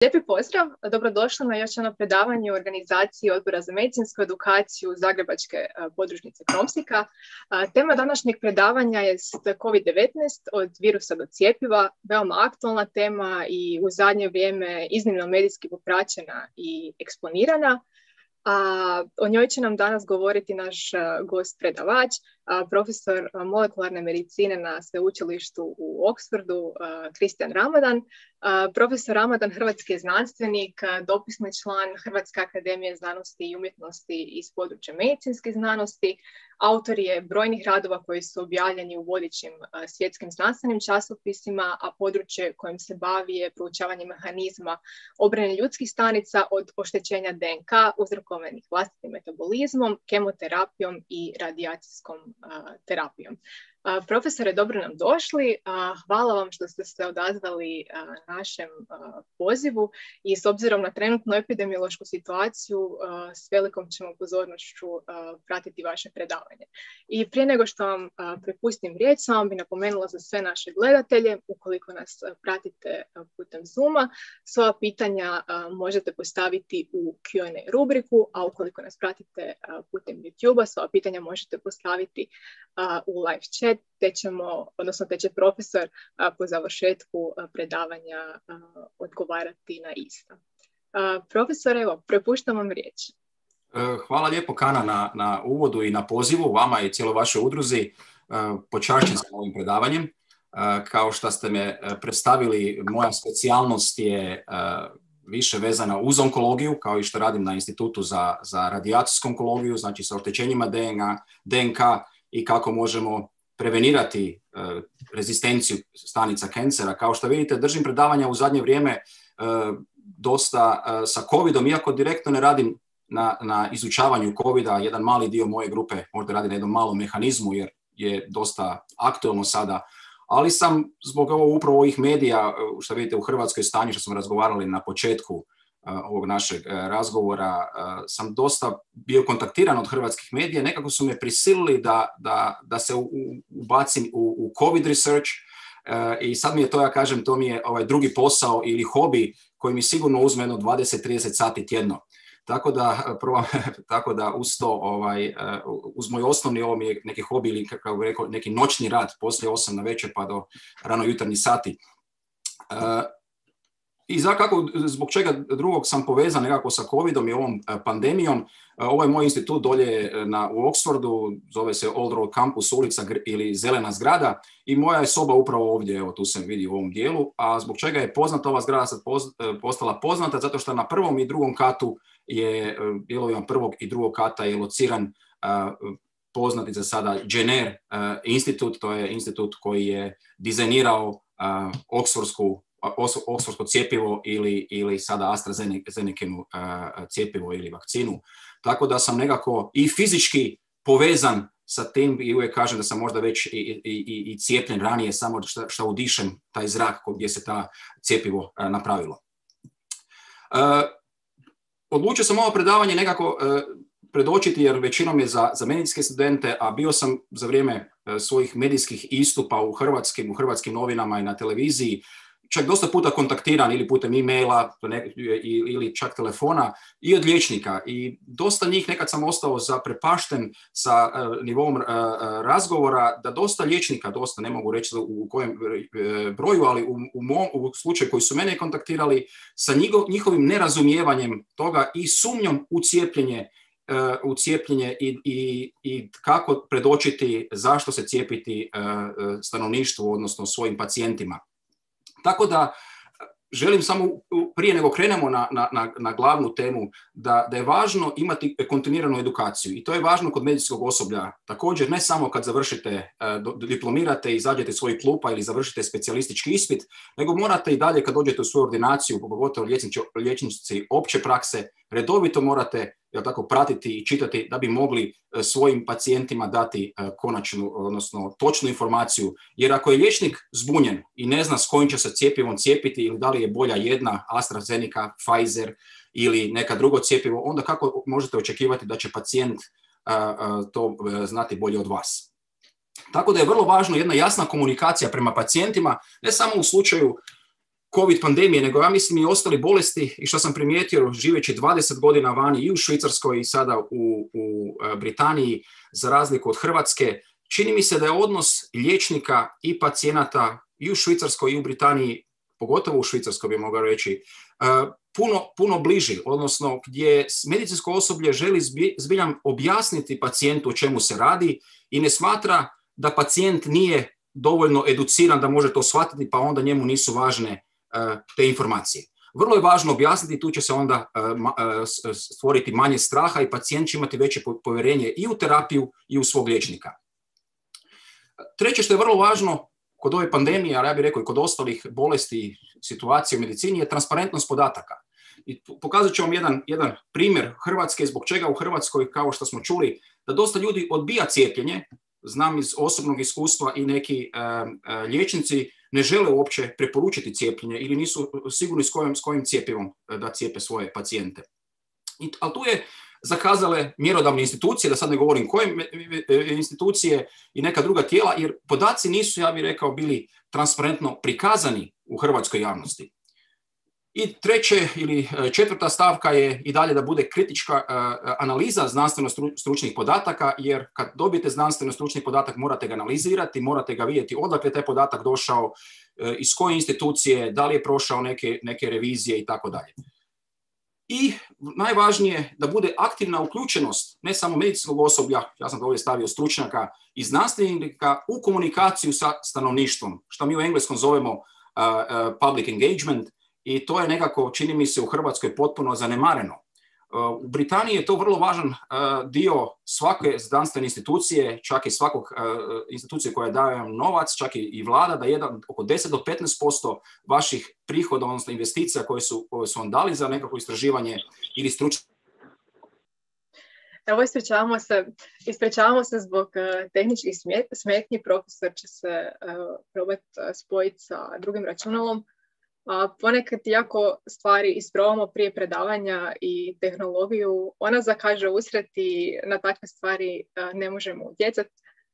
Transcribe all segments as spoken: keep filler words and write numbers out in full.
Lijepi pozdrav, dobrodošli na još jedno predavanje u organizaciji Odbora za medicinsku edukaciju Zagrebačke podružnice Kromsika. Tema današnjeg predavanja je kovid devetnaest od virusa do cjepiva, veoma aktualna tema i u zadnje vrijeme iznimno medijski popraćena i eksponirana. A o njoj će nam danas govoriti naš gost predavač, profesor molekularne medicine na sveučilištu u Oxfordu, Kristijan Ramadan. Profesor Ramadan, hrvatski je znanstvenik, dopisni član Hrvatske akademije znanosti i umjetnosti iz područja medicinske znanosti. Autor je brojnih radova koji su objavljeni u vodećim svjetskim znanstvenim časopisima, a područje kojim se bavi je proučavanje mehanizma obrane ljudskih stanica od oštećenja D N K uzrokovanih vlastitim metabolizmom, kemoterapijom i radijacijskom uh, terapijom. Uh, profesore, dobro nam došli. Uh, hvala vam što ste se odazvali uh, našem uh, pozivu i s obzirom na trenutnu epidemiološku situaciju uh, s velikom ćemo pozornošću uh, pratiti vaše predavanje. I prije nego što vam uh, prepustim riječ, samo bi napomenula za sve naše gledatelje, ukoliko nas uh, pratite uh, putem Zooma, svoja pitanja uh, možete postaviti u Q and A rubriku, a ukoliko nas pratite uh, putem YouTube-a, svoja pitanja možete postaviti uh, u live chat, te ćemo, odnosno te će profesor uh, po završetku uh, predavanja uh, odgovarati na ista. Uh, profesor, evo, prepuštam vam riječ. Hvala lijepo, Kana, na, na uvodu i na pozivu, vama i cijeloj vašoj udruzi. Uh, počašćen sam ovim predavanjem. Uh, kao što ste me predstavili, moja specijalnost je uh, više vezana uz onkologiju, kao i što radim na Institutu za, za radijacijsku onkologiju, znači sa oštećenjima D N K i kako možemo prevenirati uh, rezistenciju stanica kancera. Kao što vidite, držim predavanja u zadnje vrijeme uh, dosta uh, sa covidom, iako direktno ne radim na, na izučavanju covida. Jedan mali dio moje grupe možda radi na jednom malom mehanizmu, jer je dosta aktualno sada. Ali sam zbog ovo, upravo ovih medija, što vidite u Hrvatskoj stanju, što smo razgovarali na početku uh, ovog našeg uh, razgovora, uh, sam dosta bio kontaktiran od hrvatskih medija. Nekako su me prisilili da, da, da se u, u, ubacim u, u COVID research uh, i sad mi je to, ja kažem, to mi je ovaj drugi posao ili hobi koji mi sigurno uzme jedno dvadeset do trideset sati tjedno. Tako da, prvo, tako da uz to, ovaj, uz moj osnovni ovo mi je neki hobi ili kako bih rekao, neki noćni rad poslije osam na večer pa do rano jutarnji sati. Uh, I za kako, zbog čega drugog sam povezan nekako sa covidom i ovom pandemijom. Ovo je moj institut dolje na, u Oxfordu, zove se Old Road Campus, ulica ili Zelena zgrada, i moja je soba upravo ovdje, evo tu se vidi u ovom dijelu. A zbog čega je poznata ova zgrada sad postala poznata? Zato što na prvom i drugom katu je, dijelovima prvog i drugog kata je lociran uh, poznati za sada Jenner uh, institut, to je institut koji je dizajnirao uh, Oxfordsku Oxfordsko cjepivo ili, ili sada AstraZenecinu uh, cjepivo ili vakcinu. Tako da sam nekako i fizički povezan sa tim i uvijek kažem da sam možda već i, i, i, i cijepljen ranije, samo što, što udišem taj zrak gdje se ta cjepivo uh, napravilo. Uh, odlučio sam ovo predavanje nekako uh, predočiti jer većinom je za, za medicinske studente, a bio sam za vrijeme uh, svojih medijskih istupa u hrvatskim, u hrvatskim novinama i na televiziji čak dosta puta kontaktiran ili putem e-maila ili čak telefona i od liječnika. I dosta njih nekad sam ostao zaprepašten sa uh, nivom uh, razgovora da dosta liječnika, dosta ne mogu reći u kojem uh, broju, ali u, u, mom, u slučaju koji su mene kontaktirali sa njihov, njihovim nerazumijevanjem toga i sumnjom u cijepljenje, uh, u cijepljenje i, i, i kako predočiti zašto se cijepiti uh, stanovništvu, odnosno svojim pacijentima. Tako da želim samo prije nego krenemo na, na, na glavnu temu da, da je važno imati kontinuiranu edukaciju i to je važno kod medicinskog osoblja. Također ne samo kad završite, diplomirate i izađete iz svojih klupa ili završite specijalistički ispit, nego morate i dalje kad dođete u svoju ordinaciju, pogotovo liječnici opće prakse, redovito morate jel tako, pratiti i čitati da bi mogli svojim pacijentima dati konačnu, odnosno točnu informaciju. Jer ako je liječnik zbunjen i ne zna s kojim će se cjepivom cijepiti ili da li je bolja jedna AstraZeneca, Pfizer ili neka drugo cjepivo, onda kako možete očekivati da će pacijent a, a, to znati bolje od vas. Tako da je vrlo važno jedna jasna komunikacija prema pacijentima, ne samo u slučaju COVID pandemije, nego ja mislim i ostali bolesti i što sam primijetio živeći dvadeset godina vani i u Švicarskoj i sada u, u Britaniji, za razliku od Hrvatske, čini mi se da je odnos liječnika i pacijenata i u Švicarskoj i u Britaniji, pogotovo u Švicarskoj bi mogao reći, puno, puno bliži, odnosno gdje medicinsko osoblje želi zbiljam objasniti pacijentu o čemu se radi i ne smatra da pacijent nije dovoljno educiran da može to shvatiti, pa onda njemu nisu važne te informacije. Vrlo je važno objasniti, tu će se onda stvoriti manje straha i pacijent će imati veće povjerenje i u terapiju i u svog liječnika. Treće što je vrlo važno kod ove pandemije, ali ja bih rekao i kod ostalih bolesti i situacije u medicini, je transparentnost podataka. I pokazat ću vam jedan, jedan primjer Hrvatske, zbog čega u Hrvatskoj, kao što smo čuli, da dosta ljudi odbija cijepljenje. Znam iz osobnog iskustva i neki uh, uh, liječnici ne žele uopće preporučiti cijepljenje ili nisu sigurni s kojim, s kojim cijepivom da cijepe svoje pacijente. I, ali tu je zakazale mjerodavne institucije, da sad ne govorim koje institucije i neka druga tijela, jer podaci nisu, ja bih rekao, bili transparentno prikazani u hrvatskoj javnosti. I treće ili četvrta stavka je i dalje da bude kritička uh, analiza znanstveno-stručnih podataka, jer kad dobijete znanstveno-stručni podatak morate ga analizirati, morate ga vidjeti odakle je taj podatak došao, uh, iz koje institucije, da li je prošao neke, neke revizije i tako dalje. I najvažnije da bude aktivna uključenost ne samo medicinskog osoblja, ja sam to ovdje stavio stručnjaka i znanstvenika u komunikaciju sa stanovništvom, što mi u engleskom zovemo uh, uh, public engagement, i to je nekako, čini mi se, u Hrvatskoj potpuno zanemareno. Uh, u Britaniji je to vrlo važan uh, dio svake znanstvene institucije, čak i svakog uh, institucije koja daje vam novac, čak i, i vlada, da jedan, oko deset do petnaest posto vaših prihoda, odnosno investicija koje su, koje su vam dali za nekako istraživanje ili stručno. Evo, ispričavamo se, ispričavamo se zbog uh, tehničkih smetnji. Profesor će se uh, probati uh, spojiti sa drugim računalom. A ponekad jako stvari isprobamo prije predavanja i tehnologiju, ona zakaže usred i na takve stvari ne možemo utjecati.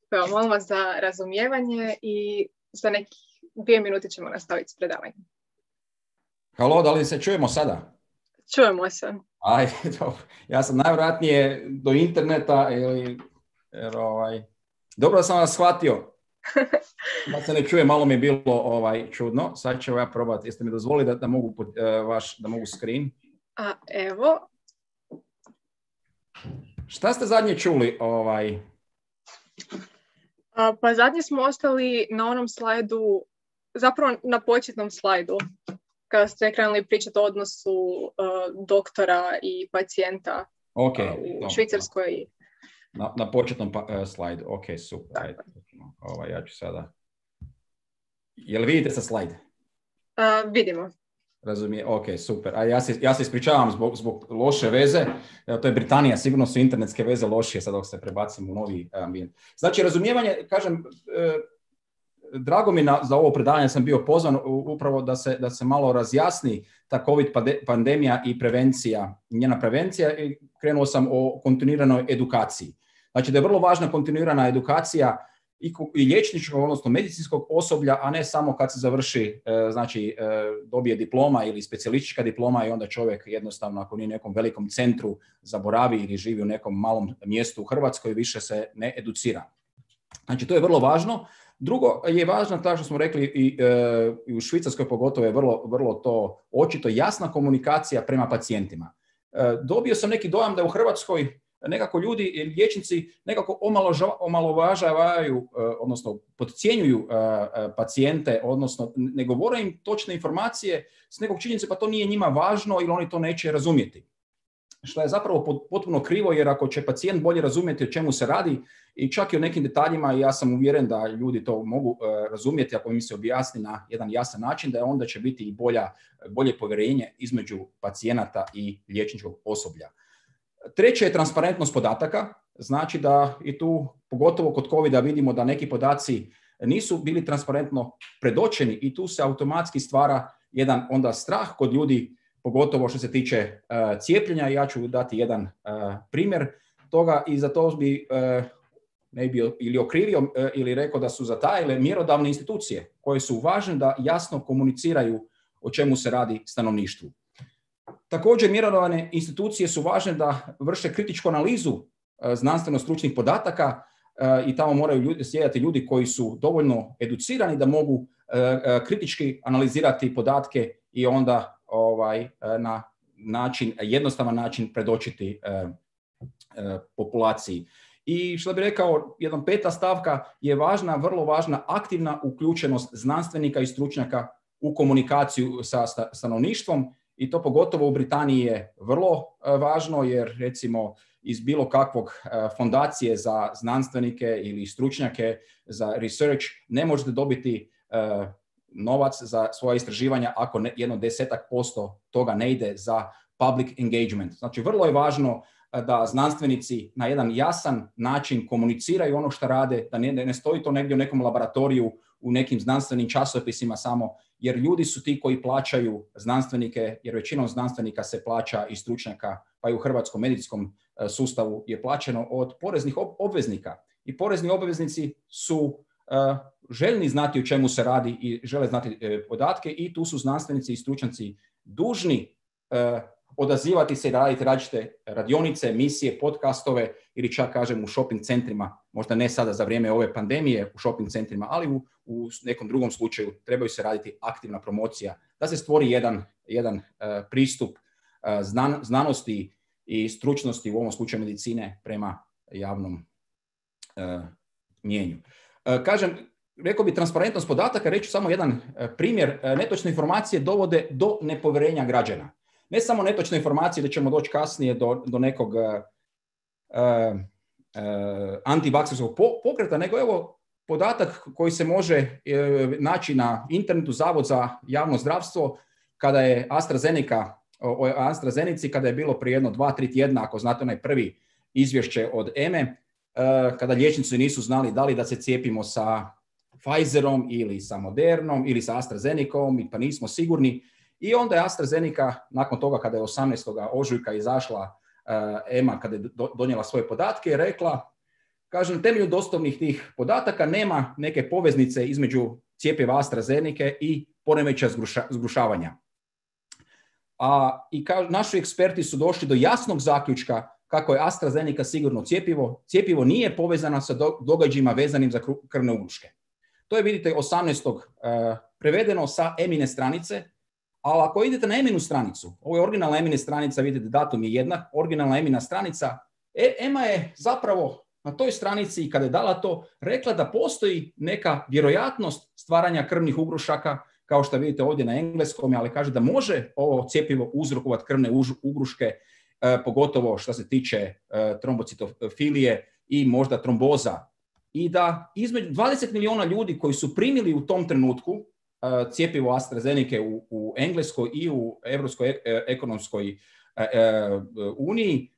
Pa molim vas za razumijevanje i za nekih dvije minute ćemo nastaviti s predavanjem. Halo, da li se čujemo sada? Čujemo se. Aj, dobro. Ja sam najvjerojatnije do interneta ili, jer, ovaj, dobro da sam vas shvatio. Da se ne čuje, malo mi je bilo ovaj, čudno. Sad ću ja probati. Jeste mi dozvolili da, da mogu uh, vaš, da mogu screen? A, evo. Šta ste zadnje čuli? Ovaj? A, pa zadnje smo ostali na onom slajdu, zapravo na početnom slajdu, kada ste krenuli pričati o odnosu uh, doktora i pacijenta okay, uh, u Švicarskoj. Na, na početnom pa, uh, slajdu. Ok, super. Ajde. Ovaj, ja ću sada... Jel vidite sa slajd? Uh, vidimo. Razumije, ok, super. A ja se, ja se ispričavam zbog, zbog loše veze. Evo, to je Britanija, sigurno su internetske veze lošije sad dok se prebacimo u novi ambijent. Znači, razumijevanje, kažem, eh, drago mi na, za ovo predavanje sam bio pozvan upravo da se, da se malo razjasni ta COVID pandemija i prevencija, njena prevencija, i krenuo sam o kontinuiranoj edukaciji. Znači da je vrlo važna kontinuirana edukacija i, i liječničkog, odnosno medicinskog osoblja, a ne samo kad se završi, e, znači e, dobije diploma ili specijalistička diploma i onda čovjek jednostavno, ako nije u nekom velikom centru, zaboravi ili živi u nekom malom mjestu u Hrvatskoj, više se ne educira. Znači to je vrlo važno. Drugo je važno, tako što smo rekli, i, e, i u Švicarskoj pogotovo je vrlo, vrlo to očito jasna komunikacija prema pacijentima. E, dobio sam neki dojam da u Hrvatskoj nekako ljudi, liječnici, nekako omalovažavaju, odnosno podcjenjuju pacijente, odnosno ne govore im točne informacije s nekog činjenice, pa to nije njima važno ili oni to neće razumjeti. Što je zapravo potpuno krivo, jer ako će pacijent bolje razumjeti o čemu se radi i čak i o nekim detaljima, ja sam uvjeren da ljudi to mogu razumjeti ako im se objasni na jedan jasan način, da onda će biti i bolja, bolje povjerenje između pacijenata i liječničkog osoblja. Treće je transparentnost podataka, znači da i tu, pogotovo kod covida, vidimo da neki podaci nisu bili transparentno predočeni i tu se automatski stvara jedan onda strah kod ljudi, pogotovo što se tiče uh, cijepljenja. Ja ću dati jedan uh, primjer toga i za to bi uh, ne bi ili okrivio uh, ili rekao da su zatajile mjerodavne institucije koje su važne da jasno komuniciraju o čemu se radi stanovništvu. Također, mjerodavne institucije su važne da vrše kritičku analizu znanstveno-stručnih podataka i tamo moraju ljudi, sjedati ljudi koji su dovoljno educirani da mogu kritički analizirati podatke i onda ovaj, na način, jednostavan način predočiti populaciji. I što bih rekao, jedna peta stavka je važna, vrlo važna aktivna uključenost znanstvenika i stručnjaka u komunikaciju sa stanovništvom i to pogotovo u Britaniji je vrlo važno jer recimo iz bilo kakvog fondacije za znanstvenike ili stručnjake za research ne možete dobiti novac za svoje istraživanja ako ne, jedno desetak posto toga ne ide za public engagement. Znači vrlo je važno da znanstvenici na jedan jasan način komuniciraju ono što rade, da ne, ne stoji to negdje u nekom laboratoriju, u nekim znanstvenim časopisima samo, jer ljudi su ti koji plaćaju znanstvenike, jer većinom znanstvenika se plaća i stručnjaka, pa i u hrvatskom medicinskom sustavu je plaćeno od poreznih obveznika. I porezni obveznici su uh, željni znati o čemu se radi i žele znati uh, podatke i tu su znanstvenici i stručnjaci dužni uh, odazivati se i raditi različite radionice, emisije, podcastove ili čak kažem u shopping centrima, možda ne sada za vrijeme ove pandemije u shopping centrima, ali u, u nekom drugom slučaju trebaju se raditi aktivna promocija da se stvori jedan, jedan uh, pristup uh, znan, znanosti i stručnosti, u ovom slučaju medicine, prema javnom uh, mjenju. Uh, kažem, rekao bi transparentnost podataka, reći samo jedan uh, primjer, uh, netočne informacije dovode do nepovjerenja građana. Ne samo netočne informacije, da ćemo doći kasnije do, do nekog uh, uh, antivakserskog pokreta, nego evo podatak koji se može uh, naći na internetu, Zavod za javno zdravstvo, kada je AstraZeneca, o AstraZenici, kada je bilo prije jedno dva, tri tjedna, ako znate onaj prvi izvješće od E M E, uh, kada liječnici nisu znali da li da se cijepimo sa Pfizerom ili sa Modernom ili sa AstraZenecom, pa nismo sigurni. I onda je AstraZeneca, nakon toga kada je osamnaestog ožujka izašla uh, E M A, kada je do, donijela svoje podatke, rekla, kaže, na temelju dostupnih tih podataka nema neke poveznice između cjepiva AstraZeneca i poremećaja zgruša, zgrušavanja. A, I kao naši eksperti su došli do jasnog zaključka kako je AstraZeneca sigurno cjepivo. Cjepivo nije povezano sa do, događajima vezanim za krvne ugruške. To je, vidite, osamnaestog Uh, prevedeno sa E M I-ne stranice. Ali ako idete na E M I-nu stranicu, ovo je originalna E M I-na stranica, vidite datum je jednak, originalna E M I-na stranica, E M A je zapravo na toj stranici, kada je dala to, rekla da postoji neka vjerojatnost stvaranja krvnih ugrušaka, kao što vidite ovdje na engleskom, ali kaže da može ovo cjepivo uzrokovati krvne ugruške, eh, pogotovo što se tiče eh, trombocitofilije i možda tromboza. I da između dvadeset milijuna ljudi koji su primili u tom trenutku cjepivo AstraZeneca u, u Engleskoj i u Europskoj ekonomskoj e, e, uniji,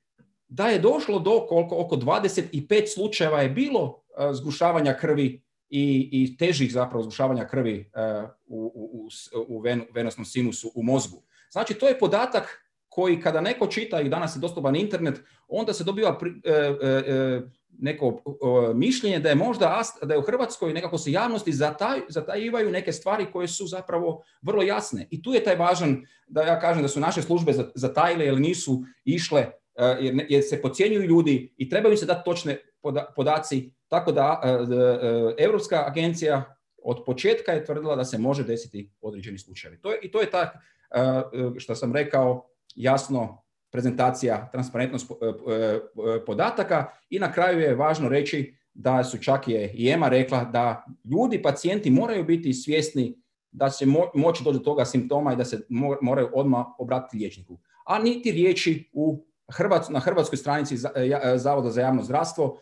da je došlo do koliko, oko dvadeset pet slučajeva je bilo e, zgušavanja krvi i, i težih zapravo zgušavanja krvi e, u, u, u ven, venosnom sinusu u mozgu. Znači, to je podatak koji kada neko čita i danas je dostupan internet, onda se dobiva pri, e, e, neko o, mišljenje da je možda da je u Hrvatskoj nekako se javnosti zataj, zatajivaju neke stvari koje su zapravo vrlo jasne. I tu je taj važan, da ja kažem da su naše službe zatajile jer nisu išle, jer, jer se podcjenjuju ljudi i trebaju im se dati točne poda, podaci, tako da Europska agencija od početka je tvrdila da se može desiti određeni slučajevi. To je, i to je ta, što sam rekao, jasno, prezentacija, transparentnost podataka i na kraju je važno reći da su čak je i E M A rekla da ljudi, pacijenti moraju biti svjesni da se mo- moći doći do toga simptoma i da se mo- moraju odmah obratiti liječniku. A niti riječi u Hrvat, na hrvatskoj stranici Zavoda za javno zdravstvo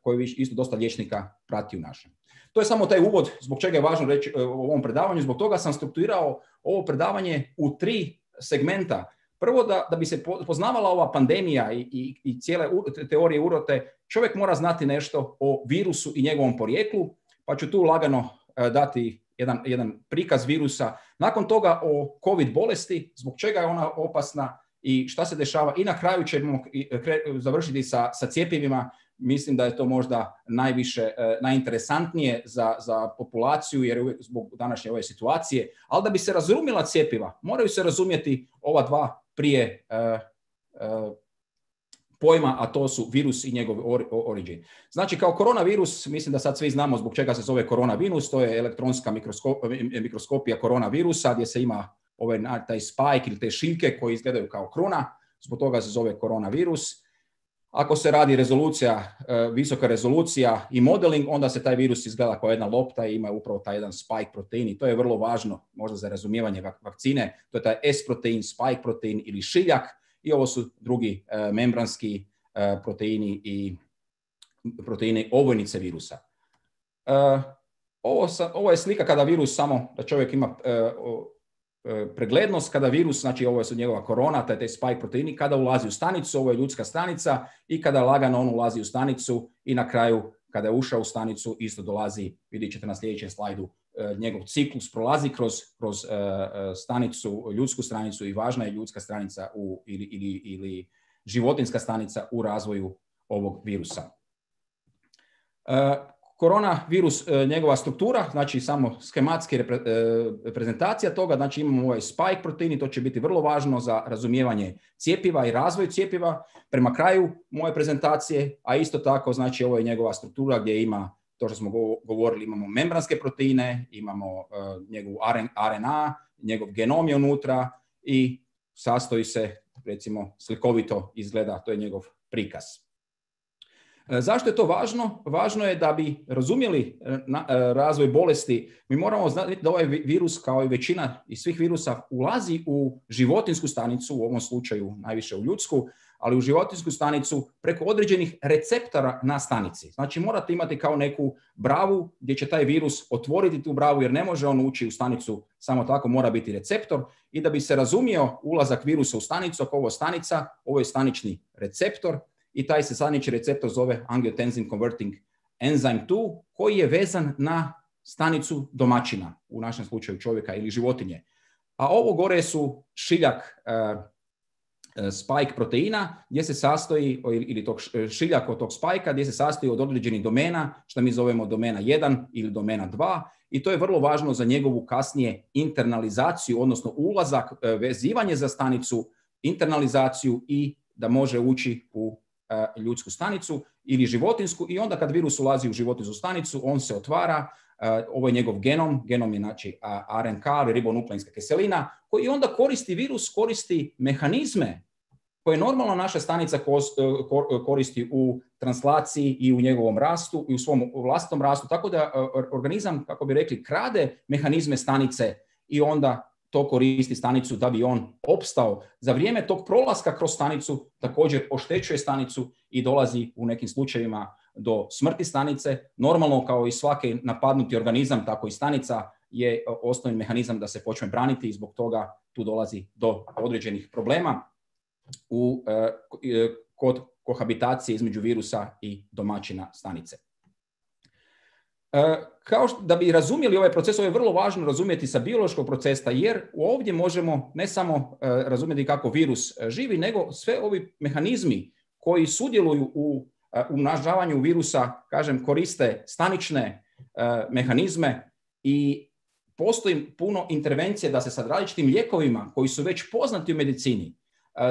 koji isto dosta liječnika prati u našem. To je samo taj uvod zbog čega je važno reći u ovom predavanju. Zbog toga sam strukturirao ovo predavanje u tri segmenta. Prvo, da, da bi se poznavala ova pandemija i, i, i cijele teorije urote, čovjek mora znati nešto o virusu i njegovom porijeklu, pa ću tu lagano uh, dati jedan, jedan prikaz virusa. Nakon toga o COVID bolesti, zbog čega je ona opasna i šta se dešava. I na kraju ćemo završiti sa, sa cjepivima, mislim da je to možda najviše, najinteresantnije za, za populaciju, jer uvijek zbog današnje ove situacije, ali da bi se razumjela cjepiva, moraju se razumjeti ova dva prije uh, uh, pojma, a to su virus i njegov origin. Znači, kao koronavirus, mislim da sad svi znamo zbog čega se zove koronavirus, to je elektronska mikroskop, mikroskopija koronavirusa, gdje se ima ovaj, taj spike ili te šiljke koji izgledaju kao kruna, zbog toga se zove koronavirus. Ako se radi rezolucija, visoka rezolucija i modeling, onda se taj virus izgleda kao jedna lopta i ima upravo taj jedan spike protein i to je vrlo važno možda za razumijevanje vakcine. To je taj S protein, spike protein ili šiljak i ovo su drugi uh, membranski uh, proteini i proteini ovojnice virusa. Uh, ovo, sa, ovo je slika kada virus samo, da čovjek ima uh, preglednost, kada virus, znači ovo su njegova korona, taj, taj spike proteini, kada ulazi u stanicu, ovo je ljudska stanica i kada lagano on ulazi u stanicu i na kraju kada je ušao u stanicu isto dolazi, vidjet ćete na sljedećem slajdu, njegov ciklus prolazi kroz, kroz uh, stanicu, ljudsku stranicu i važna je ljudska stranica u, ili, ili, ili životinjska stanica u razvoju ovog virusa. Uh, Koronavirus, njegova struktura, znači samo schematski reprezentacija toga, znači imamo ovaj spike protein i to će biti vrlo važno za razumijevanje cjepiva i razvoj cjepiva prema kraju moje prezentacije, a isto tako znači ovo je njegova struktura gdje ima, to što smo govorili, imamo membranske proteine, imamo uh, njegov R N A, njegov genom je unutra i sastoji se, recimo, slikovito izgleda, to je njegov prikaz. Zašto je to važno? Važno je da bi razumjeli razvoj bolesti, mi moramo znati da ovaj virus, kao i većina i svih virusa, ulazi u životinjsku stanicu, u ovom slučaju najviše u ljudsku, ali u životinjsku stanicu preko određenih receptora na stanici. Znači morate imati kao neku bravu gdje će taj virus otvoriti tu bravu, jer ne može on ući u stanicu samo tako, mora biti receptor. I da bi se razumio ulazak virusa u stanicu, ako ovo je stanica, ovo je stanični receptor, i taj se stanični receptor zove angiotensin converting enzyme dva, koji je vezan na stanicu domaćina, u našem slučaju čovjeka ili životinje. A ovo gore su šiljak uh, spike proteina, gdje se sastoji, ili tog šiljak od tog spajka, gdje se sastoji od određenih domena, što mi zovemo domena jedan ili domena dva, i to je vrlo važno za njegovu kasnije internalizaciju, odnosno ulazak, vezivanje za stanicu, internalizaciju i da može ući u ljudsku stanicu ili životinsku, i onda kad virus ulazi u životinsku stanicu, on se otvara, ovo je njegov genom, genom je znači R N K, ribonukleinska kiselina, koji onda koristi, virus koristi mehanizme koje normalno naša stanica koristi u translaciji i u njegovom rastu i u svom vlastitom rastu, tako da organizam, kako bi rekli, krade mehanizme stanice i onda to koristi stanicu da bi on opstao. Za vrijeme tog prolaska kroz stanicu također oštećuje stanicu i dolazi u nekim slučajevima do smrti stanice. Normalno, kao i svaki napadnuti organizam, tako i stanica je osnovni mehanizam da se počne braniti i zbog toga tu dolazi do određenih problema u, kod kohabitacije između virusa i domaćina stanice. Kao što, da bi razumjeli ovaj proces, ovo je vrlo važno razumjeti sa biološkog procesa, jer ovdje možemo ne samo razumjeti kako virus živi, nego sve ovi mehanizmi koji sudjeluju u umnažavanju virusa, kažem, koriste stanične mehanizme i postoji puno intervencije da se sa različitim lijekovima koji su već poznati u medicini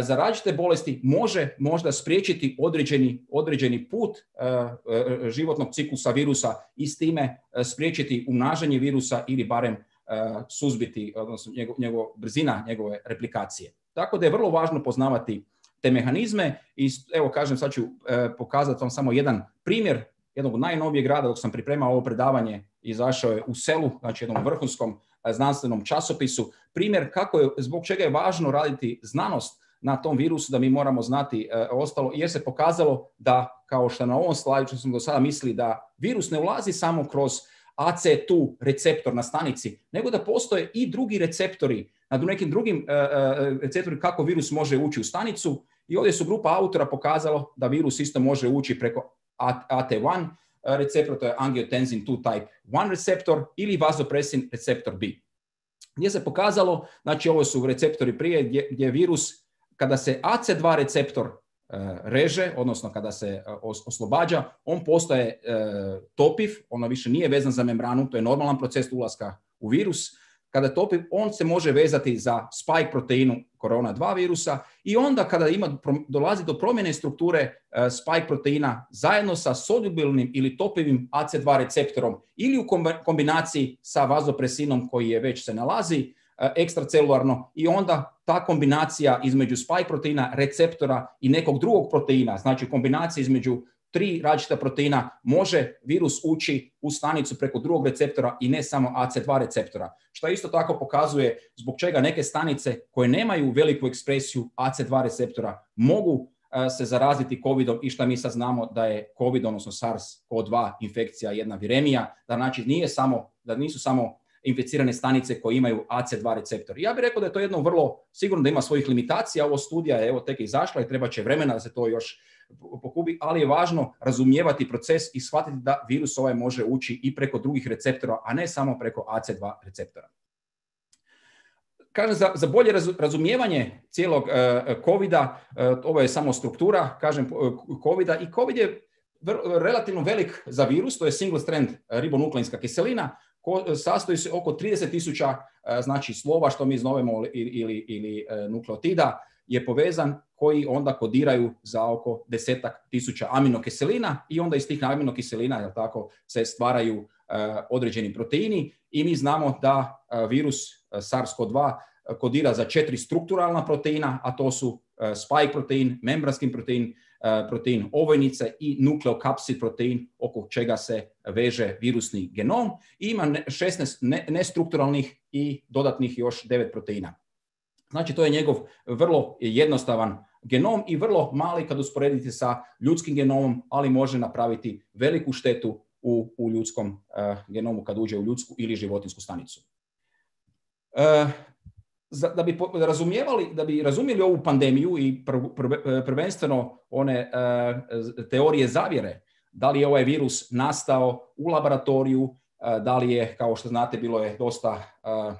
za različite bolesti može možda spriječiti određeni, određeni put uh, životnog ciklusa virusa i s time uh, spriječiti umnažanje virusa ili barem uh, suzbiti, odnosno njegov, njegov, brzina njegove replikacije. Tako da je vrlo važno poznavati te mehanizme i evo kažem, sad ću uh, pokazati vam samo jedan primjer jednog od najnovijeg rada. Dok sam pripremao ovo predavanje, izašao je u Celu, znači jednom vrhunskom uh, znanstvenom časopisu, primjer kako je, zbog čega je važno raditi znanost na tom virusu, da mi moramo znati e, ostalo, jer se pokazalo da, kao što na ovom slajdu što smo do sada mislili, da virus ne ulazi samo kroz A C dva receptor na stanici, nego da postoje i drugi receptori, na nekim drugim e, e, receptori kako virus može ući u stanicu, i ovdje su grupa autora pokazalo da virus isto može ući preko A T jedan receptor, to je angiotensin dva type jedan receptor, ili vazopresin receptor B. Gdje se pokazalo, znači ovo su receptori prije, gdje, gdje virus, kada se A C dva receptor reže, odnosno kada se oslobađa, on postaje topiv, ono više nije vezan za membranu, to je normalan proces ulaska u virus. Kada je topiv, on se može vezati za spike proteinu korona dva virusa i onda kada ima, dolazi do promjene strukture spike proteina zajedno sa solubilnim ili topivim A C dva receptorom ili u kombinaciji sa vazopresinom koji je već se nalazi ekstracelularno i onda ta kombinacija između spike proteina, receptora i nekog drugog proteina, znači kombinacija između tri različita proteina, može virus ući u stanicu preko drugog receptora i ne samo A C dva receptora. Što isto tako pokazuje zbog čega neke stanice koje nemaju veliku ekspresiju A C dva receptora mogu uh, se zaraziti covidom i što mi sad znamo da je COVID, odnosno SARS-C o dva infekcija jedna viremija, da znači nije samo, da nisu samo inficirane stanice koje imaju A C dva receptor. Ja bih rekao da je to jedno vrlo, sigurno da ima svojih limitacija, ovo studija je evo tek izašla i treba će vremena da se to još pokubi, ali je važno razumijevati proces i shvatiti da virus ovaj može ući i preko drugih receptora, a ne samo preko A C dva receptora. Kažem, za, za bolje razumijevanje cijelog uh, covida, uh, ovo je samo struktura, kažem, uh, covida i covid je vr- relativno velik za virus, to je single strand ribonukleinska kiselina, ko, sastoji se oko trideset tisuća uh, znači slova, što mi zovemo ili, ili, ili uh, nukleotida, je povezan koji onda kodiraju za oko desetak tisuća aminokiselina i onda iz tih aminokiselina, jel tako, se stvaraju uh, određeni proteini i mi znamo da uh, virus uh, SARS-C o dva kodira za četiri strukturalna proteina, a to su uh, spike protein, membranski protein, uh, protein ovojnice i nukleokapsid protein oko čega se veže virusni genom i ima šesnaest nestrukturalnih i dodatnih još devet proteina. Znači, to je njegov vrlo jednostavan genom i vrlo mali kad usporedite sa ljudskim genomom, ali može napraviti veliku štetu u, u ljudskom uh, genomu kad uđe u ljudsku ili životinjsku stanicu. Uh, za, da bi razumijevali, da bi razumjeli ovu pandemiju i pr, pr, prvenstveno one uh, teorije zavjere, da li je ovaj virus nastao u laboratoriju, uh, da li je, kao što znate, bilo je dosta uh,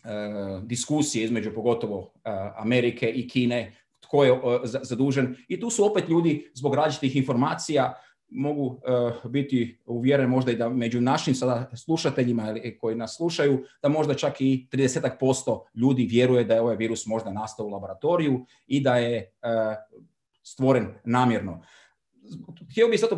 Uh, diskusije između pogotovo uh, Amerike i Kine, tko je uh, zadužen. I tu su opet ljudi zbog različitih informacija mogu uh, biti uvjeren možda i da među našim sada slušateljima koji nas slušaju, da možda čak i trideset posto ljudi vjeruje da je ovaj virus možda nastao u laboratoriju i da je uh, stvoren namjerno. Htio bih sad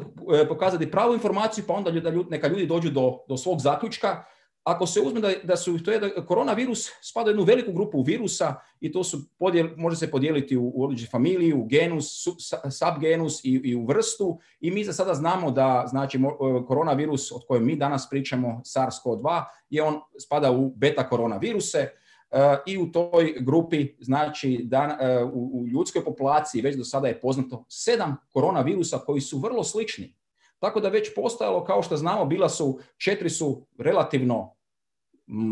pokazati pravu informaciju, pa onda ljudi, neka ljudi dođu do, do svog zaključka. Ako se uzme da, da su to je da koronavirus spada u jednu veliku grupu virusa i to su podijel, može se podijeliti u, u određenu familiju, u genus, sub, subgenus i, i u vrstu i mi za sada znamo da znači koronavirus od kojem mi danas pričamo SARS-C o dva je on spada u beta koronaviruse uh, i u toj grupi znači da uh, u, u ljudskoj populaciji već do sada je poznato sedam koronavirusa koji su vrlo slični. Tako da već postojalo, kao što znamo, bila su, četiri su relativno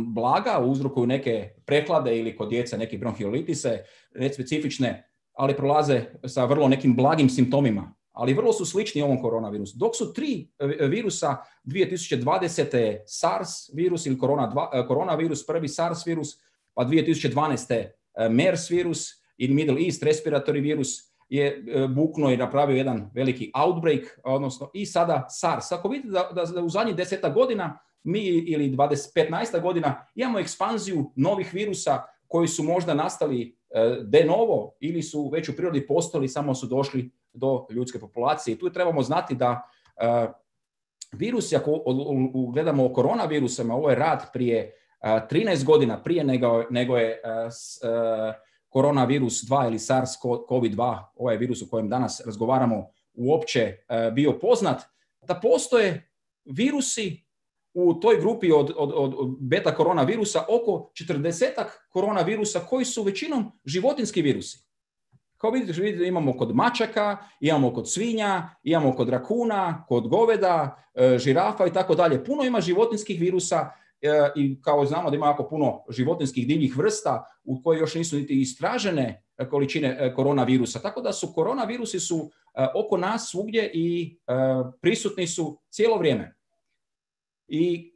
blaga, uzrokuju neke prehlade ili kod djece neke bronhiolitise, nespecifične, ali prolaze sa vrlo nekim blagim simptomima. Ali vrlo su slični ovom koronavirusu. Dok su tri virusa dvije tisuće dvadesete SARS virus ili koronavirus, prvi SARS virus, pa dvije tisuće dvanaeste MERS virus ili Middle East respiratory virus, je buknuo i napravio jedan veliki outbreak, odnosno i sada SARS. Ako vidite da, da, da u zadnjih deseta godina mi ili dvadeset, petnaest godina imamo ekspanziju novih virusa koji su možda nastali de novo ili su već u prirodi postali, samo su došli do ljudske populacije. I tu trebamo znati da uh, virusi, ako gledamo o koronavirusima, ovo je rad prije uh, trinaest godina, prije nego, nego je uh, uh, koronavirus dva ili SARS-C o V dva, ovaj virus o kojem danas razgovaramo, uopće uh, bio poznat, da postoje virusi u toj grupi od, od, od beta koronavirusa oko četrdesetak koronavirusa koji su većinom životinjski virusi. Kao vidite, vidite, imamo kod mačaka, imamo kod svinja, imamo kod rakuna, kod goveda, uh, žirafa i tako dalje. Puno ima životinjskih virusa i kao znamo da ima jako puno životinjskih divljih vrsta u koje još nisu niti istražene količine koronavirusa. Tako da su koronavirusi su oko nas svugdje i prisutni su cijelo vrijeme. I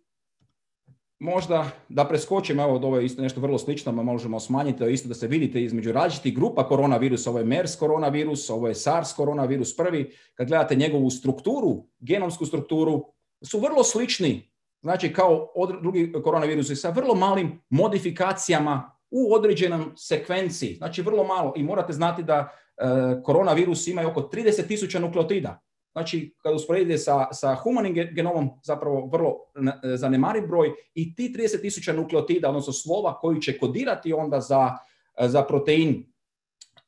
možda da preskočim, evo ovo je isto nešto vrlo slično, možemo smanjiti, to je isto da se vidite između različitih grupa koronavirusa, ovo je MERS koronavirus, ovo je SARS koronavirus prvi, kad gledate njegovu strukturu, genomsku strukturu, su vrlo slični, znači kao od drugi koronavirusi sa vrlo malim modifikacijama u određenom sekvenciji, znači vrlo malo i morate znati da e, koronavirus ima oko trideset tisuća nukleotida. Znači, kada usporedite sa, sa humanim genomom, zapravo vrlo zanemariv broj i ti trideset tisuća nukleotida, odnosno slova koji će kodirati onda za, za protein,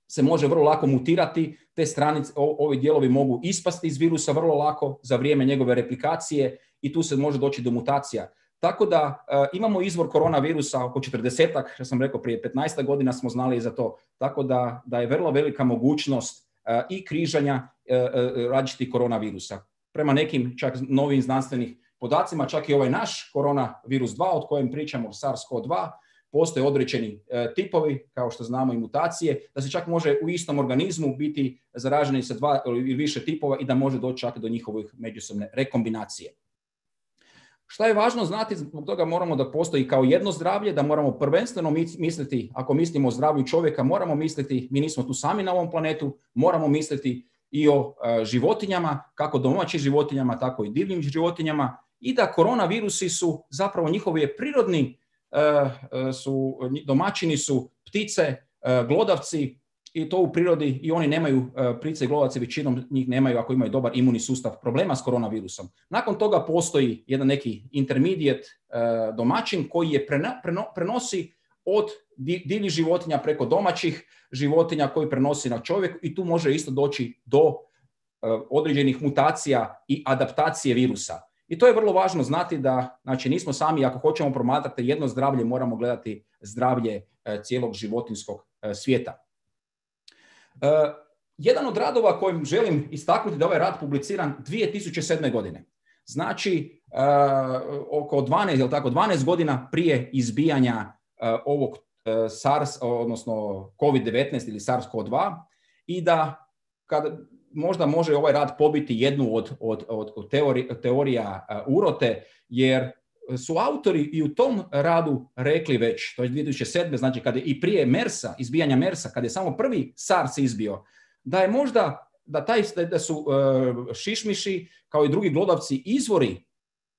se može vrlo lako mutirati. Te stranice, ovi dijelovi mogu ispasti iz virusa vrlo lako za vrijeme njegove replikacije i tu se može doći do mutacija. Tako da uh, imamo izvor koronavirusa oko četrdesetak, što sam rekao prije petnaest godina smo znali za to. Tako da, da je vrlo velika mogućnost uh, i križanja različitih koronavirusa. Prema nekim čak novim znanstvenih podacima, čak i ovaj naš koronavirus dva, od kojem pričamo, SARS-CoV dva, postoje određeni e, tipovi, kao što znamo i mutacije, da se čak može u istom organizmu biti zaraženi sa dva ili više tipova i da može doći čak do njihovih međusobne rekombinacije. Šta je važno znati, zbog toga moramo da postoji kao jedno zdravlje, da moramo prvenstveno misliti, ako mislimo o zdravlju čovjeka, moramo misliti, mi nismo tu sami na ovom planetu, moramo misliti i o e, životinjama, kako domaćim životinjama, tako i divljim životinjama, i da koronavirusi su zapravo njihovi prirodni e, su, domaćini su ptice, e, glodavci, i to u prirodi, i oni nemaju, e, ptice i glodavci većinom njih nemaju, ako imaju dobar imunni sustav, problema s koronavirusom. Nakon toga postoji jedan neki intermediate e, domaćin koji je preno, preno, prenosi od divljih životinja preko domaćih životinja koji prenosi na čovjek i tu može isto doći do uh, određenih mutacija i adaptacije virusa. I to je vrlo važno znati da, znači, nismo sami, ako hoćemo promatrati jedno zdravlje, moramo gledati zdravlje uh, cijelog životinjskog uh, svijeta. Uh, jedan od radova kojim želim istaknuti da je ovaj rad publiciran dvije tisuće sedme. godine. Znači, uh, oko dvanaest, jel tako, dvanaest godina prije izbijanja Uh, ovog uh, SARS, odnosno kovid devetnaest ili SARS-CoV dva, i da kad možda može ovaj rad pobiti jednu od, od, od, od teori, teorija uh, urote, jer su autori i u tom radu rekli već, to je dvije tisuće sedme. znači kada je i prije MERS-a, izbijanja MERS-a, kada je samo prvi SARS izbio, da je možda, da, taj, da su uh, šišmiši kao i drugi glodavci izvori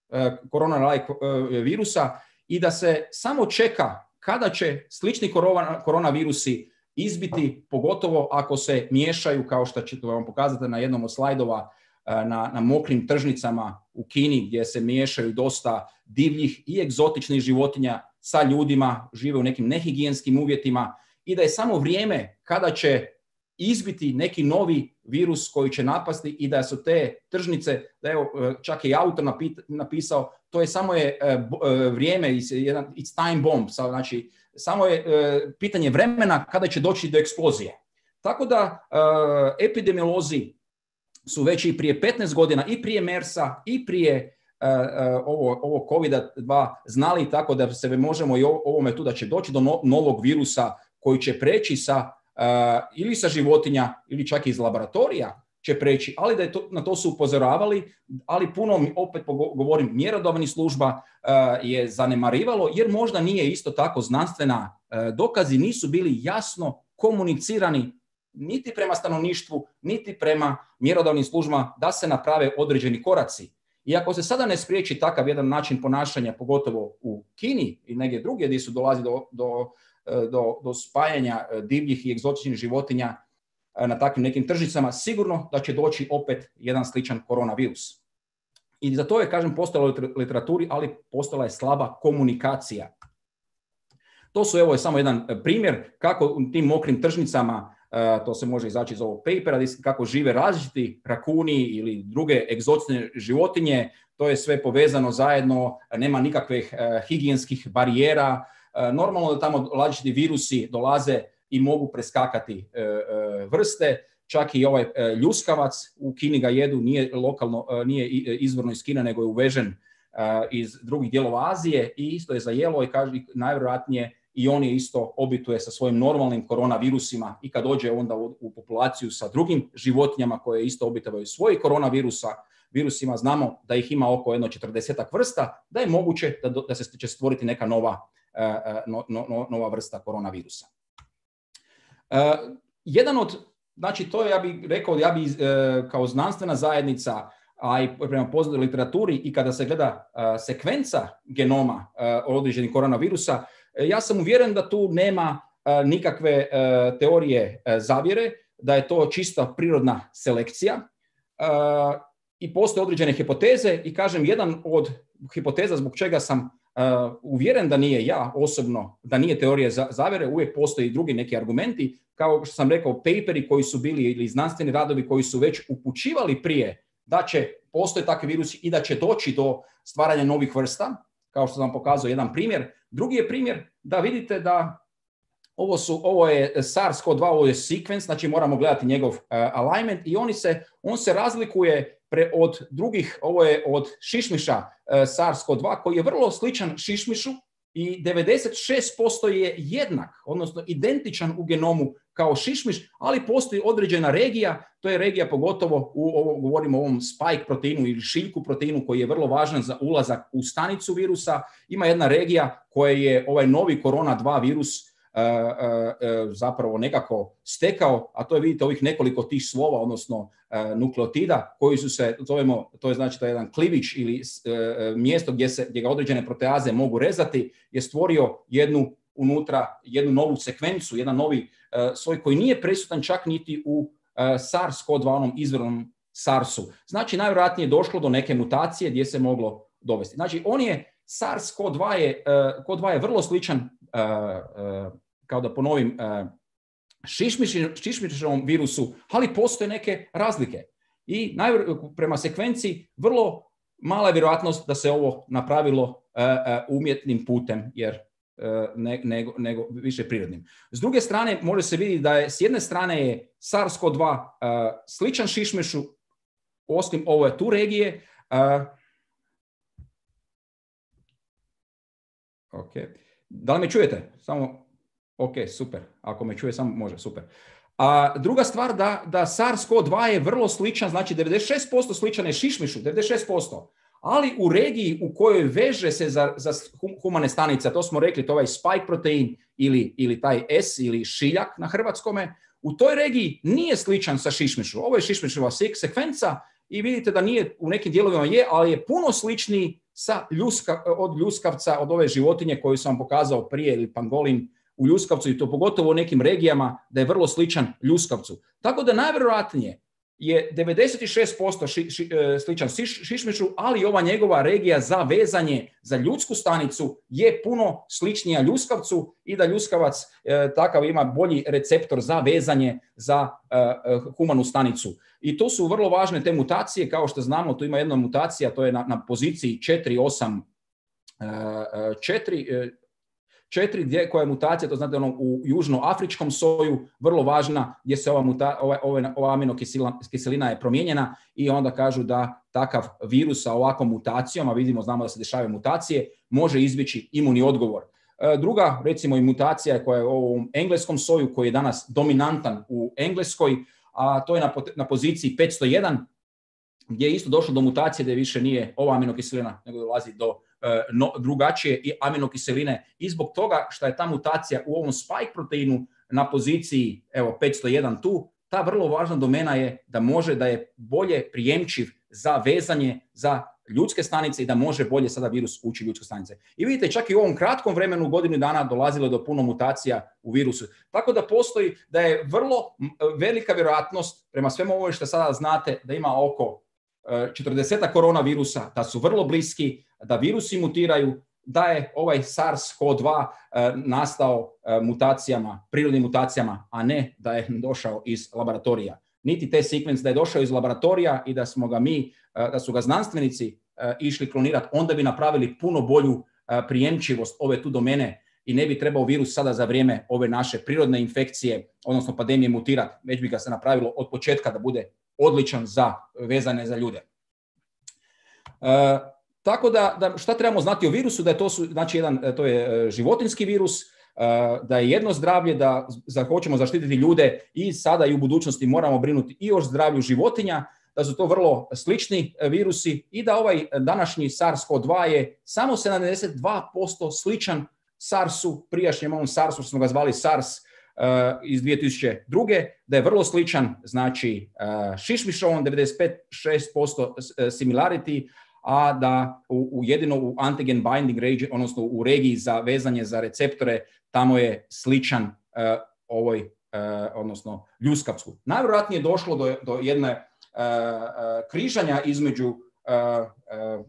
uh, korona-like uh, virusa i da se samo čeka kada će slični korona, koronavirusi izbiti, pogotovo ako se miješaju, kao što ćete vam pokazati na jednom od slajdova, na, na mokrim tržnicama u Kini, gdje se miješaju dosta divljih i egzotičnih životinja sa ljudima, žive u nekim nehigijenskim uvjetima, i da je samo vrijeme kada će izbiti neki novi virus koji će napasti i da su te tržnice, da evo čak i autor napisao, to je samo je vrijeme, it's time bomb, znači samo je pitanje vremena kada će doći do eksplozije. Tako da epidemiolozi su već i prije petnaest godina, i prije MERS-a, i prije ovo, ovo kovid dva znali, tako da se možemo i ovome tu da će doći do no, novog virusa koji će preći sa Uh, ili sa životinja ili čak iz laboratorija će preći, ali da je to, na to su upozoravali, ali puno, opet govorim, mjerodavnih služba uh, je zanemarivalo, jer možda nije isto tako znanstvena, uh, dokazi nisu bili jasno komunicirani niti prema stanovništvu, niti prema mjerodavnim službama da se naprave određeni koraci. I ako se sada ne spriječi takav jedan način ponašanja, pogotovo u Kini i negdje drugdje gdje su dolazi do, do Do, do spajanja divljih i egzotičnih životinja na takvim nekim tržnicama, sigurno da će doći opet jedan sličan koronavirus. I za to je, kažem, postojala u literaturi, ali postojala je slaba komunikacija. To su, evo je samo jedan primjer kako u tim mokrim tržnicama, to se može izaći iz ovog papera, kako žive različiti rakuni ili druge egzotične životinje. To je sve povezano zajedno, nema nikakvih higijenskih barijera. Normalno da tamo različiti virusi dolaze i mogu preskakati e, e, vrste, čak i ovaj e, ljuskavac u Kini ga jedu, nije lokalno, e, nije izvorno iz Kine, nego je uvežen e, iz drugih dijelova Azije i isto je zajelo i kaže najvjerojatnije i on je isto obituje sa svojim normalnim koronavirusima i kad dođe onda u, u populaciju sa drugim životinjama koje isto obitavaju svojih koronavirusa, virusima, znamo da ih ima oko jedno četrdesetak vrsta, da je moguće da, da se će stvoriti neka nova, no, no, nova vrsta koronavirusa. Uh, jedan od, znači to je, ja bih rekao, ja bih uh, kao znanstvena zajednica, a i prema poznatoj literaturi i kada se gleda uh, sekvenca genoma uh, određenih koronavirusa, uh, ja sam uvjeren da tu nema uh, nikakve uh, teorije uh, zavjere, da je to čista prirodna selekcija uh, i postoje određene hipoteze i kažem, jedan od hipoteza zbog čega sam Uh, uvjeren da nije ja osobno, da nije teorija zavjere, uvijek postoji drugi neki argumenti, kao što sam rekao, paperi koji su bili ili znanstveni radovi koji su već upućivali prije da će postoje takvi virusi i da će doći do stvaranja novih vrsta, kao što sam pokazao jedan primjer. Drugi je primjer da vidite da ovo, su, ovo je SARS-C o V dva, ovo je sequence, znači moramo gledati njegov uh, alignment i oni se, on se razlikuje Pre, od drugih, ovo je od šišmiša uh, SARS-C o V dva koji je vrlo sličan šišmišu i devedeset šest posto je jednak, odnosno identičan u genomu kao šišmiš, ali postoji određena regija, to je regija pogotovo, u, ovo, govorimo o ovom spike proteinu ili šiljku proteinu koji je vrlo važan za ulazak u stanicu virusa. Ima jedna regija koja je ovaj novi korona dva virus Uh, uh, zapravo nekako stekao, a to je, vidite, ovih nekoliko tih slova, odnosno uh, nukleotida koji su se, zovemo, to je znači to je jedan klivić ili uh, mjesto gdje se gdje ga određene proteaze mogu rezati, je stvorio jednu unutra, jednu novu sekvencu, jedan novi uh, svoj koji nije prisutan čak niti u uh, SARS-C o V dva, onom izvornom SARS-u. Znači, najvjerojatnije je došlo do neke mutacije gdje se moglo dovesti. Znači, on je, SARS-C o V dva je, uh, C o V dva je vrlo sličan uh, uh, kao da ponovim, šišmišovom virusu, ali postoje neke razlike. I prema sekvenciji vrlo mala je vjerojatnost da se ovo napravilo umjetnim putem, jer ne, nego, nego više prirodnim. S druge strane, može se vidjeti da je s jedne strane je SARS-C o V dva sličan šišmišu, osim ove tu regije. Ok. Da li me čujete? Samo... Ok, super. Ako me čuje, samo može, super. A druga stvar, da, da SARS-C o V dva je vrlo sličan, znači devedeset šest posto sličan je šišmišu, devedeset šest posto. Ali u regiji u kojoj veže se za, za humane stanice, to smo rekli, to ovaj spike protein ili, ili taj S ili šiljak na hrvatskome, u toj regiji nije sličan sa šišmišu. Ovo je šišmišova sekvenca i vidite da nije, u nekim dijelovima je, ali je puno sličniji sa ljuska, od ljuskavca, od ove životinje koju sam vam pokazao prije, ili pangolin, u ljuskavcu, i to pogotovo u nekim regijama da je vrlo sličan ljuskavcu. Tako da najvjerojatnije je devedeset šest posto ši, ši, sličan šiš, šišmišu, ali ova njegova regija za vezanje za ljudsku stanicu je puno sličnija ljuskavcu i da ljuskavac e, takav ima bolji receptor za vezanje za e, humanu stanicu. I to su vrlo važne te mutacije, kao što znamo, tu ima jedna mutacija, to je na, na poziciji četiri osam četiri, četiri, gdje, koja je mutacija, to znate ono, u južnoafričkom soju, vrlo važna, gdje se ova, muta, ova, ova, ova aminokiselina je promijenjena i onda kažu da takav virus sa ovakvom mutacijom, a vidimo, znamo da se dešavaju mutacije, može izbjeći imunni odgovor. Druga, recimo, i mutacija koja je u ovom engleskom soju, koji je danas dominantan u Engleskoj, a to je na, na poziciji petsto jedan, gdje je isto došlo do mutacije da više nije ova aminokiselina, nego dolazi do No, drugačije i aminokiseline, i zbog toga što je ta mutacija u ovom spike proteinu na poziciji evo petsto jedan tu, ta vrlo važna domena je da može da je bolje prijemčiv za vezanje za ljudske stanice i da može bolje sada virus ući u ljudske stanice. I vidite, čak i u ovom kratkom vremenu, godinu dana, dolazilo do puno mutacija u virusu. Tako da postoji da je vrlo velika vjerojatnost, prema svemu ovo što sada znate, da ima oko četrdeset koronavirusa, da su vrlo bliski, da virusi mutiraju, da je ovaj SARS-C o V dva e, nastao e, mutacijama, prirodnim mutacijama, a ne da je došao iz laboratorija. Niti te sekvence da je došao iz laboratorija i da smo ga mi, e, da su ga znanstvenici e, išli klonirati, onda bi napravili puno bolju e, prijemčivost ove tu domene i ne bi trebao virus sada za vrijeme ove naše prirodne infekcije, odnosno pandemije, mutirati. Već bi ga se napravilo od početka da bude odličan za vezane za ljude. E, tako da, da šta trebamo znati o virusu, da je to, su, znači jedan, to je životinjski virus, da je jedno zdravlje, da, da hoćemo zaštititi ljude i sada i u budućnosti moramo brinuti i o zdravlju životinja, da su to vrlo slični virusi i da ovaj današnji SARS-CoV dva je samo sedamdeset dva posto sličan SARS-u, prijašnjem ovom SARS-u, smo ga zvali SARS uh, iz dvije tisuće druge, da je vrlo sličan, znači uh, šišmišovom, devedeset pet zarez šest posto similarity, a da u, u jedino u antigen binding region, odnosno u regiji za vezanje za receptore, tamo je sličan uh, ovoj, uh, odnosno ljuskavcu. Najvjerojatnije je došlo do, do jedne uh, uh, križanja između uh, uh,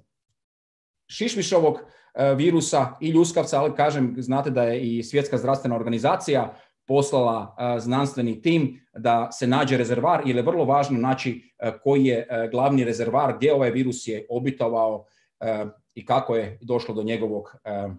šišmišovog uh, virusa i ljuskavca, ali kažem, znate da je i Svjetska zdravstvena organizacija poslala uh, znanstveni tim da se nađe rezervar, jer je vrlo važno naći uh, koji je uh, glavni rezervar, gdje ovaj virus je obitovao uh, i kako je došlo do njegovog uh,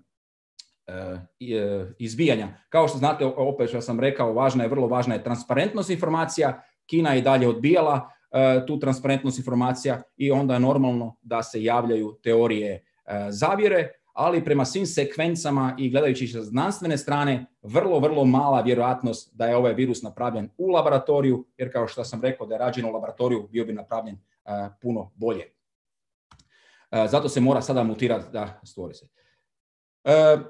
uh, izbijanja. Kao što znate, opet što sam rekao, važna je, vrlo važna je transparentnost informacija. Kina je dalje odbijala uh, tu transparentnost informacija i onda je normalno da se javljaju teorije uh, zavjere, ali prema svim sekvencama i gledajući sa znanstvene strane, vrlo, vrlo mala vjerojatnost da je ovaj virus napravljen u laboratoriju, jer kao što sam rekao da je rađen u laboratoriju, bio bi napravljen uh, puno bolje. Uh, zato se mora sada mutirati da stvori se. Uh,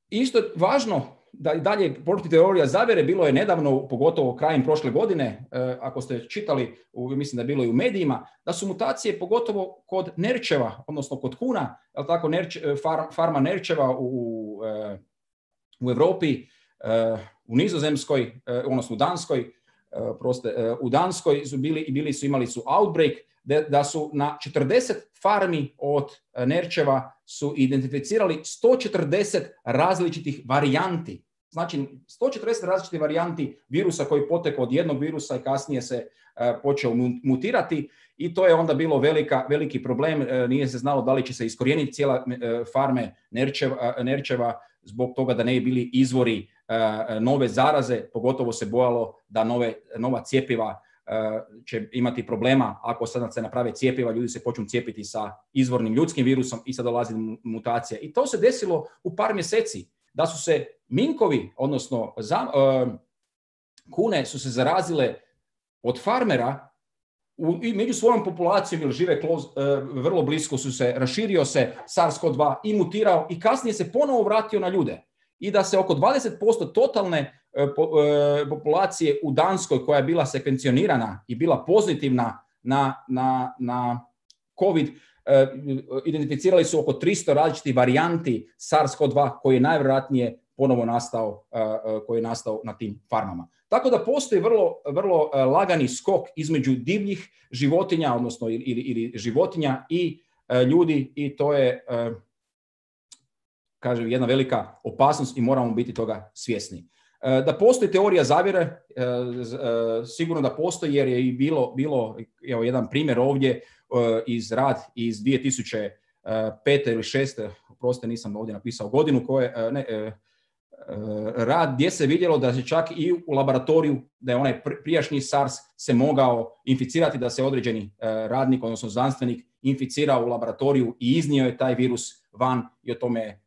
isto važno da i dalje protiv teorija zavjere, bilo je nedavno, pogotovo krajem prošle godine, uh, ako ste čitali, u, mislim da je bilo i u medijima, da su mutacije pogotovo kod nerčeva, odnosno kod kuna, je li tako, nerč, far, farma nerčeva u, uh, u Europi, uh, u Nizozemskoj, uh, odnosno u Danskoj, uh, proste, uh, u Danskoj su bili i bili su imali su outbreak, da, da su na četrdeset farmi od uh, nerčeva su identificirali sto četrdeset različitih varijanti. Znači, sto četrdeset različitih varijanti virusa koji potekao od jednog virusa i kasnije se uh, počeo mutirati i to je onda bilo velika, veliki problem. Uh, nije se znalo da li će se iskorijeniti cijela uh, farme nerčeva, uh, nerčeva zbog toga da ne bi bili izvori uh, nove zaraze. Pogotovo se bojalo da nove, nova cjepiva uh, će imati problema. Ako sad se naprave cjepiva, ljudi se počnu cijepiti sa izvornim ljudskim virusom i sad dolazi mutacija. I to se desilo u par mjeseci. Da su se minkovi, odnosno za, uh, kune su se zarazile od farmera u, i među svojom populacijom, jer žive close, uh, vrlo blisko, su se, raširio se SARS-CoV dva i mutirao i kasnije se ponovo vratio na ljude. I da se oko dvadeset posto totalne uh, po, uh, populacije u Danskoj koja je bila sekvencionirana i bila pozitivna na, na, na COVID, Uh, identificirali su oko tristo različitih varijanti SARS-CoV dva koji je najvjerojatnije ponovo nastao, uh, uh, koji je nastao na tim farmama. Tako da postoji vrlo, vrlo uh, lagani skok između divljih životinja, odnosno ili, ili, ili životinja i uh, ljudi i to je, uh, kažem, jedna velika opasnost i moramo biti toga svjesni. Uh, da postoji teorija zavjere, uh, uh, sigurno da postoji jer je i bilo, bilo evo, jedan primjer ovdje iz rad iz dvije tisuće pete ili šeste, prosto nisam ovdje napisao godinu, koje, ne, rad gdje se vidjelo da se čak i u laboratoriju, da je onaj prijašnji SARS se mogao inficirati, da se određeni radnik, odnosno znanstvenik, inficirao u laboratoriju i iznio je taj virus van i o tome je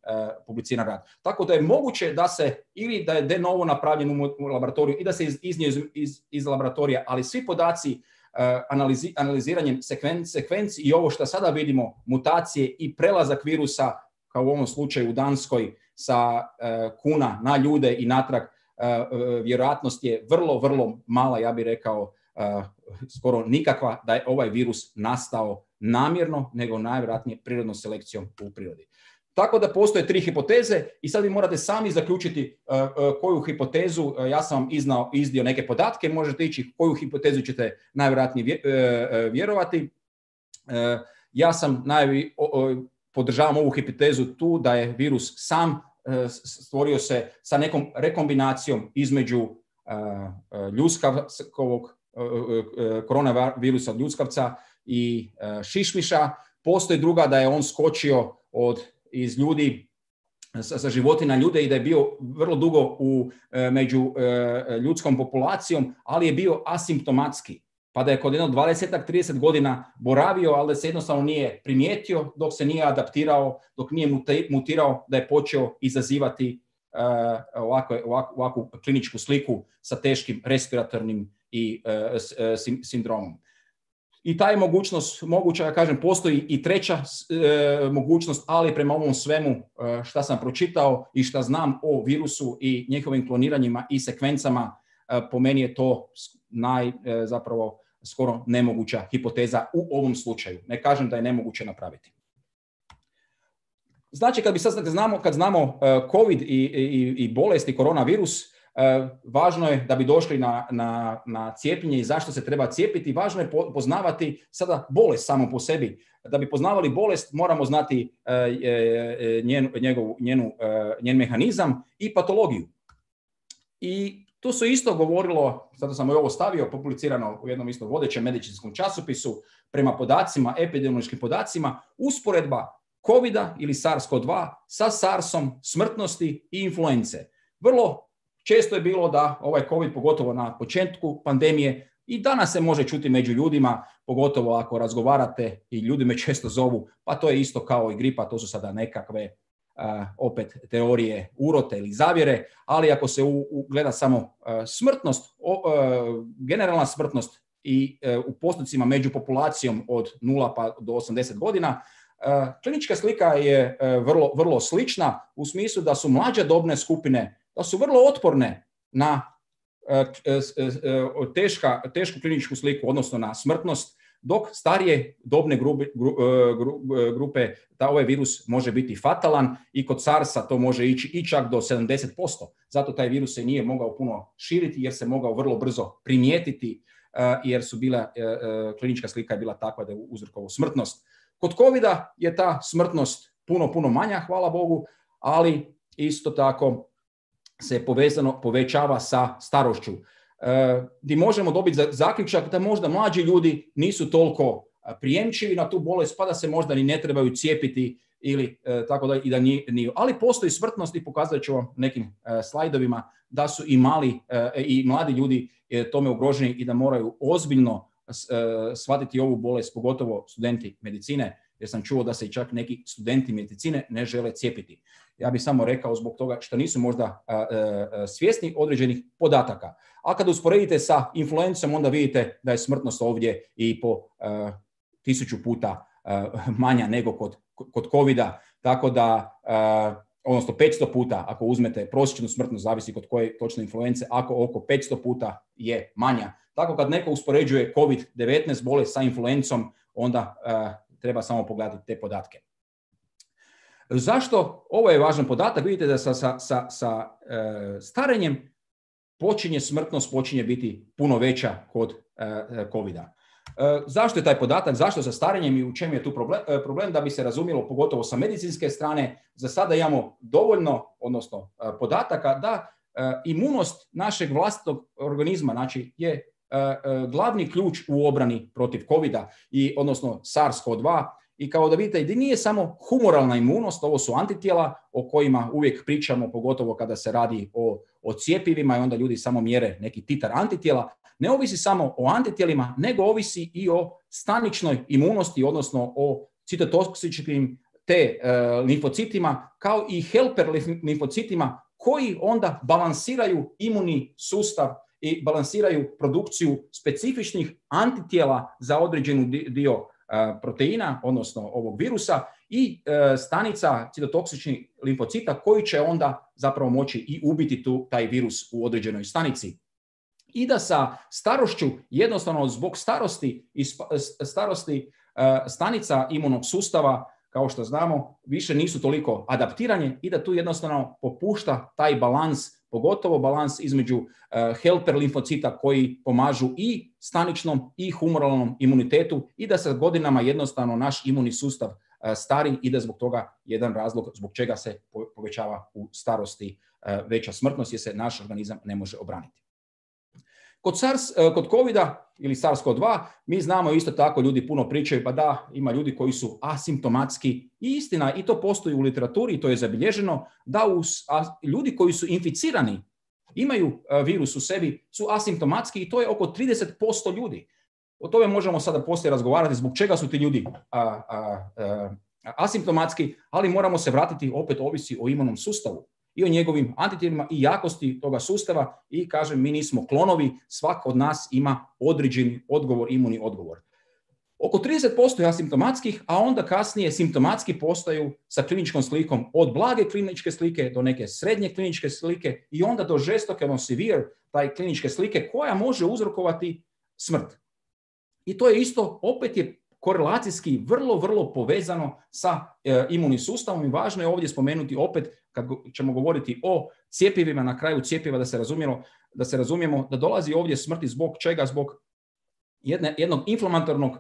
publiciran rad. Tako da je moguće da se, ili da je de novo napravljen u laboratoriju i da se iznio iz, iz, iz laboratorija, ali svi podaci Analizi, analiziranjem sekvenci, sekvenci i ovo što sada vidimo, mutacije i prelazak virusa, kao u ovom slučaju u Danskoj, sa uh, kuna na ljude i natrag, uh, uh, vjerojatnost je vrlo, vrlo mala, ja bih rekao, uh, skoro nikakva, da je ovaj virus nastao namjerno, nego najvjerojatnije prirodnom selekcijom u prirodi. Tako da postoje tri hipoteze i sad vi morate sami zaključiti uh, uh, koju hipotezu, uh, ja sam vam iznao, izdio neke podatke, možete ići koju hipotezu ćete najvjerojatnije vje, uh, vjerovati. Uh, ja sam najvi, uh, uh, podržavam ovu hipotezu tu da je virus sam uh, stvorio se sa nekom rekombinacijom između uh, uh, ljuskavkovog uh, uh, koronavirusa od ljuskavca i uh, šišmiša. Postoji druga da je on skočio od iz ljudi, sa, sa životinja ljude i da je bio vrlo dugo u, među e, ljudskom populacijom, ali je bio asimptomatski. Pa da je kod jedno dvadeset do trideset godina boravio, ali da se jednostavno nije primijetio dok se nije adaptirao, dok nije mutirao, da je počeo izazivati e, ovakvu, ovakvu, ovakvu kliničku sliku sa teškim respiratornim i e, s, e, sindromom. I ta je mogućnost moguća, ja kažem, postoji i treća e, mogućnost, ali prema ovom svemu e, šta sam pročitao i šta znam o virusu i njihovim kloniranjima i sekvencama, e, po meni je to naj, e, zapravo skoro nemoguća hipoteza u ovom slučaju. Ne kažem da je nemoguće napraviti. Znači, kad bi sad znamo, kad znamo uh, COVID i, i, i bolest i koronavirus, uh, važno je da bi došli na, na, na cijepljenje i zašto se treba cijepiti, važno je po, poznavati sada bolest samo po sebi. Da bi poznavali bolest, moramo znati uh, njen, njegov, njenu, uh, njen mehanizam i patologiju. I tu se isto govorilo, zato sam i ovo stavio, publicirano u jednom isto vodećem medicinskom časopisu, prema podacima, epidemiološkim podacima, usporedba covida ili SARS-CoV dva sa SARS-om, smrtnosti i influence. Vrlo često je bilo da ovaj COVID, pogotovo na početku pandemije, i danas se može čuti među ljudima, pogotovo ako razgovarate i ljudi me često zovu, pa to je isto kao i gripa, to su sada nekakve Uh, opet teorije urote ili zavjere, ali ako se u, u gleda samo uh, smrtnost, o, uh, generalna smrtnost i uh, u postocima među populacijom od nula pa do osamdeset godina, uh, klinička slika je uh, vrlo, vrlo slična u smislu da su mlađe dobne skupine, da su vrlo otporne na uh, uh, uh, teška, tešku kliničku sliku, odnosno na smrtnost, dok starije dobne grupe, gru, gru, grupe da ovaj virus može biti fatalan i kod SARS-a to može ići i čak do sedamdeset posto. Zato taj virus se nije mogao puno širiti jer se mogao vrlo brzo primijetiti jer su bila, klinička slika je bila takva da je uzrokovao smrtnost. Kod covida je ta smrtnost puno, puno manja, hvala Bogu, ali isto tako se povezano povećava sa starošću. Gdje možemo dobiti zaključak da možda mlađi ljudi nisu toliko prijemčivi na tu bolest, pa da se možda ni ne trebaju cijepiti ili tako da i da nije. Ali postoji smrtnost i pokazat ću vam nekim slajdovima da su i mali i mladi ljudi tome ugroženi i da moraju ozbiljno shvatiti ovu bolest, pogotovo studenti medicine, jer sam čuo da se i čak neki studenti medicine ne žele cijepiti. Ja bih samo rekao zbog toga što nisu možda a, a, svjesni određenih podataka. A kada usporedite sa influencom, onda vidite da je smrtnost ovdje i po a, tisuću puta a, manja nego kod, kod covida. Tako da, a, odnosno petsto puta, ako uzmete prosječnu smrtnost, zavisi kod koje točne influence, ako oko petsto puta je manja. Tako kad neko uspoređuje kovid devetnaest bolest sa influencom, onda a, treba samo pogledati te podatke. Zašto? Ovo je važan podatak. Vidite da sa, sa, sa, sa e, starenjem počinje smrtnost počinje biti puno veća kod e, covida. E, zašto je taj podatak? Zašto sa starenjem i u čemu je tu problem? E, problem da bi se razumjelo, pogotovo sa medicinske strane, za sada imamo dovoljno, odnosno e, podataka da e, imunost našeg vlastitog organizma, znači je e, e, glavni ključ u obrani protiv covida i odnosno SARS-CoV dva. I kao da vidite, da nije samo humoralna imunost, ovo su antitijela o kojima uvijek pričamo, pogotovo kada se radi o, o cjepivima i onda ljudi samo mjere neki titar antitijela. Ne ovisi samo o antitijelima, nego ovisi i o staničnoj imunosti, odnosno o citotoksičnim te e, limfocitima, kao i helper limfocitima koji onda balansiraju imunni sustav i balansiraju produkciju specifičnih antitijela za određenu dio proteina, odnosno ovog virusa i e, stanica citotoksičnih limfocita koji će onda zapravo moći i ubiti tu taj virus u određenoj stanici. I da sa starošću, jednostavno zbog starosti i starosti e, stanica imunog sustava, kao što znamo, više nisu toliko adaptiranje i da tu jednostavno popušta taj balans, pogotovo balans između uh, helper limfocita koji pomažu i staničnom i humoralnom imunitetu i da sa godinama jednostavno naš imunni sustav uh, stari i da zbog toga jedan razlog zbog čega se povećava u starosti uh, veća smrtnost jer se naš organizam ne može obraniti. Kod SARS, kod covida ili SARS-CoV dva mi znamo isto tako, ljudi puno pričaju, pa da, ima ljudi koji su asimptomatski i istina, i to postoji u literaturi, i to je zabilježeno, da uz, a, ljudi koji su inficirani, imaju a, virus u sebi, su asimptomatski i to je oko trideset posto ljudi. O tome možemo sada poslije razgovarati zbog čega su ti ljudi a, a, a, asimptomatski, ali moramo se vratiti, opet ovisi o imunom sustavu i o njegovim antitijelima i jakosti toga sustava i kažem, mi nismo klonovi, svak od nas ima određeni odgovor, imunni odgovor. Oko trideset posto je asimptomatskih, a onda kasnije simptomatski postaju sa kliničkom slikom od blage kliničke slike do neke srednje kliničke slike i onda do žestoke, ono severe, taj kliničke slike koja može uzrokovati smrt. I to je isto, opet je korelacijski vrlo, vrlo povezano sa e, imunim sustavom i važno je ovdje spomenuti opet, kad ćemo govoriti o cjepivima, na kraju cjepiva da se razumijemo, da se razumijemo da dolazi ovdje smrti zbog čega? Zbog jedne, jednog inflamatornog uh,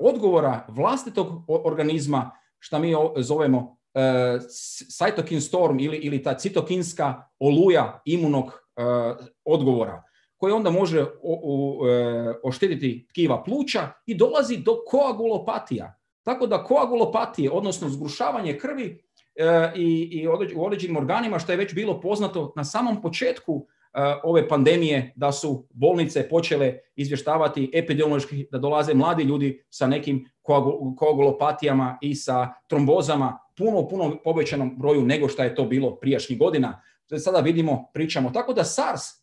odgovora vlastitog organizma, što mi zovemo uh, cytokine storm ili, ili ta citokinska oluja imunog uh, odgovora, koji onda može o, o, o, oštetiti tkiva pluća i dolazi do koagulopatija. Tako da koagulopatije, odnosno zgrušavanje krvi e, i, i u određenim organima, što je već bilo poznato na samom početku e, ove pandemije, da su bolnice počele izvještavati epidemiološki da dolaze mladi ljudi sa nekim koagulopatijama i sa trombozama, puno, puno povećanom broju nego što je to bilo prijašnjih godina. Sada vidimo, pričamo. Tako da SARS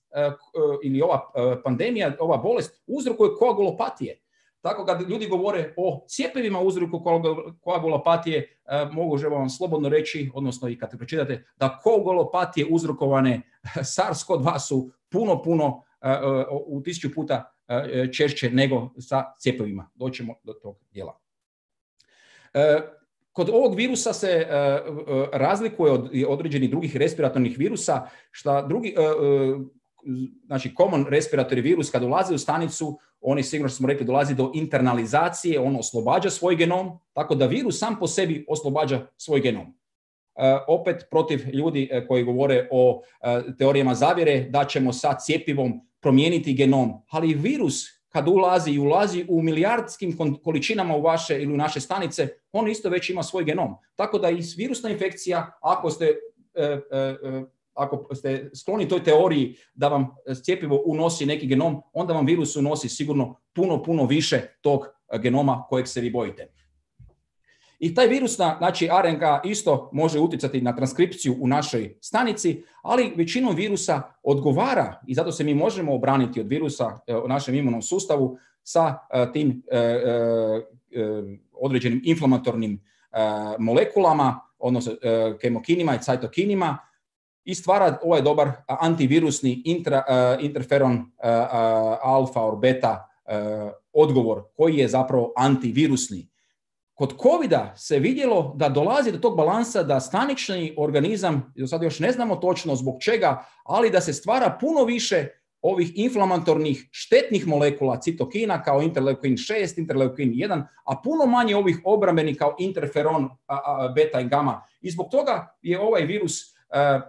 ili ova pandemija, ova bolest uzrokuje koagulopatije. Tako kad ljudi govore o cjepivima uzroku koagulopatije, mogu vam slobodno reći, odnosno i kad pročitate, da koagulopatije uzrokovane SARS-CoV dva su puno, puno u tisuću puta češće nego sa cjepivima. Doćemo do tog dijela. Kod ovog virusa se razlikuje od određenih drugih respiratornih virusa, što drugi znači common respiratory virus kad ulazi u stanicu, oni sigurno smo rekli dolazi do internalizacije, on oslobađa svoj genom, tako da virus sam po sebi oslobađa svoj genom. Uh, opet protiv ljudi uh, koji govore o uh, teorijama zavjere da ćemo sa cjepivom promijeniti genom, ali virus kad ulazi i ulazi u milijardskim količinama u vaše ili u naše stanice, on isto već ima svoj genom. Tako da i virusna infekcija, ako ste uh, uh, uh, ako ste skloni toj teoriji da vam cjepivo unosi neki genom, onda vam virus unosi sigurno puno, puno više tog genoma kojeg se vi bojite. I taj virusna, znači R N A isto može utjecati na transkripciju u našoj stanici, ali većinom virusa odgovara i zato se mi možemo obraniti od virusa u našem imunom sustavu sa tim određenim inflamatornim molekulama, odnosno kemokinima i citokinima, i stvara ovaj dobar antivirusni intra, uh, interferon uh, uh, alfa or beta uh, odgovor koji je zapravo antivirusni. Kod covida se vidjelo da dolazi do tog balansa da stanični organizam, do sada još ne znamo točno zbog čega, ali da se stvara puno više ovih inflamatornih štetnih molekula citokina kao interleukin šest, interleukin jedan, a puno manje ovih obrambenih kao interferon uh, uh, beta i gamma. I zbog toga je ovaj virus uh,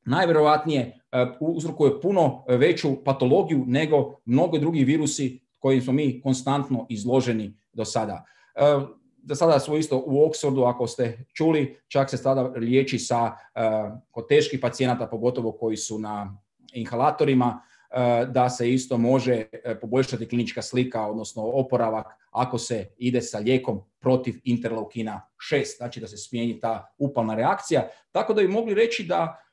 najvjerojatnije uh, uzrokuje puno veću patologiju nego mnogi drugi virusi kojim smo mi konstantno izloženi do sada. Uh, do sada smo isto u Oxfordu, ako ste čuli, čak se sada liječi sa, uh, kod teških pacijenata, pogotovo koji su na inhalatorima, uh, da se isto može uh, poboljšati klinička slika, odnosno oporavak, ako se ide sa lijekom protiv interleukina šest, znači da se smijeni ta upalna reakcija. Tako da bi mogli reći da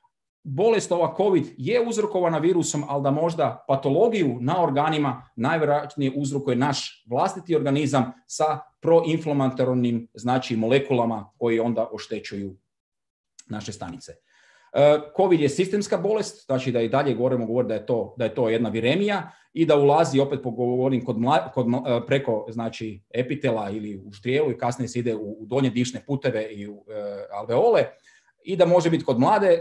bolest ova COVID je uzrokovana virusom, ali da možda patologiju na organima najvjerojatnije uzrokuje naš vlastiti organizam sa proinflamatornim, znači molekulama koji onda oštećuju naše stanice. COVID je sistemska bolest, znači da i dalje govorimo govori da je to da je to jedna viremija i da ulazi, opet pogovorim, kod, mla, kod preko znači epitela ili u štrijelu i kasnije se ide u, u donje dišne puteve i u e, alveole. I da može biti kod mlade e,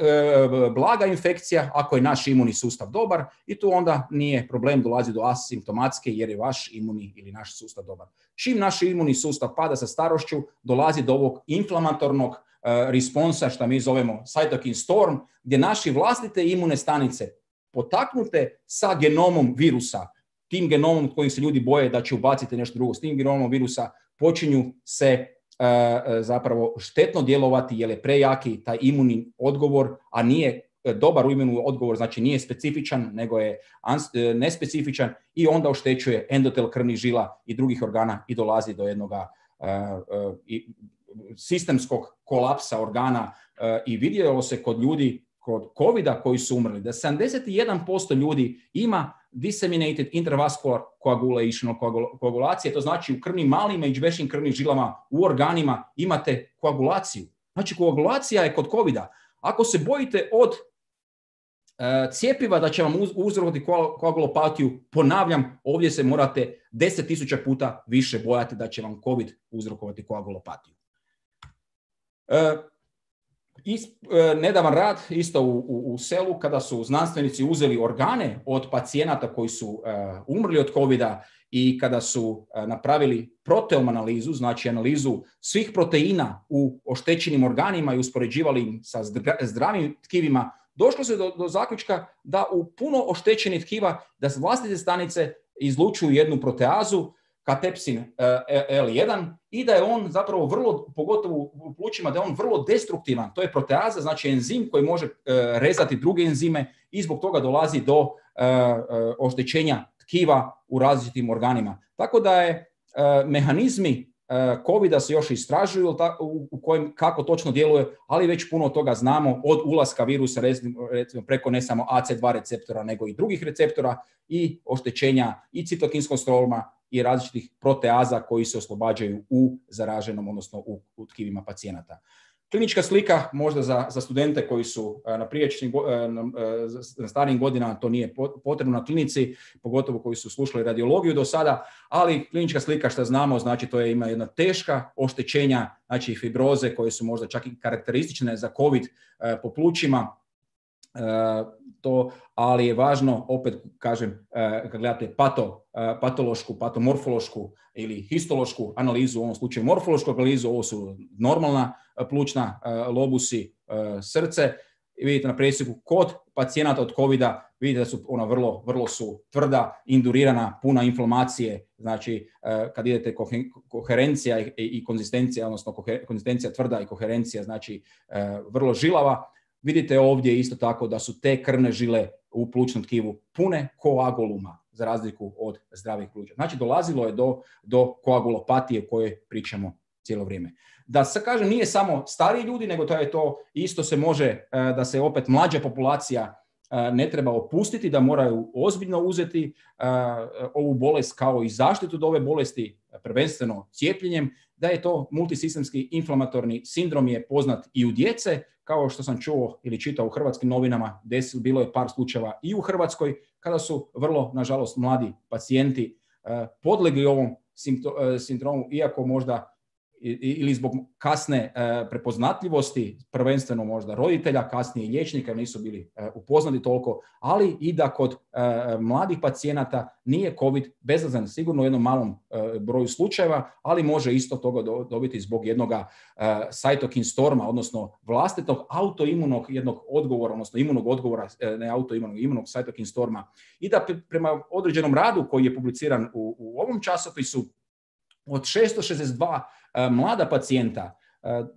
blaga infekcija ako je naš imunni sustav dobar i tu onda nije problem, dolazi do asimptomatske jer je vaš imunni ili naš sustav dobar. Čim naš imunni sustav pada sa starošću, dolazi do ovog inflamatornog e, responsa, što mi zovemo cytokine storm, gdje naše vlastite imune stanice potaknute sa genomom virusa, tim genomom kojim se ljudi boje da će ubaciti nešto drugo, s tim genomom virusa počinju se zapravo štetno djelovati jer je prejaki taj imunni odgovor, a nije dobar imunni odgovor, znači nije specifičan, nego je nespecifičan i onda oštećuje endotel krvnih žila i drugih organa i dolazi do jednog sistemskog kolapsa organa i vidjelo se kod ljudi kod covida koji su umrli, da sedamdeset jedan posto ljudi ima disseminated intravascular coagulation, koagulacija, to znači u krvnim malim i većim krvnim žilama u organima imate koagulaciju. Znači koagulacija je kod covida. Ako se bojite od uh, cijepiva da će vam uz, uzrokovati koagulopatiju, ponavljam, ovdje se morate deset tisuća puta više bojati da će vam covid uzrokovati koagulopatiju. Uh, Is, e, nedavan rad isto u, u, u selu kada su znanstvenici uzeli organe od pacijenata koji su e, umrli od covida i kada su e, napravili proteom analizu, znači analizu svih proteina u oštećenim organima i uspoređivali im sa zdravim tkivima, došlo se do, do zaključka da u puno oštećenih tkiva da vlastite stanice izlučuju jednu proteazu, katepsin el jedan, i da je on zapravo vrlo, pogotovo u plućima, da je on vrlo destruktivan. To je proteaza, znači enzim koji može rezati druge enzime i zbog toga dolazi do oštećenja tkiva u različitim organima. Tako da je mehanizmi covida se još istražuju u kojem kako točno djeluje, ali već puno toga znamo od ulaska virusa recimo preko ne samo A C dva receptora nego i drugih receptora i oštećenja i citokinskog stroma i različitih proteaza koji se oslobađaju u zaraženom, odnosno u, u tkivima pacijenata. Klinička slika možda za, za studente koji su na prijašnjim, na starijim godinama, to nije potrebno na klinici, pogotovo koji su slušali radiologiju do sada, ali klinička slika što znamo, znači to je ima jedna teška oštećenja, znači fibroze koje su možda čak i karakteristične za COVID po plućima, to, ali je važno, opet kažem, kad gledate pato, patološku, patomorfološku ili histološku analizu, u ovom slučaju morfološku analizu, ovo su normalna plućna, lobusi, srce, i vidite na presjeku kod pacijenata od covida, vidite da su ona vrlo, vrlo su tvrda, indurirana, puna inflamacije, znači kad idete koherencija i, i konzistencija, odnosno konzistencija tvrda i koherencija, znači vrlo žilava. Vidite ovdje isto tako da su te krvne žile u plućnom tkivu pune koaguluma, za razliku od zdravih pluća. Znači dolazilo je do, do koagulopatije o kojoj pričamo cijelo vrijeme. Da se kažem, nije samo stariji ljudi, nego to je to isto se može, da se opet mlađa populacija ne treba opustiti, da moraju ozbiljno uzeti ovu bolest kao i zaštitu od ove bolesti, prvenstveno cijepljenjem, da je to multisistemski inflamatorni sindrom je poznat i u djece, kao što sam čuo ili čitao u hrvatskim novinama, desilo bilo je par slučajeva i u Hrvatskoj, kada su vrlo, nažalost, mladi pacijenti podlegli ovom sindromu, iako možda ili zbog kasne prepoznatljivosti, prvenstveno možda roditelja, kasnije i liječnika nisu bili upoznati toliko, ali i da kod mladih pacijenata nije COVID bezazlen, sigurno u jednom malom broju slučajeva, ali može isto toga dobiti zbog jednog cytokine storma, odnosno vlastitog autoimunog jednog odgovora, odnosno imunog odgovora, ne autoimunog, imunog cytokine storma. I da prema određenom radu koji je publiciran u, u ovom časopisu, od šesto šezdeset dva uh, mlada pacijenta uh,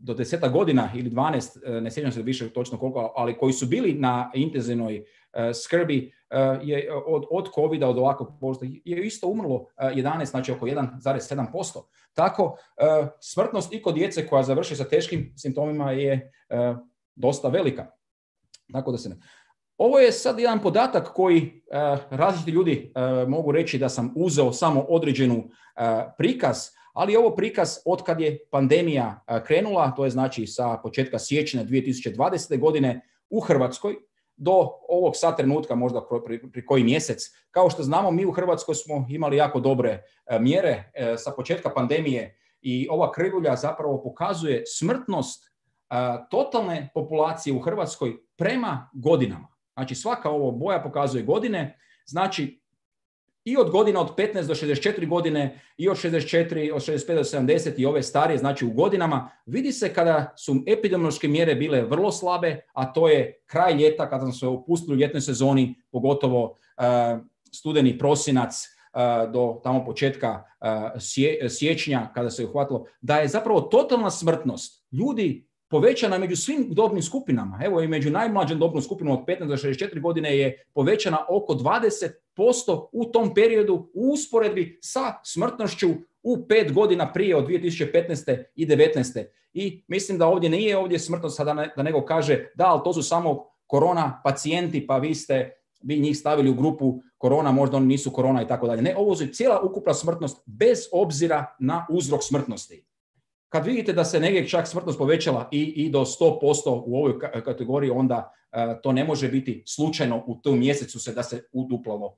do deseta godina ili dvanaest, uh, ne sjećam se više točno koliko, ali koji su bili na intenzivnoj uh, skrbi uh, je od, od covida, od ovakvog bolesti, je isto umrlo uh, jedanaest, znači oko jedan zarez sedam posto. Tako, uh, smrtnost i kod djece koja završi sa teškim simptomima je uh, dosta velika. Tako da se ne... Ovo je sad jedan podatak koji uh, različiti ljudi uh, mogu reći da sam uzeo samo određenu uh, prikaz, ali ovo prikaz od kad je pandemija uh, krenula, to je znači sa početka siječnja dvije tisuće dvadesete. godine u Hrvatskoj do ovog sad trenutka, možda pri, pri koji mjesec. Kao što znamo, mi u Hrvatskoj smo imali jako dobre uh, mjere uh, sa početka pandemije i ova krivulja zapravo pokazuje smrtnost uh, totalne populacije u Hrvatskoj prema godinama. Znači svaka ovo boja pokazuje godine, znači i od godina od petnaest do šezdeset četiri godine i od šezdeset četiri, od šezdeset pet do sedamdeset i ove starije, znači u godinama, vidi se kada su epidemiološke mjere bile vrlo slabe, a to je kraj ljeta kada smo se opustili u ljetnoj sezoni, pogotovo uh, studeni, prosinac uh, do tamo početka uh, sije, siječnja kada se je uhvatilo, da je zapravo totalna smrtnost ljudi povećana među svim dobnim skupinama. Evo i među najmlađom dobnom skupinom od petnaest do šezdeset četiri godine je povećana oko dvadeset posto u tom periodu u usporedbi sa smrtnošću u pet godina prije od dvije tisuće petnaeste i devetnaeste. I mislim da ovdje nije ovdje smrtnost sada ne, da nego kaže da, ali to su samo korona pacijenti, pa vi ste bi njih stavili u grupu korona, možda oni nisu korona i tako dalje. Ne, ovo je cijela ukupna smrtnost bez obzira na uzrok smrtnosti. Kad vidite da se negdje čak smrtnost povećala i, i do sto posto u ovoj kategoriji, onda uh, to ne može biti slučajno u tom mjesecu se da se uduplalo.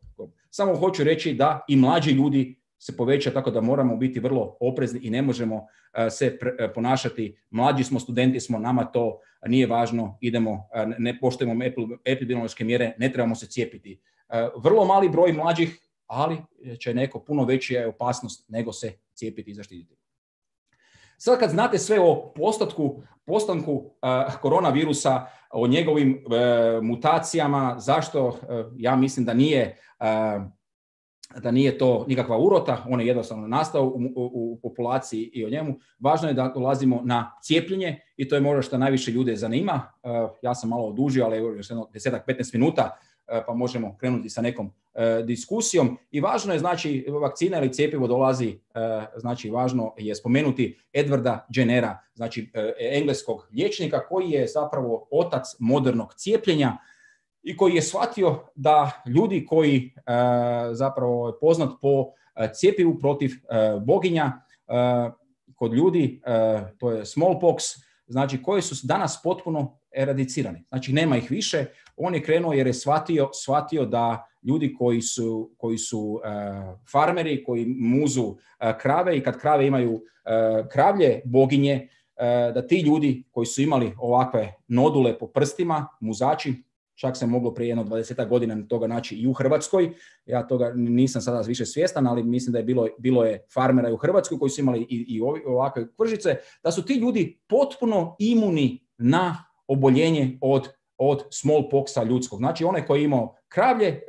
Samo hoću reći da i mlađi ljudi se poveća, tako da moramo biti vrlo oprezni i ne možemo uh, se pre, uh, ponašati. Mlađi smo, studenti smo, nama to nije važno, idemo, uh, ne poštujemo epidemiološke mjere, ne trebamo se cijepiti. Uh, vrlo mali broj mlađih, ali će neko puno veća opasnost nego se cijepiti i zaštititi. Sad kad znate sve o postotku, postanku uh, koronavirusa, o njegovim uh, mutacijama, zašto uh, ja mislim da nije, uh, da nije to nikakva urota, on je jednostavno nastao u, u, u populaciji i o njemu. Važno je da dolazimo na cijepljenje i to je možda što najviše ljude zanima. Uh, ja sam malo odužio, ali još jedno deset do petnaest minuta pa možemo krenuti sa nekom uh, diskusijom. I važno je, znači, vakcina ili cjepivo dolazi, uh, znači, važno je spomenuti Edwarda Jennera, znači, uh, engleskog liječnika koji je zapravo otac modernog cijepljenja i koji je shvatio da ljudi koji uh, zapravo je poznat po uh, cjepivu protiv uh, boginja, uh, kod ljudi, uh, to je smallpox, znači koji su danas potpuno eradicirani. Znači nema ih više. On je krenuo jer je shvatio, shvatio da ljudi koji su, koji su uh, farmeri, koji muzu uh, krave i kad krave imaju uh, kravlje boginje, uh, da ti ljudi koji su imali ovakve nodule po prstima, muzači, čak se moglo prije jedno dvadesetak godina toga naći i u Hrvatskoj. Ja toga nisam sada više svjestan, ali mislim da je bilo, bilo je farmera i u Hrvatskoj koji su imali i, i ovakve kvržice, da su ti ljudi potpuno imuni na oboljenje od, od smallpoxa ljudskog. Znači onaj koji je imao kravlje e,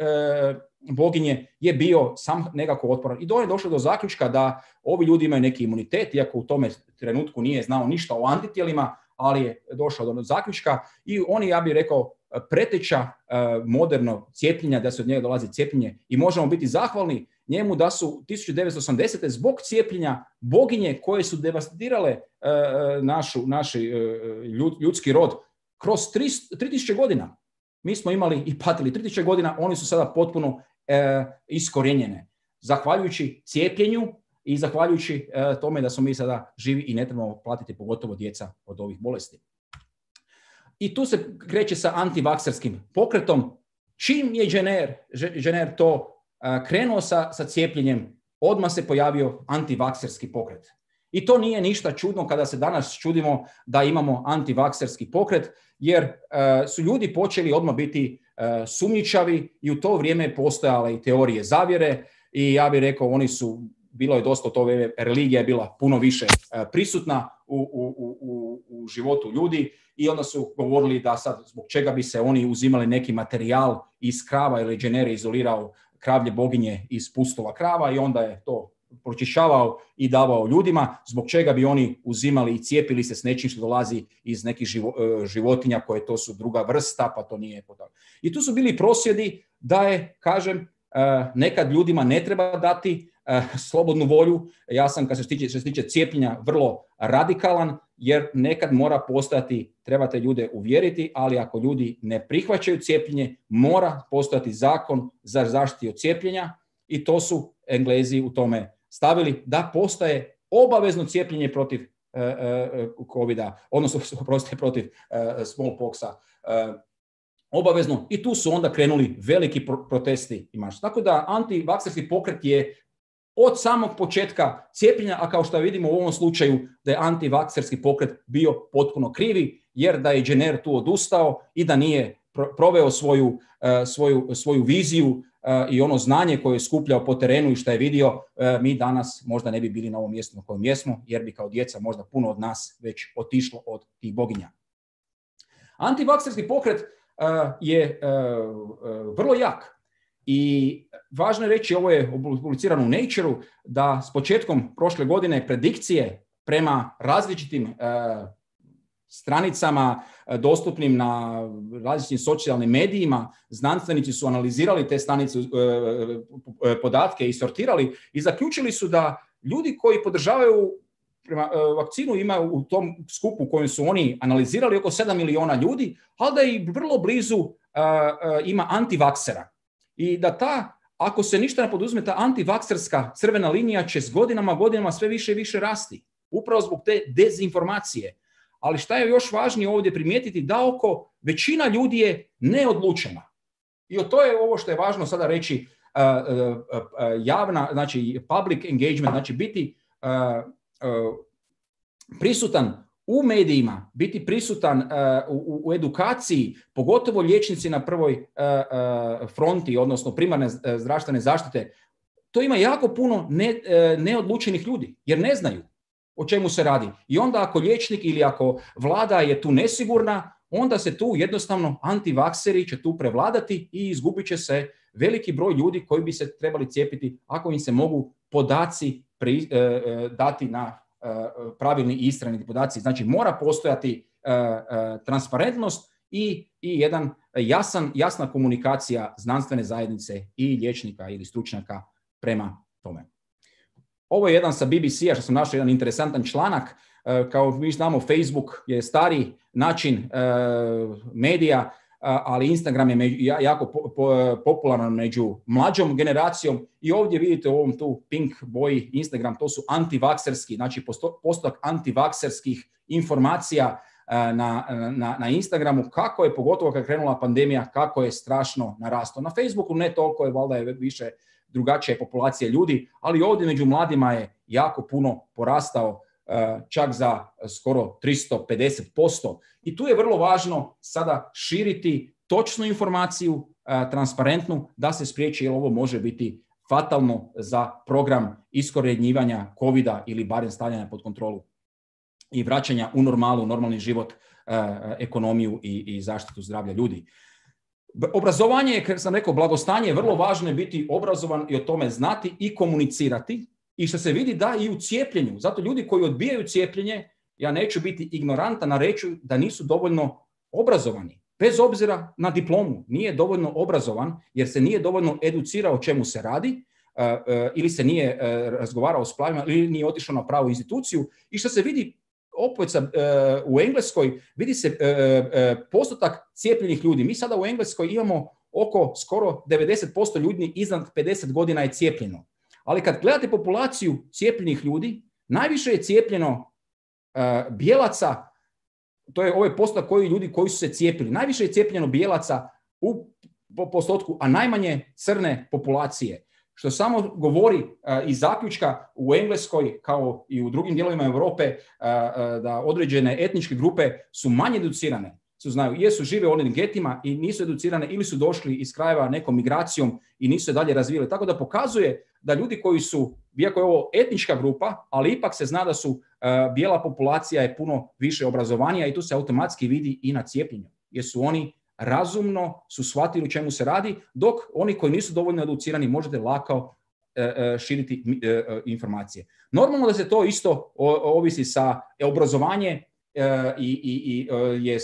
boginje je bio sam nekako otporan. I do je došlo do zaključka da ovi ljudi imaju neki imunitet, iako u tome trenutku nije znao ništa o antitijelima, ali je došao do zaključka i oni, ja bih rekao, preteča uh, modernog cijepljenja, da se od njega dolazi cijepljenje i možemo biti zahvalni njemu da su tisuću devetsto osamdesete zbog cijepljenja boginje koje su devastirale uh, našu, naši uh, ljud, ljudski rod kroz tri tisuće godina. Mi smo imali i patili tri tisuće godina, oni su sada potpuno uh, iskorjenjene. Zahvaljujući cijepljenju i zahvaljujući uh, tome da smo mi sada živi i ne trebamo platiti pogotovo djeca od ovih bolesti. I tu se kreće sa antivakserskim pokretom. Čim je Jenner, Jenner to uh, krenuo sa, sa cijepljenjem, odmah se pojavio antivakserski pokret. I to nije ništa čudno kada se danas čudimo da imamo antivakserski pokret, jer uh, su ljudi počeli odmah biti uh, sumnjičavi i u to vrijeme postojale i teorije zavjere i ja bih rekao oni su, bilo je dosta to vrijeme, religija je bila puno više uh, prisutna u, u, u, u životu ljudi. I onda su govorili da sad zbog čega bi se oni uzimali neki materijal iz krava ili Jenner je izolirao kravlje boginje iz pustova krava i onda je to pročišćavao i davao ljudima, zbog čega bi oni uzimali i cijepili se s nečim što dolazi iz nekih živo, životinja koje to su druga vrsta, pa to nije potrebno. I tu su bili prosvjedi da je, kažem, nekad ljudima ne treba dati slobodnu volju. Ja sam, kad se tiče, što se tiče cijepljenja, vrlo radikalan, jer nekad mora postojati, trebate ljude uvjeriti, ali ako ljudi ne prihvaćaju cijepljenje, mora postojati zakon za zaštitu od cijepljenja i to su Englezi u tome stavili da postaje obavezno cijepljenje protiv uh, uh, covida, odnosno protiv, protiv uh, smallpoxa. Uh, obavezno i tu su onda krenuli veliki pro- protesti i marš. Tako da antivakserski pokret je od samog početka cijepljenja, a kao što vidimo u ovom slučaju da je antivakserski pokret bio potpuno krivi, jer da je Jenner tu odustao i da nije proveo svoju, uh, svoju, svoju viziju uh, i ono znanje koje je skupljao po terenu i što je vidio, uh, mi danas možda ne bi bili na ovom mjestu na kojem jesmo, jer bi kao djeca možda puno od nas već otišlo od tih boginja. Antivakserski pokret uh, je uh, uh, vrlo jak. I važno je reći, ovo je publicirano u Nature-u, da s početkom prošle godine predikcije prema različitim uh, stranicama uh, dostupnim na različitim socijalnim medijima, znanstvenici su analizirali te stranice, uh, podatke i sortirali i zaključili su da ljudi koji podržavaju prema uh, vakcinu imaju u tom skupu u kojem su oni analizirali oko sedam miliona ljudi, ali da je vrlo blizu ima antivaksera. I da ta, ako se ništa ne poduzme, ta antivakserska crvena linija će s godinama, godinama sve više i više rasti. Upravo zbog te dezinformacije. Ali šta je još važnije ovdje primijetiti, da oko većina ljudi je neodlučena. I to je ovo što je važno sada reći, uh, uh, uh, javna, znači public engagement, znači biti uh, uh, prisutan u medijima, biti prisutan uh, u, u edukaciji, pogotovo liječnici na prvoj uh, uh, fronti, odnosno primarne zdravstvene zaštite, to ima jako puno ne, uh, neodlučenih ljudi, jer ne znaju o čemu se radi. I onda ako liječnik ili ako vlada je tu nesigurna, onda se tu jednostavno antivakseri će tu prevladati i izgubit će se veliki broj ljudi koji bi se trebali cijepiti ako im se mogu podaci pri, uh, uh, dati na pravilni i istiniti podaci. Znači mora postojati uh, uh, transparentnost i, i jedan jasan, jasna komunikacija znanstvene zajednice i liječnika ili stručnjaka prema tome. Ovo je jedan sa B B C-a što sam našao jedan interesantan članak. Uh, kao mi znamo, Facebook je stari način uh, medija, ali Instagram je među, jako po, po, popularan među mlađom generacijom i ovdje vidite u ovom tu pink boji Instagram, to su antivakserski, znači postotak antivakserskih informacija na, na, na Instagramu, kako je, pogotovo kad je krenula pandemija, kako je strašno narastao. Na Facebooku ne toliko, je valjda je više drugačija populacija ljudi, ali ovdje među mladima je jako puno porastao, čak za skoro tristo pedeset posto. I tu je vrlo važno sada širiti točnu informaciju, transparentnu, da se spriječi, jer ovo može biti fatalno za program iskorjenjivanja kovida ili barem stavljanja pod kontrolu i vraćanja u normalu, normalni život, ekonomiju i, i zaštitu zdravlja ljudi. Obrazovanje, kako sam rekao, blagostanje je vrlo važno, je biti obrazovan i o tome znati i komunicirati. I što se vidi da i u cijepljenju. Zato ljudi koji odbijaju cijepljenje, ja neću biti ignorantan, a reću da nisu dovoljno obrazovani. Bez obzira na diplomu, nije dovoljno obrazovan jer se nije dovoljno educirao o čemu se radi uh, uh, ili se nije uh, razgovarao s pravima ili nije otišao na pravu instituciju. I što se vidi opet uh, u Engleskoj, vidi se uh, uh, postotak cijepljenih ljudi. Mi sada u Engleskoj imamo oko skoro devedeset posto ljudi iznad pedeset godina je cijepljeno. Ali kad gledate populaciju cijepljenih ljudi, najviše je cijepljeno uh, bijelaca, to je ovaj postotak koji ljudi koji su se cijepili, najviše je cijepljeno bijelaca u po postotku, a najmanje crne populacije. Što samo govori uh, iz zaključka u Engleskoj kao i u drugim dijelovima Europe uh, uh, da određene etničke grupe su manje educirane. Su znaju, jesu žive u onim getima i nisu educirane ili su došli iz krajeva nekom migracijom i nisu se dalje razvijeli. Tako da pokazuje da ljudi koji su, iako je ovo etnička grupa, ali ipak se zna da su uh, bijela populacija je puno više obrazovanija i tu se automatski vidi i na cijepljenju. Jer su oni razumno su shvatili o čemu se radi, dok oni koji nisu dovoljno educirani možete lako uh, uh, širiti uh, informacije. Normalno da se to isto o, ovisi sa obrazovanje i, i, i je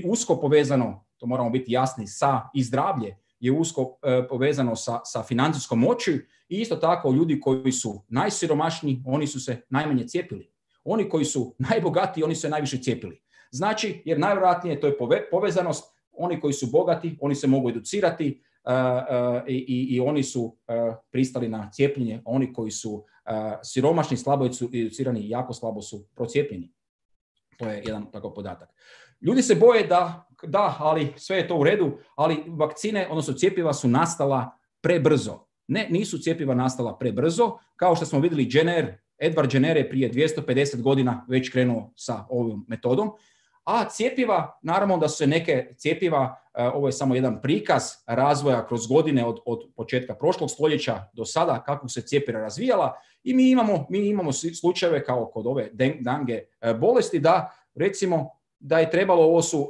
usko povezano, to moramo biti jasni, sa i zdravlje je usko e, povezano sa, sa financijskom moći i isto tako ljudi koji su najsiromašniji, oni su se najmanje cijepili. Oni koji su najbogatiji, oni su se najviše cijepili. Znači, jer najvjerojatnije to je pove, povezanost, oni koji su bogati, oni se mogu educirati uh, uh, i, i oni su uh, pristali na cijepljenje, oni koji su uh, siromašni, slabo educirani i jako slabo su procijepljeni. To je jedan takav podatak. Ljudi se boje da, da, ali sve je to u redu, ali vakcine, odnosno cjepiva su nastala prebrzo. Ne, nisu cjepiva nastala prebrzo, kao što smo vidjeli Jenner, Edward Jenner je prije dvjesto pedeset godina već krenuo sa ovom metodom, a cjepiva, naravno da su se neke cjepiva, ovo je samo jedan prikaz razvoja kroz godine od, od početka prošlog stoljeća do sada, kako se cjepiva razvijala i mi imamo, mi imamo slučajeve kao kod ove dengue bolesti da recimo da je trebalo, ovo su uh,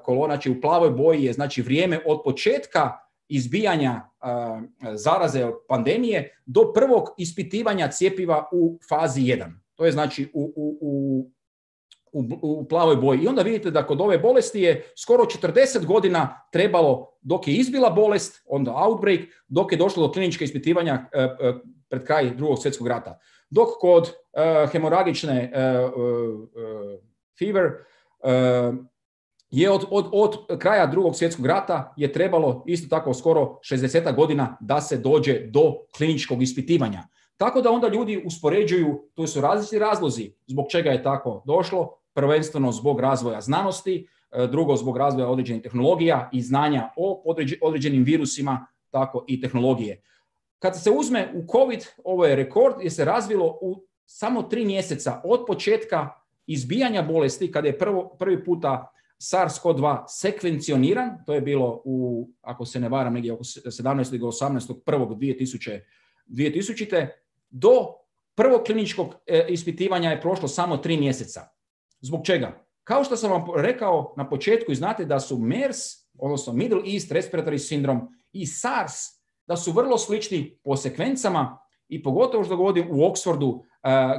kolonači u plavoj boji je znači vrijeme od početka izbijanja uh, zaraze pandemije do prvog ispitivanja cjepiva u fazi jedan. To je znači u, u, u U, u plavoj boji. I onda vidite da kod ove bolesti je skoro četrdeset godina trebalo dok je izbila bolest, onda outbreak, dok je došlo do kliničke ispitivanja uh, uh, pred kraj drugog svjetskog rata. Dok kod uh, hemoragične uh, uh, uh, fever uh, je od, od, od kraja drugog svjetskog rata je trebalo isto tako skoro šezdeset godina da se dođe do kliničkog ispitivanja. Tako da onda ljudi uspoređuju, to su različiti razlozi zbog čega je tako došlo, prvenstveno zbog razvoja znanosti, drugo zbog razvoja određenih tehnologija i znanja o određenim virusima, tako i tehnologije. Kad se uzme u COVID, ovo je rekord, je se razvilo u samo tri mjeseca od početka izbijanja bolesti, kada je prvo, prvi puta SARS-C o V dva sekvencioniran, to je bilo u, ako se ne varam, negdje oko sedamnaestog do osamnaestog prvog dvije tisućite. Do prvog kliničkog e, ispitivanja je prošlo samo tri mjeseca. Zbog čega? Kao što sam vam rekao na početku, i znate da su MERS, odnosno Middle East Respiratory Syndrome, i SARS, da su vrlo slični po sekvencama, i pogotovo što govorim u Oxfordu, uh,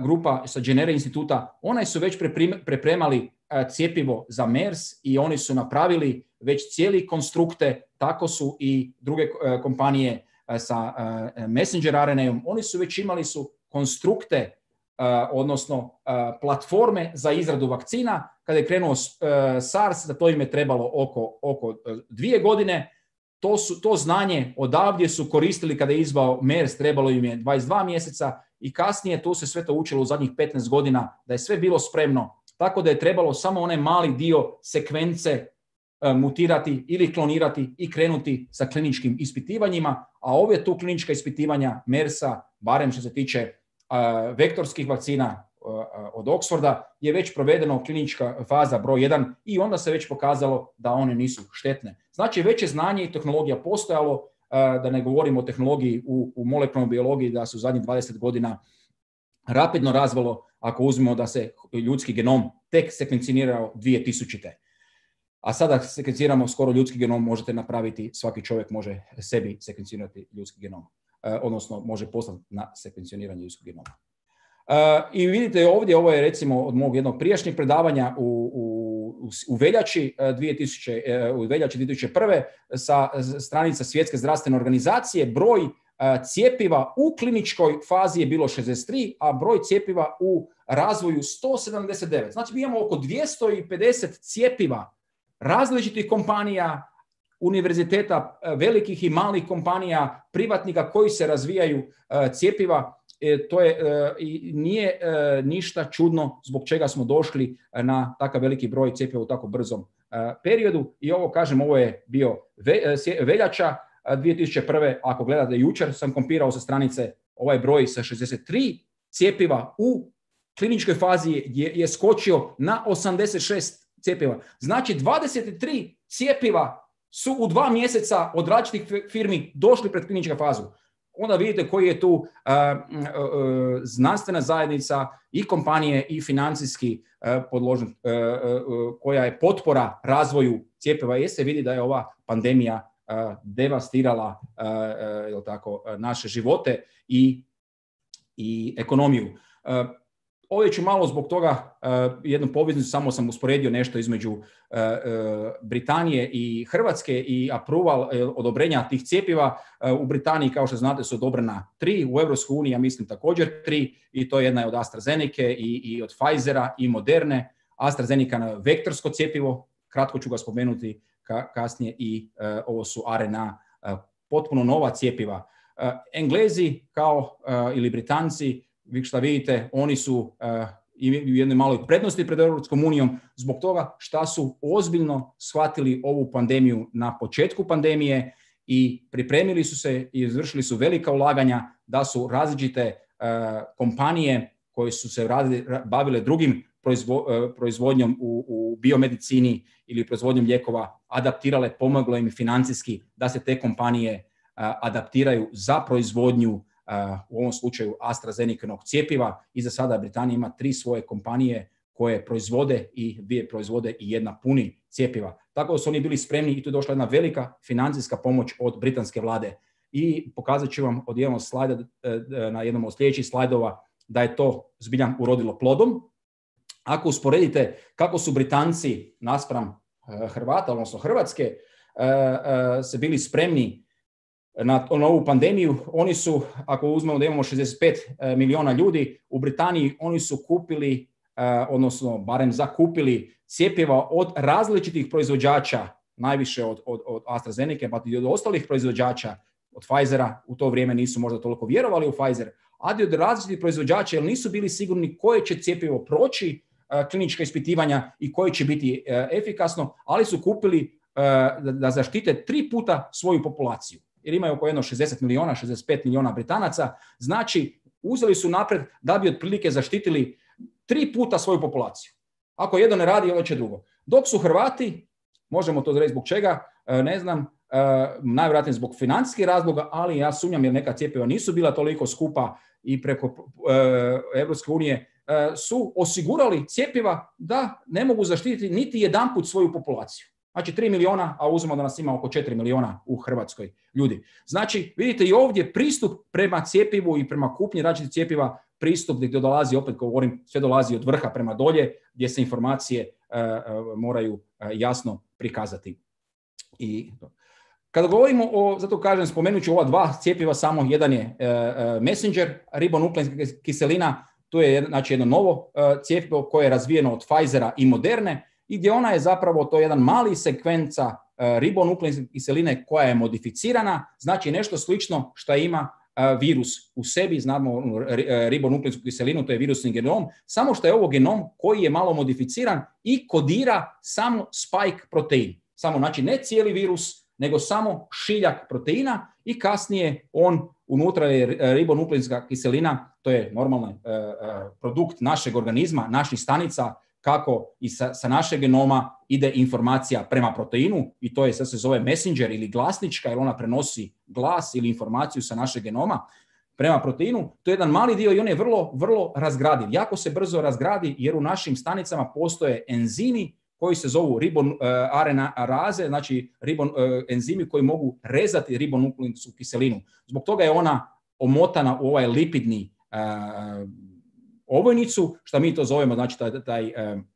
grupa sa Jenner instituta, oni su već pripremali uh, cjepivo za MERS i oni su napravili već cijeli konstrukte, tako su i druge uh, kompanije uh, sa uh, messenger R N A-om, oni su već imali su konstrukte, uh, odnosno uh, platforme za izradu vakcina. Kada je krenuo uh, SARS, za to im je trebalo oko, oko uh, dvije godine. To, su, to znanje odavdje su koristili kada je izbao MERS, trebalo im je dvadeset dva mjeseca i kasnije tu se sve to učilo u zadnjih petnaest godina, da je sve bilo spremno, tako da je trebalo samo onaj mali dio sekvence e, mutirati ili klonirati i krenuti sa kliničkim ispitivanjima, a ove tu klinička ispitivanja MERS-a, barem što se tiče e, vektorskih vakcina od Oxforda, je već provedeno klinička faza broj jedan i onda se već pokazalo da one nisu štetne. Znači, već je znanje i tehnologija postojalo, da ne govorimo o tehnologiji u, u molekularnoj biologiji, da su zadnjih dvadeset godina rapidno razvilo, ako uzmemo da se ljudski genom tek sekvencionirao dvije tisućite. A sada sekvenciramo skoro ljudski genom, možete napraviti, svaki čovjek može sebi sekvencionirati ljudski genom, odnosno može poslati na sekvencioniranje ljudskog genoma. Uh, I vidite ovdje, ovo je recimo od mog jednog prijašnjeg predavanja u, u, u veljači, dvije tisuće, u veljači dvije tisuće prve sa stranica Svjetske zdravstvene organizacije. Broj uh, cjepiva u kliničkoj fazi je bilo šezdeset tri, a broj cjepiva u razvoju sto sedamdeset devet. Znači mi imamo oko dvjesto pedeset cjepiva različitih kompanija, univerziteta, velikih i malih kompanija, privatnika koji se razvijaju uh, cjepiva. E, to je, e, i nije e, ništa čudno zbog čega smo došli na takav veliki broj cjepiva u tako brzom e, periodu. I ovo, kažem, ovo je bio ve, e, veljača dvije tisuće prve. Ako gledate, jučer sam kompirao sa stranice ovaj broj sa šezdeset tri cjepiva u kliničkoj fazi je, je skočio na osamdeset šest cjepiva. Znači, dvadeset tri cjepiva su u dva mjeseca od različitih firmi došli pred kliničku fazu. Onda vidite koji je tu uh, uh, uh, znanstvena zajednica i kompanije i financijski uh, podložen, uh, uh, koja je potpora razvoju cjepiva. Jer se vidi da je ova pandemija uh, devastirala uh, uh, tako, uh, naše živote i, i ekonomiju. Uh, Ovdje ću malo zbog toga uh, jednu poveznicu, samo sam usporedio nešto između uh, uh, Britanije i Hrvatske i approval, uh, odobrenja tih cjepiva. Uh, u Britaniji, kao što znate, su odobrena tri, u Europskoj uniji, ja mislim također tri, i to jedna je od AstraZeneca i, i od Pfizera i Moderne. AstraZeneca na vektorsko cjepivo, kratko ću ga spomenuti ka, kasnije, i uh, ovo su R N A, uh, potpuno nova cjepiva. Uh, Englezi kao uh, ili Britanci, vi što vidite, oni su uh, i u jednoj maloj prednosti pred Europskom unijom zbog toga što su ozbiljno shvatili ovu pandemiju na početku pandemije i pripremili su se i izvršili su velika ulaganja, da su različite uh, kompanije koje su se radili, bavile drugim proizvo, uh, proizvodnjom u, u biomedicini ili proizvodnjom lijekova adaptirale, pomoglo im financijski da se te kompanije uh, adaptiraju za proizvodnju Uh, u ovom slučaju AstraZeneca-nog cjepiva, i za sada Britanija ima tri svoje kompanije koje proizvode i dvije proizvode i jedna puni cjepiva. Tako da su oni bili spremni i tu je došla jedna velika financijska pomoć od britanske vlade. I pokazat ću vam od jednog slajda, na jednom od sljedećih slajdova, da je to zbilja urodilo plodom. Ako usporedite kako su Britanci naspram uh, Hrvata, odnosno Hrvatske, uh, uh, se bili spremni na, na ovu pandemiju, oni su, ako uzmemo da imamo šezdeset pet milijuna ljudi, u Britaniji oni su kupili odnosno barem zakupili cjepiva od različitih proizvođača, najviše od, od, od AstraZeneca, pa i od ostalih proizvođača, od Pfizera, u to vrijeme nisu možda toliko vjerovali u Pfizer, ali od različitih proizvođača jer nisu bili sigurni koje će cjepivo proći klinička ispitivanja i koje će biti efikasno, ali su kupili da zaštite tri puta svoju populaciju. Jer imaju oko jedno šezdeset milijuna, šezdeset pet milijuna Britanaca, znači uzeli su napred da bi otprilike zaštitili tri puta svoju populaciju. Ako jedno ne radi, onda će drugo. Dok su Hrvati, možemo to reći zbog čega, ne znam, najvjerojatnije zbog financijskih razloga, ali ja sumnjam jer neka cjepiva nisu bila toliko skupa i preko Europske unije su osigurali cjepiva da ne mogu zaštititi niti jedanput svoju populaciju. Znači tri milijuna, a uzmemo da nas ima oko četiri milijuna u Hrvatskoj ljudi. Znači, vidite i ovdje pristup prema cjepivu i prema kupnji različitih cjepiva, pristup gdje dolazi, opet govorim, sve dolazi od vrha prema dolje, gdje se informacije uh, uh, moraju uh, jasno prikazati. I kada govorimo o, zato kažem, spomenut ću ova dva cjepiva, samo jedan je uh, uh, messenger, ribonukleinska kiselina, to je znači jedno novo uh, cjepivo koje je razvijeno od Pfizera i Moderne, i gdje ona je zapravo to jedan mali sekvenca uh, ribonukleinske kiseline koja je modificirana, znači nešto slično što ima uh, virus u sebi, znamo uh, ribonukleinsku kiselinu, to je virusni genom, samo što je ovo genom koji je malo modificiran i kodira samo spike protein. Samo, znači ne cijeli virus, nego samo šiljak proteina i kasnije on unutra je ribonukleinska kiselina, to je normalni uh, uh, produkt našeg organizma, naših stanica, kako i sa, sa našeg genoma ide informacija prema proteinu i to je, sad se zove messenger ili glasnička jer ona prenosi glas ili informaciju sa našeg genoma prema proteinu. To je jedan mali dio i on je vrlo, vrlo razgradiv. Jako se brzo razgradi jer u našim stanicama postoje enzimi koji se zovu ribon, uh, R N A raze, znači ribon, uh, enzimi koji mogu rezati ribonukleinsku kiselinu. Zbog toga je ona omotana u ovaj lipidni uh, ovojnicu, što mi to zovemo, znači taj, taj um,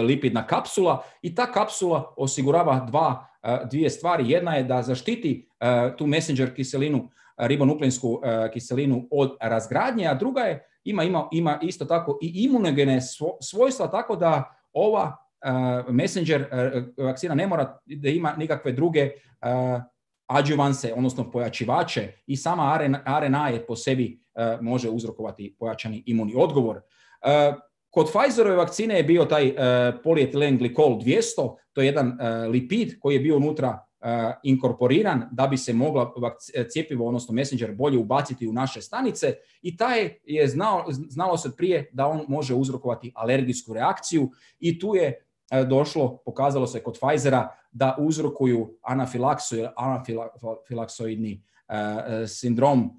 lipidna kapsula, i ta kapsula osigurava dva, uh, dvije stvari. Jedna je da zaštiti uh, tu messenger kiselinu, ribonukleinsku uh, kiselinu od razgradnje, a druga je, ima, ima, ima isto tako i imunogene svojstva, tako da ova uh, messenger uh, vakcina ne mora da ima nikakve druge uh, adjuvanse, odnosno pojačivače, i sama R N A je po sebi uh, može uzrokovati pojačani imunni odgovor. Uh, kod Pfizerove vakcine je bio taj uh, polietilen glikol dvjesto, to je jedan uh, lipid koji je bio unutra uh, inkorporiran da bi se mogla cjepivo, odnosno messenger, bolje ubaciti u naše stanice, i taj je znao, znalo se prije da on može uzrokovati alergijsku reakciju, i tu je uh, došlo, pokazalo se kod Pfizera da uzrokuju anafilaksu ili anafilaksoidni uh, sindrom uh,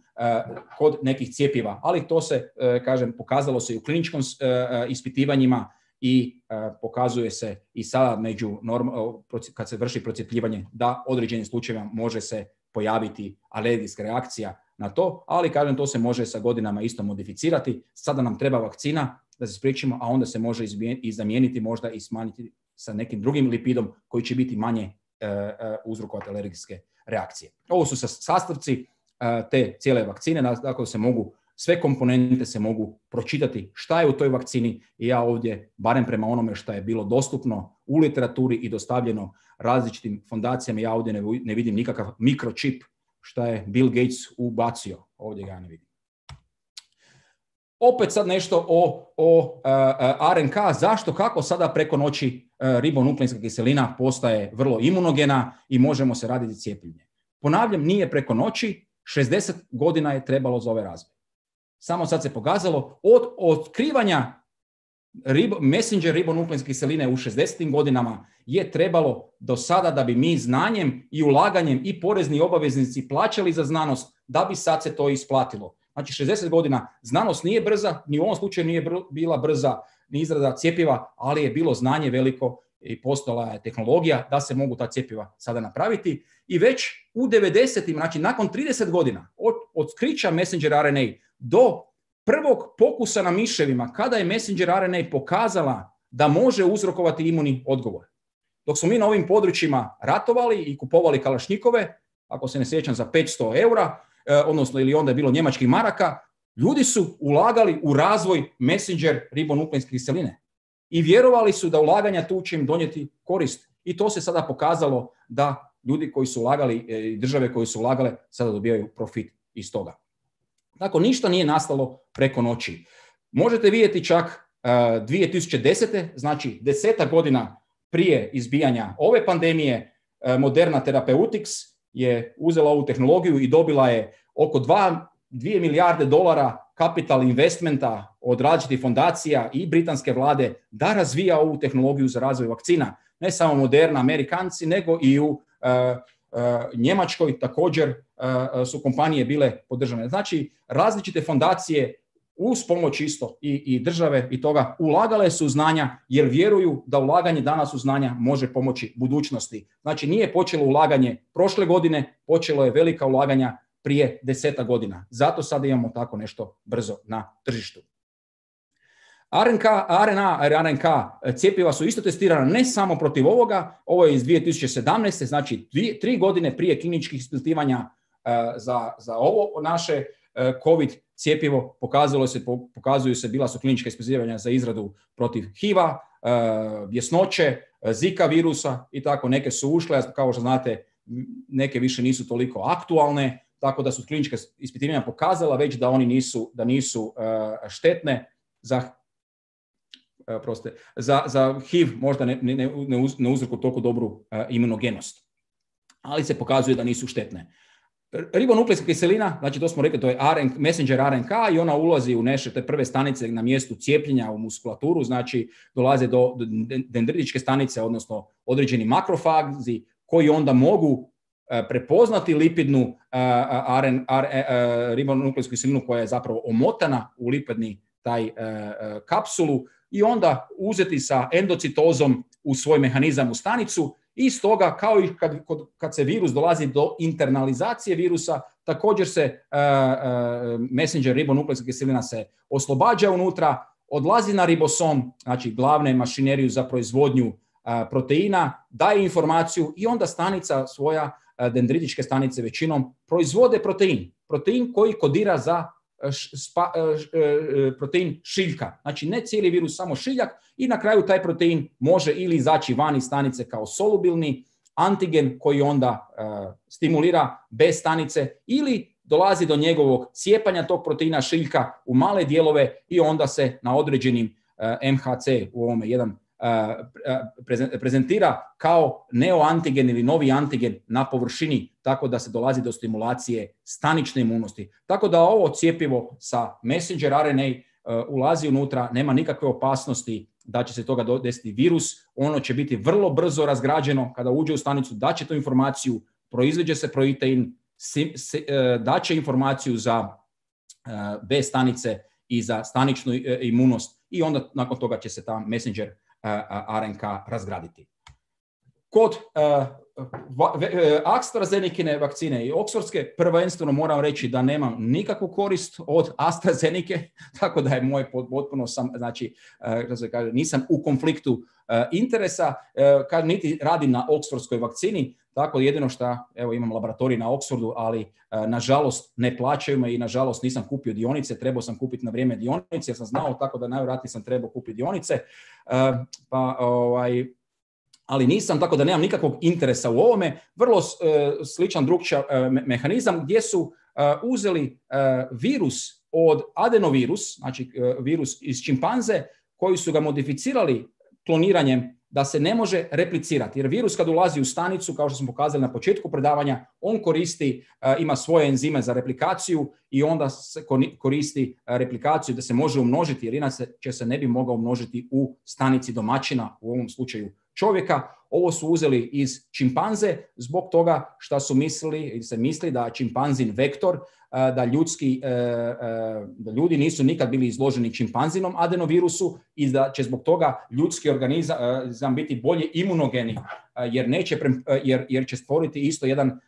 kod nekih cjepiva. Ali to se, uh, kažem, pokazalo se i u kliničkom uh, ispitivanjima i uh, pokazuje se i sada među norm, uh, kad se vrši procjepljivanje da određenim slučajevima može se pojaviti alergijska reakcija na to, ali kažem, to se može sa godinama isto modificirati. Sada nam treba vakcina da se spriječimo, a onda se može i zamijeniti možda i smanjiti sa nekim drugim lipidom koji će biti manje uh, uh, uzrokovati alergijske reakcije. Ovo su sastavci uh, te cijele vakcine, dakle se mogu, sve komponente se mogu pročitati šta je u toj vakcini, i ja ovdje, barem prema onome što je bilo dostupno u literaturi i dostavljeno različitim fondacijama, ja ovdje ne, ne vidim nikakav mikročip što je Bill Gates ubacio. Ovdje ga ne vidim. Opet sad nešto o, o uh, R N K, zašto, kako sada preko noći uh, ribonukleinska kiselina postaje vrlo imunogena i možemo se raditi cijepljenje. Ponavljam, nije preko noći, šezdeset godina je trebalo za ovaj razvoj. Samo sad se pokazalo od otkrivanja ribo, messenger ribonukleinske kiseline u šezdesetim godinama je trebalo do sada da bi mi znanjem i ulaganjem i porezni obaveznici plaćali za znanost, da bi sad se to isplatilo. Znači šezdeset godina, znanost nije brza, ni u ovom slučaju nije br- bila brza ni izrada cjepiva, ali je bilo znanje veliko i postojala je tehnologija da se mogu ta cjepiva sada napraviti. I već u devedesetim, znači nakon trideset godina od otkrića messenger R N A do prvog pokusa na miševima, kada je messenger R N A pokazala da može uzrokovati imunni odgovor. Dok smo mi na ovim područjima ratovali i kupovali kalašnjikove, ako se ne sjećam, za petsto eura, odnosno ili onda je bilo njemačkih maraka, Ljudi su ulagali u razvoj messenger ribonukleinske kiseline i vjerovali su da ulaganja tu će im donijeti korist. I to se sada pokazalo da ljudi koji su ulagali i države koje su ulagale sada dobijaju profit iz toga. Dakle, ništa nije nastalo preko noći. Možete vidjeti čak uh, dvije tisuće desete, znači desetak godina prije izbijanja ove pandemije, uh, Moderna Therapeutics je uzela ovu tehnologiju i dobila je oko dvije milijarde dolara capital investmenta od različitih fondacija i britanske vlade da razvija ovu tehnologiju za razvoj vakcina. Ne samo Moderna, Amerikanci, nego i u uh, uh, Njemačkoj također uh, su kompanije bile podržane. Znači, različite fondacije uz pomoć isto i, i države i toga ulagale su u znanja jer vjeruju da ulaganje danas u znanja može pomoći budućnosti. Znači, nije počelo ulaganje prošle godine, počelo je velika ulaganja prije deseta godina. Zato sada imamo tako nešto brzo na tržištu. R N K, R N A, R N K cjepiva su isto testirana ne samo protiv ovoga, ovo je iz dvije tisuće sedamnaeste, znači dvije, tri godine prije kliničkih ispitivanja uh, za, za ovo naše uh, COVID cjepivo. Pokazalo se, pokazuju se, bila su klinička ispitivanja za izradu protiv H I V-a, uh, bjesnoće, uh, Zika virusa i tako. Neke su ušle, kao što znate, neke više nisu toliko aktualne, tako da su klinička ispitivanja pokazala već da oni nisu, da nisu uh, štetne za Proste, za, za H I V možda ne, ne, ne, uz, ne uzroku toliko dobru uh, imunogenost, ali se pokazuje da nisu štetne. Ribonukleinska kiselina, znači to smo rekli, to je R N, messenger R N K i ona ulazi u naše te prve stanice na mjestu cijepljenja u muskulaturu, znači dolaze do, do dendritičke stanice, odnosno određeni makrofazi koji onda mogu uh, prepoznati lipidnu uh, R N, R, uh, ribonukleinsku kiselinu koja je zapravo omotana u lipidni taj uh, uh, kapsulu i onda uzeti sa endocitozom u svoj mehanizam u stanicu i stoga kao i kad, kad se virus dolazi do internalizacije virusa, također se uh, uh, messenger ribonukleinska kiselina se oslobađa unutra, odlazi na ribosom, znači glavne mašineriju za proizvodnju uh, proteina, daje informaciju i onda stanica svoja, uh, dendritičke stanice većinom, proizvode protein. Protein koji kodira za Spa, protein šiljka. Znači ne cijeli virus, samo šiljak i na kraju taj protein može ili izaći van iz stanice kao solubilni antigen koji onda uh, stimulira bez stanice ili dolazi do njegovog cijepanja tog proteina šiljka u male dijelove i onda se na određenim uh, M H C u ovome jedan prezentira kao neoantigen ili novi antigen na površini, tako da se dolazi do stimulacije stanične imunosti. Tako da ovo cjepivo sa messenger R N A uh, ulazi unutra, nema nikakve opasnosti da će se toga desiti virus, ono će biti vrlo brzo razgrađeno kada uđe u stanicu, daće tu informaciju, proizveđe se protein, uh, daće informaciju za uh, B stanice i za staničnu uh, imunost i onda nakon toga će se ta messenger R N K razgraditi. Kod uh, AstraZenicine vakcine i Oxfordske prvenstveno moram reći da nemam nikakvu korist od AstraZeneca, tako da je moje potpuno sam, znači uh, se kaže, nisam u konfliktu uh, interesa, uh, kad niti radim na Oxfordskoj vakcini, tako jedino što, evo imam laboratorij na Oxfordu, ali uh, nažalost ne plaćaju me i nažalost nisam kupio dionice, trebao sam kupiti na vrijeme dionice jer sam znao, tako da najvjerojatnije sam trebao kupiti dionice, uh, pa ovaj ali nisam, tako da nemam nikakvog interesa u ovome. Vrlo uh, sličan drugčija uh, me- mehanizam gdje su uh, uzeli uh, virus od adenovirus, znači uh, virus iz čimpanze, koji su ga modificirali kloniranjem da se ne može replicirati. Jer virus kad ulazi u stanicu, kao što smo pokazali na početku predavanja, on koristi, uh, ima svoje enzime za replikaciju i onda se koristi uh, replikaciju da se može umnožiti, jer inače će se ne bi mogao umnožiti u stanici domaćina, u ovom slučaju čovjeka. Ovo su uzeli iz čimpanze zbog toga što su mislili, ili se misli da čimpanzin vektor, da, ljudski, da ljudi nisu nikad bili izloženi čimpanzinom adenovirusu i da će zbog toga ljudski organizam biti bolje imunogeni, jer, neće, jer, jer će stvoriti isto jedan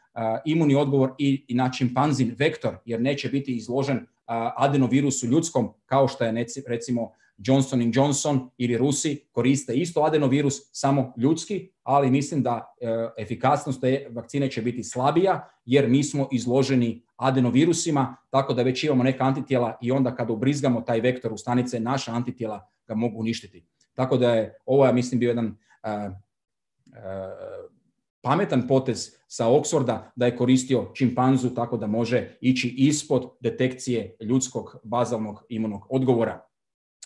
imuni odgovor i, i na čimpanzin vektor, jer neće biti izložen adenovirusu ljudskom, kao što je recimo Johnson and Johnson ili Rusi koriste isto adenovirus, samo ljudski, ali mislim da e, efikasnost te vakcine će biti slabija jer mi smo izloženi adenovirusima, tako da već imamo neka antitijela i onda kada ubrizgamo taj vektor u stanice, naša antitijela ga mogu uništiti. Tako da je ovo, ja mislim, bio jedan uh, uh, pametan potez sa Oxforda da je koristio čimpanzu tako da može ići ispod detekcije ljudskog bazalnog imunog odgovora.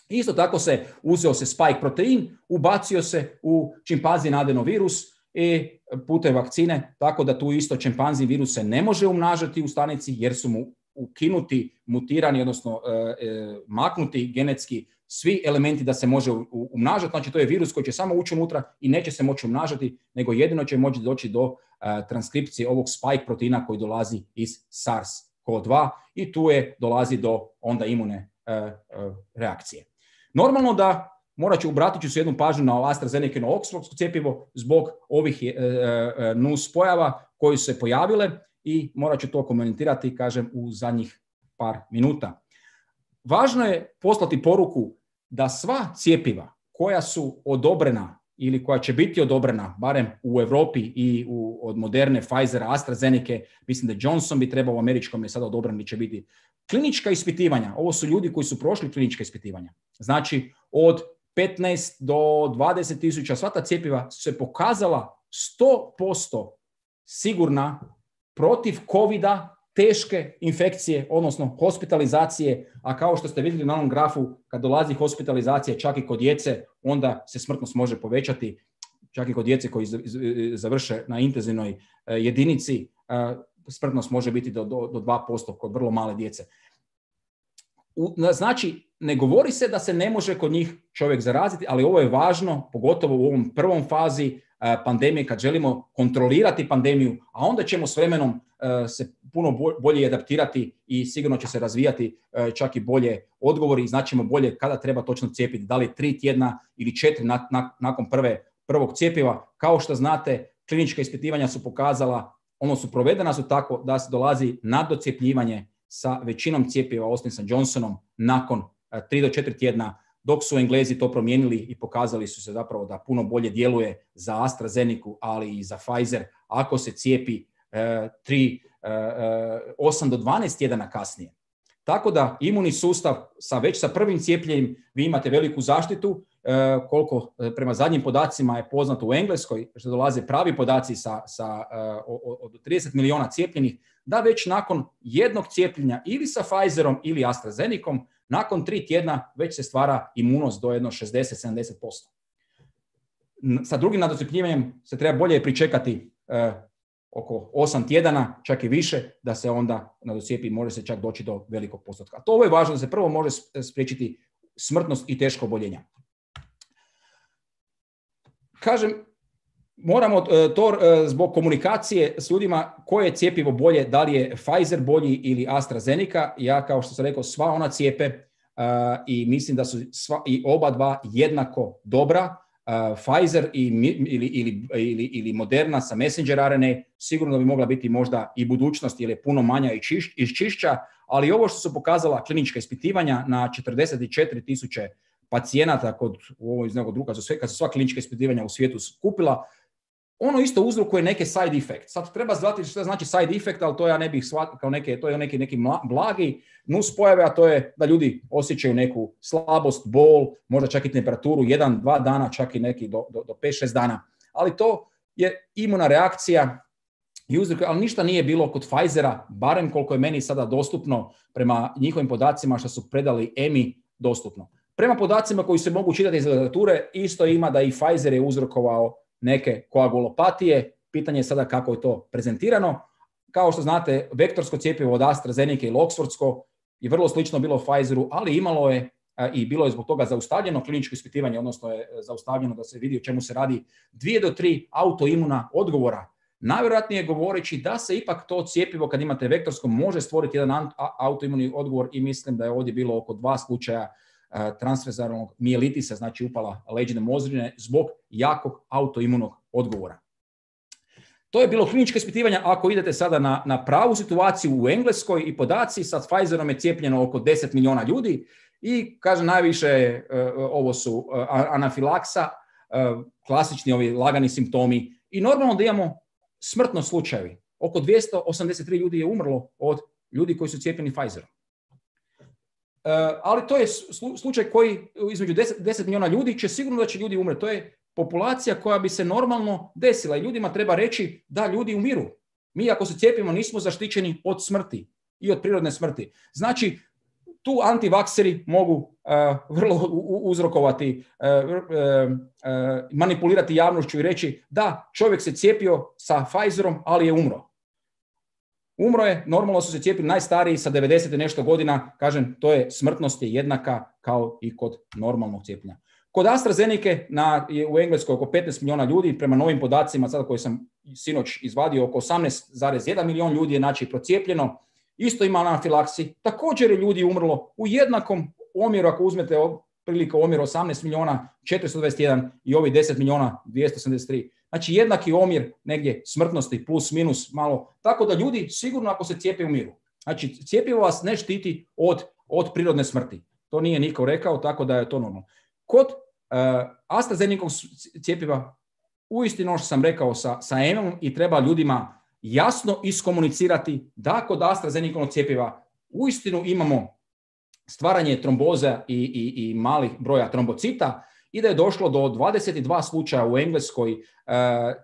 Isto tako se uzeo se spike protein, ubacio se u čimpanzin adenovirus i putem vakcine, tako da tu isto čimpanzin virus se ne može umnažati u stanici jer su mu ukinuti, mutirani, odnosno e, e, maknuti genetski svi elementi da se može umnažati. Znači to je virus koji će samo ući unutra i neće se moći umnažati, nego jedino će moći doći do uh, transkripcije ovog spike proteina koji dolazi iz SARS-C o dva i tu je dolazi do onda imune uh, uh, reakcije. Normalno da morat ću, obratit ću se jednu pažnju na AstraZeneca i na Oxfordsko cjepivo zbog ovih uh, uh, nus pojava koji su se pojavile i morat ću to komentirati, kažem, u zadnjih par minuta. Važno je poslati poruku da sva cjepiva koja su odobrena ili koja će biti odobrena, barem u Europi i u, od Moderne, Pfizera, AstraZeneca, mislim da Johnson bi trebao u američkom je sada odobren, će biti klinička ispitivanja. Ovo su ljudi koji su prošli klinička ispitivanja. Znači od petnaest do dvadeset tisuća sva ta cjepiva su se pokazala sto posto sigurna protiv covida, teške infekcije, odnosno hospitalizacije, a kao što ste vidjeli na onom grafu, kad dolazi hospitalizacija čak i kod djece, onda se smrtnost može povećati, čak i kod djece koji završe na intenzivnoj jedinici, smrtnost može biti do, do, do dva posto kod vrlo male djece. Znači, ne govori se da se ne može kod njih čovjek zaraziti, ali ovo je važno, pogotovo u ovom prvom fazi pandemije, kad želimo kontrolirati pandemiju, a onda ćemo s vremenom se puno bolje adaptirati i sigurno će se razvijati čak i bolje odgovori i znaćemo bolje kada treba točno cijepiti, da li tri tjedna ili četiri na, na, nakon prve, prvog cjepiva. Kao što znate, klinička ispitivanja su pokazala, ono su provedena su tako da se dolazi na docjepljivanje sa većinom cjepiva, osim sa Johnsonom, nakon tri do četiri tjedna, dok su Englezi to promijenili i pokazali su se zapravo da puno bolje djeluje za AstraZeneca, ali i za Pfizer, ako se cijepi tri, osam do dvanaest tjedana kasnije. Tako da imunni sustav sa, već sa prvim cijepljenjem vi imate veliku zaštitu, koliko prema zadnjim podacima je poznato u Engleskoj, što dolaze pravi podaci sa, sa, od trideset milijuna cijepljenih, da već nakon jednog cijepljenja ili sa Pfizerom ili AstraZenecom, nakon tri tjedna već se stvara imunost do jedno šezdeset do sedamdeset posto. Sa drugim nadocijepljivanjem se treba bolje pričekati eh, oko osam tjedana, čak i više, da se onda nadocijepi, može se čak doći do velikog postotka. A to ovo je važno da se prvo može spriječiti smrtnost i teško oboljenja. Kažem, moramo to zbog komunikacije s ljudima koje je cjepivo bolje, da li je Pfizer bolji ili AstraZeneca. Ja, kao što sam rekao, sva ona cijepe uh, i mislim da su sva, i oba dva jednako dobra. Uh, Pfizer i, ili, ili, ili, ili Moderna sa messenger R N A sigurno da bi mogla biti možda i budućnost jer je puno manja i, čiš, i čišća, ali ovo što su pokazala klinička ispitivanja na četrdeset četiri tisuće pacijenata kod u ovoj iz nekog druga, kad su sva klinička ispitivanja u svijetu skupila, ono isto uzrokuje neke side effect. Sad treba znati što znači side effect, ali to ja ne bih shvatio kao neke, to je neki, neki blagi nus pojave, a to je da ljudi osjećaju neku slabost, bol, možda čak i temperaturu, jedan, dva dana, čak i neki do, do, do pet šest dana. Ali to je imuna reakcija, i uzrok, ali ništa nije bilo kod Pfizera, barem koliko je meni sada dostupno prema njihovim podacima što su predali E M I dostupno. Prema podacima koji se mogu čitati iz literature, isto ima da i Pfizer je uzrokovao neke koagulopatije. Pitanje je sada kako je to prezentirano. Kao što znate, vektorsko cjepivo od AstraZeneca ili Oxfordsko je vrlo slično bilo Pfizeru, ali imalo je i bilo je zbog toga zaustavljeno kliničko ispitivanje, odnosno je zaustavljeno da se vidi o čemu se radi, dvije do tri autoimuna odgovora. Najvjerojatnije govoreći da se ipak to cjepivo kad imate vektorsko može stvoriti jedan autoimuni odgovor i mislim da je ovdje bilo oko dva slučaja transverzalnog mijelitisa, znači upala leđne mozžine zbog jakog autoimunog odgovora. To je bilo kliničko ispitivanje. Ako idete sada na, na pravu situaciju u Engleskoj i podaci, sa Pfizerom je cijepljeno oko deset milijuna ljudi i, kaže, najviše uh, ovo su uh, anafilaksa, uh, klasični ovi lagani simptomi i normalno da imamo smrtno slučajevi. Oko dvjesto osamdeset tri ljudi je umrlo od ljudi koji su cijepljeni Pfizerom. Uh, ali to je slučaj koji između deset milijuna ljudi će sigurno da će ljudi umreti. To je populacija koja bi se normalno desila i ljudima treba reći da ljudi umiru. Mi ako se cijepimo nismo zaštićeni od smrti i od prirodne smrti. Znači, tu antivakseri mogu uh, vrlo uzrokovati, uh, uh, uh, manipulirati javnošću i reći da, čovjek se cijepio sa Pfizerom, ali je umro. Umro je, normalno su se cijepili najstariji sa devedeset i nešto godina, kažem, to je smrtnost je jednaka kao i kod normalnog cijepljenja. Kod AstraZeneca na, je u Engleskoj oko petnaest milijuna ljudi, prema novim podacima sada koje sam sinoć izvadio, oko osamnaest zarez jedan milijun ljudi je znači procijepljeno, isto ima anafilaksi, također je ljudi umrlo u jednakom omjeru, ako uzmete prilike omjer osamnaest milijuna četiristo dvadeset jedan i ovi deset milijuna dvjesto sedamdeset tri. Znači jednaki omjer negdje smrtnosti plus minus malo, tako da ljudi sigurno ako se cijepe umiru. Znači cjepivo vas ne štiti od, od prirodne smrti. To nije niko rekao, tako da je to normalno. Kod uh, AstraZeneca cjepiva, uistinu ono što sam rekao sa, sa E M-om i treba ljudima jasno iskomunicirati da kod AstraZeneca cjepiva uistinu imamo stvaranje tromboza i, i, i malih broja trombocita i da je došlo do dvadeset dva slučaja u Engleskoj uh,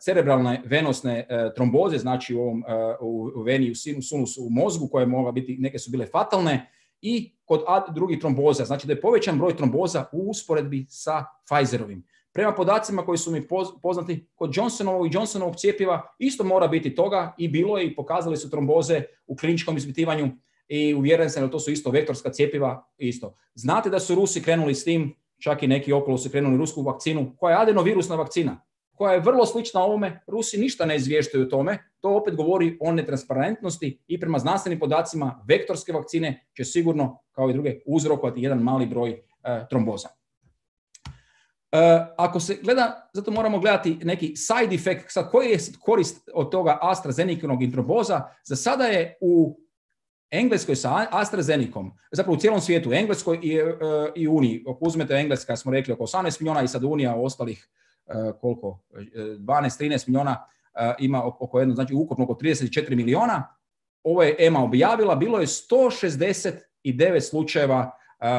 cerebralne venosne uh, tromboze, znači u, ovom, uh, u, u veni, u sinusu, u mozgu, koje mogla biti, neke su bile fatalne, i kod drugih tromboza, znači da je povećan broj tromboza u usporedbi sa Pfizerovim. Prema podacima koji su mi poznati, kod Johnsonovog i Johnsonovog cjepiva isto mora biti toga i bilo je i pokazali su tromboze u kliničkom ispitivanju i uvjeren sam da to su isto vektorska cjepiva isto. Znate da su Rusi krenuli s tim, čak i neki okolo su krenuli rusku vakcinu, koja je adenovirusna vakcina, koja je vrlo slična ovome. Rusi ništa ne izvještaju o tome. To opet govori o netransparentnosti i prema znanstvenim podacima vektorske vakcine će sigurno, kao i druge, uzrokovati jedan mali broj uh, tromboza. Uh, ako se gleda, zato moramo gledati neki side effect, sad koji je korist od toga AstraZeneca-nog i tromboza. Za sada je u Engleskoj sa AstraZenecom, zapravo u cijelom svijetu, Engleskoj i, uh, i Uniji, ako uzmete Engleska, smo rekli oko osamnaest milijuna i sad Unija ostalih uh, koliko, dvanaest trinaest milijuna, uh, ima oko jedno, znači ukupno oko trideset četiri milijuna. Ovo je E M A objavila, bilo je sto šezdeset devet slučajeva uh, uh,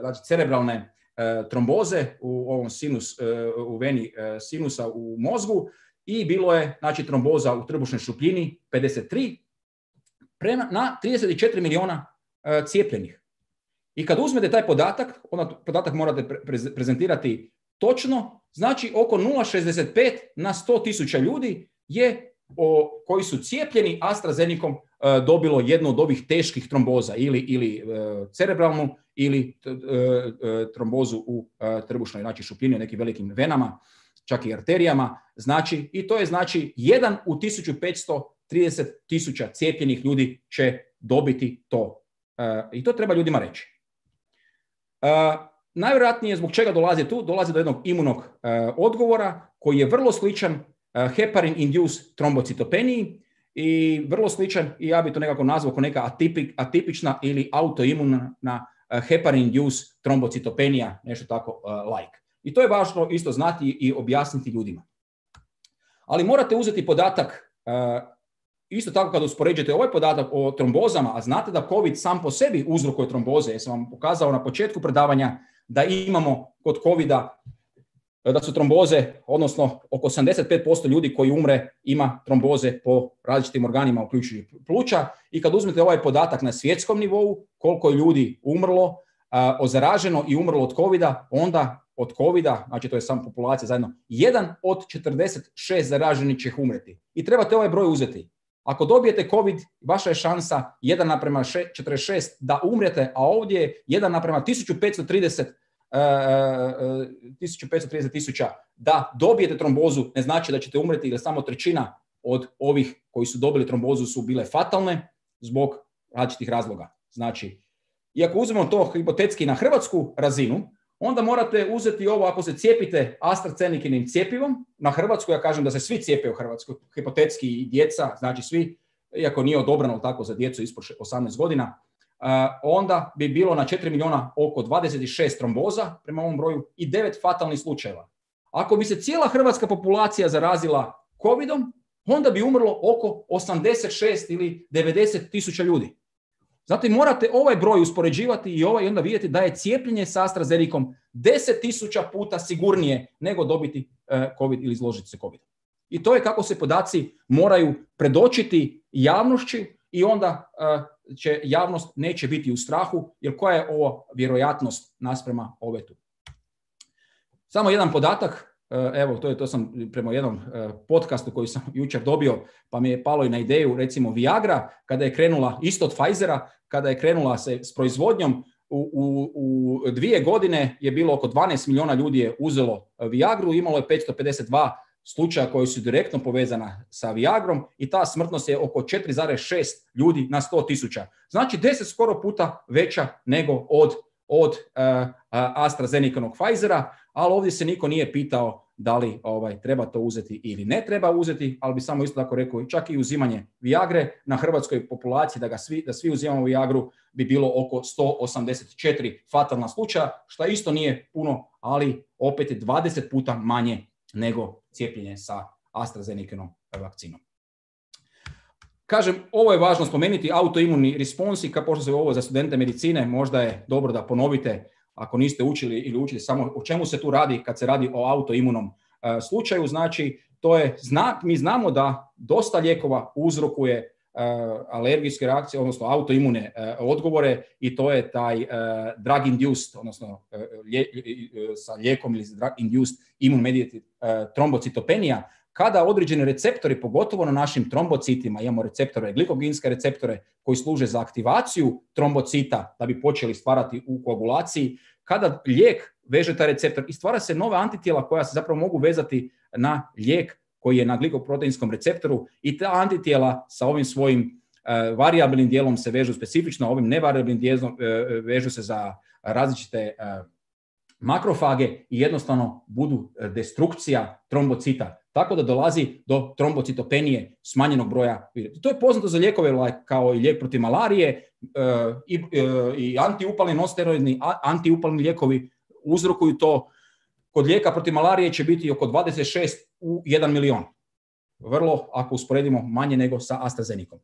znači cerebralne uh, tromboze u ovom sinus, uh, u veni uh, sinusa u mozgu i bilo je znači tromboza u trbušnoj šupljini pedeset tri prema, na trideset četiri milijuna uh, cijepljenih. I kad uzmete taj podatak, onda podatak morate pre- prezentirati točno, znači oko nula zarez šezdeset pet na sto tisuća ljudi je o, koji su cijepljeni AstraZenecom uh, dobilo jednu od ovih teških tromboza ili, ili uh, cerebralnu ili uh, uh, trombozu u uh, trbušnoj znači šupljini, nekim velikim venama, čak i arterijama. Znači, i to je znači jedan u tisuću petsto trideset tisuća cijepljenih ljudi će dobiti to. Uh, I to treba ljudima reći. Uh, najvjerojatnije zbog čega dolazi tu, dolazi do jednog imunog uh, odgovora koji je vrlo sličan uh, heparin-induced trombocitopeniji i vrlo sličan, i ja bi to nekako nazvao kao neka atipik, atipična ili autoimuna uh, heparin-induced trombocitopenija, nešto tako uh, like. I to je važno isto znati i objasniti ljudima. Ali morate uzeti podatak, uh, isto tako kada uspoređujete ovaj podatak o trombozama, a znate da COVID sam po sebi uzrokuje tromboze, jer sam vam pokazao na početku predavanja da imamo kod covida da su tromboze, odnosno oko osamdeset pet posto ljudi koji umre ima tromboze po različitim organima, uključujući pluća. I kad uzmete ovaj podatak na svjetskom nivou, koliko je ljudi umrlo, a, ozaraženo i umrlo od covida, onda od covida, znači to je sama populacija zajedno, jedan od četrdeset šest zaraženih će umreti. I trebate ovaj broj uzeti. Ako dobijete COVID, vaša je šansa jedan naprema četrdeset šest da umrete, a ovdje je jedan naprema tisuću petsto trideset tisuća da dobijete trombozu, ne znači da ćete umreti, jer samo trećina od ovih koji su dobili trombozu su bile fatalne zbog različitih razloga. Znači, i ako uzmemo to hipotetski na hrvatsku razinu, onda morate uzeti ovo, ako se cijepite AstraZenekinim cjepivom, na Hrvatsku, ja kažem da se svi cijepe u Hrvatskoj, hipotetski i djeca, znači svi, iako nije odobrano tako za djecu ispod osamnaest godina, onda bi bilo na četiri milijuna oko dvadeset šest tromboza prema ovom broju i devet fatalnih slučajeva. Ako bi se cijela hrvatska populacija zarazila covidom, onda bi umrlo oko osamdeset šest ili devedeset tisuća ljudi. Zato morate ovaj broj uspoređivati i ovaj i onda vidjeti da je cijepljenje sa AstraZenecom deset tisuća puta sigurnije nego dobiti COVID ili izložiti se COVID. I to je kako se podaci moraju predočiti javnošću i onda će javnost neće biti u strahu, jer koja je ovo vjerojatnost nasprema ove tu. Samo jedan podatak. Evo, to je to sam prema jednom podcastu koji sam jučer dobio, pa mi je palo i na ideju, recimo Viagra, kada je krenula, isto od Pfizera, kada je krenula se s proizvodnjom, u, u, u dvije godine je bilo oko dvanaest milijuna ljudi je uzelo Viagru, imalo je petsto pedeset dva slučaja koji su direktno povezana sa Viagrom i ta smrtnost je oko četiri zarez šest ljudi na sto tisuća. Znači deset skoro puta veća nego od, od uh, AstraZenecanog Pfizera, ali ovdje se niko nije pitao da li ovaj, treba to uzeti ili ne treba uzeti, ali bi samo isto tako rekao, čak i uzimanje Viagre na hrvatskoj populaciji, da, ga svi, da svi uzimamo Viagru, bi bilo oko sto osamdeset četiri fatalna slučaja, što isto nije puno, ali opet je dvadeset puta manje nego cijepljenje sa AstraZenecanom vakcinom. Kažem, ovo je važno spomenuti, autoimuni responsi, kao pošto se ovo za studente medicine, možda je dobro da ponovite, ako niste učili ili učili samo o čemu se tu radi kad se radi o autoimunom uh, slučaju. Znači, to je znak, mi znamo da dosta lijekova uzrokuje uh, alergijske reakcije, odnosno autoimune uh, odgovore i to je taj uh, drug induced, odnosno uh, lje, uh, sa lijekom ili drug induced immune mediated uh, trombocitopenija, kada određeni receptori, pogotovo na našim trombocitima, imamo receptore, glikogenske receptore koji služe za aktivaciju trombocita da bi počeli stvarati u koagulaciji, kada lijek veže taj receptor i stvara se nove antitijela koja se zapravo mogu vezati na lijek koji je na glikoproteinskom receptoru i ta antitijela sa ovim svojim uh, variabilnim dijelom se vežu specifično, ovim nevariabilnim dijelom uh, vežu se za različite uh, makrofage i jednostavno budu destrukcija trombocita. Tako da dolazi do trombocitopenije smanjenog broja. To je poznato za lijekove kao i lijek protiv malarije uh, i, uh, i antiupalni, non-steroidni antiupalni lijekovi uzrokuju to. Kod lijeka protiv malarije će biti oko dvadeset šest u jedan milion. Vrlo, ako usporedimo, manje nego sa AstraZenecom.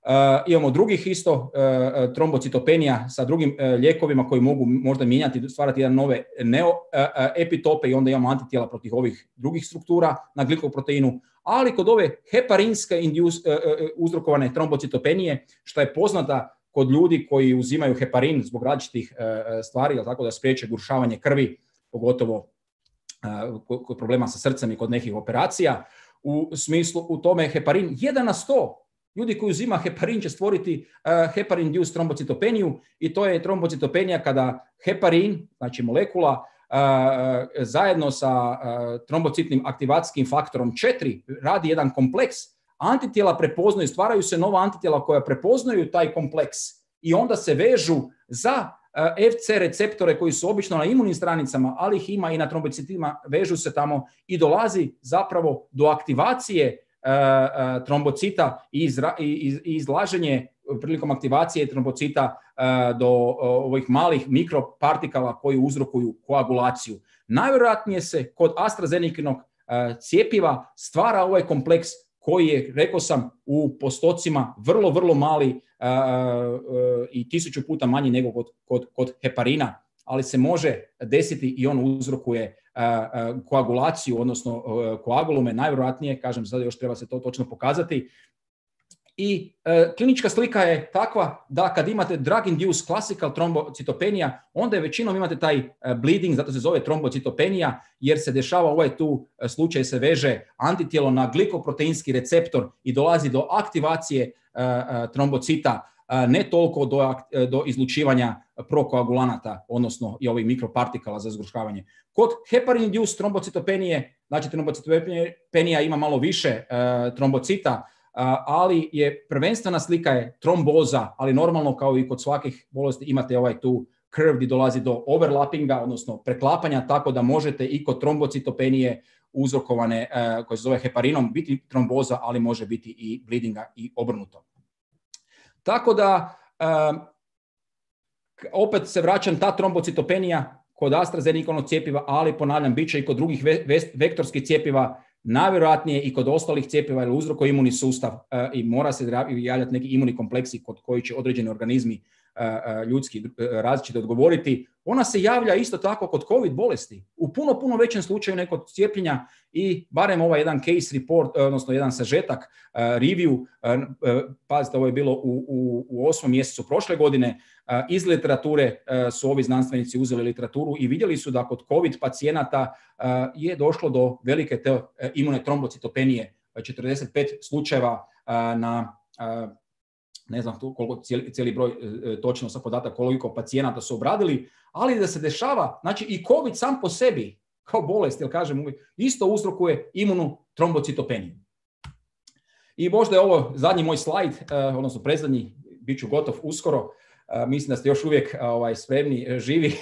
Uh, imamo drugih isto uh, trombocitopenija sa drugim uh, lijekovima koji mogu možda mijenjati, stvarati jedan nove neoepitope uh, i onda imamo antitijela protiv ovih drugih struktura na glikoproteinu, ali kod ove heparinske induce, uh, uh, uzrokovane trombocitopenije, što je poznata kod ljudi koji uzimaju heparin zbog različitih uh, stvari, tako da spriječe gušavanje krvi, pogotovo uh, kod problema sa srcem i kod nekih operacija, u smislu u tome heparin jedan na sto. Ljudi koji uzima heparin će stvoriti uh, heparin-induced trombocitopeniju i to je trombocitopenija kada heparin, znači molekula, uh, zajedno sa uh, trombocitnim aktivacijskim faktorom četiri radi jedan kompleks. Antitijela prepoznaju, stvaraju se nova antitijela koja prepoznaju taj kompleks i onda se vežu za uh, F C receptore koji su obično na imunim stranicama, ali ih ima i na trombocitima, vežu se tamo i dolazi zapravo do aktivacije Uh, uh, trombocita i, izra, i, i izlaženje prilikom aktivacije trombocita uh, do uh, ovih malih mikropartikala koji uzrokuju koagulaciju. Najvjerojatnije se kod AstraZenecanog uh, cjepiva stvara ovaj kompleks koji je, rekao sam, u postocima vrlo, vrlo mali uh, uh, i tisuću puta manji nego kod, kod, kod heparina, ali se može desiti i on uzrokuje uh, uh, koagulaciju, odnosno uh, koagulume, najvjerojatnije, kažem, sada još treba se to točno pokazati. I uh, klinička slika je takva da kad imate drug-induced classical trombocitopenija, onda je većinom imate taj uh, bleeding, zato se zove trombocitopenija, jer se dešava ovaj tu uh, slučaj, se veže antitijelo na glikoproteinski receptor i dolazi do aktivacije uh, uh, trombocita, ne toliko do, do izlučivanja prokoagulanata, odnosno i ovih mikropartikala za zgrušavanje. Kod heparin-induced trombocitopenije, znači trombocitopenija ima malo više uh, trombocita, uh, ali je prvenstvena slika je tromboza, ali normalno kao i kod svakih bolesti imate ovaj tu curve gdje dolazi do overlappinga, odnosno preklapanja, tako da možete i kod trombocitopenije uzrokovane, uh, koje se zove heparinom, biti tromboza, ali može biti i bleedinga i obrnuto. Tako da, uh, opet se vraćam, ta trombocitopenija kod AstraZeneca cjepiva, ali ponavljam, bit će i kod drugih ve- ve- vektorskih cjepiva, najvjerojatnije i kod ostalih cjepiva, jer uzrokuje imunni sustav uh, i mora se javljati neki imunni kompleksi kod koji će određeni organizmi uh, ljudski uh, različito odgovoriti. Ona se javlja isto tako kod COVID bolesti, u puno, puno većem slučaju nego kod cijepljenja i barem ovaj jedan case report, odnosno jedan sažetak, uh, review, uh, uh, pazite, ovo je bilo u, u, u osmom mjesecu prošle godine, uh, iz literature uh, su ovi znanstvenici uzeli literaturu i vidjeli su da kod COVID pacijenata uh, je došlo do velike te uh, imune trombocitopenije, uh, četrdeset pet slučajeva uh, na uh, ne znam koliko cijeli, cijeli broj e, točno sa podatak koliko pacijenata su obradili, ali da se dešava, znači i COVID sam po sebi kao bolest, jel kažem, isto uzrokuje imunu trombocitopeniju. I možda je ovo zadnji moj slajd, e, odnosno predzadnji, bit ću gotov uskoro, e, mislim da ste još uvijek ovaj, spremni, e, živi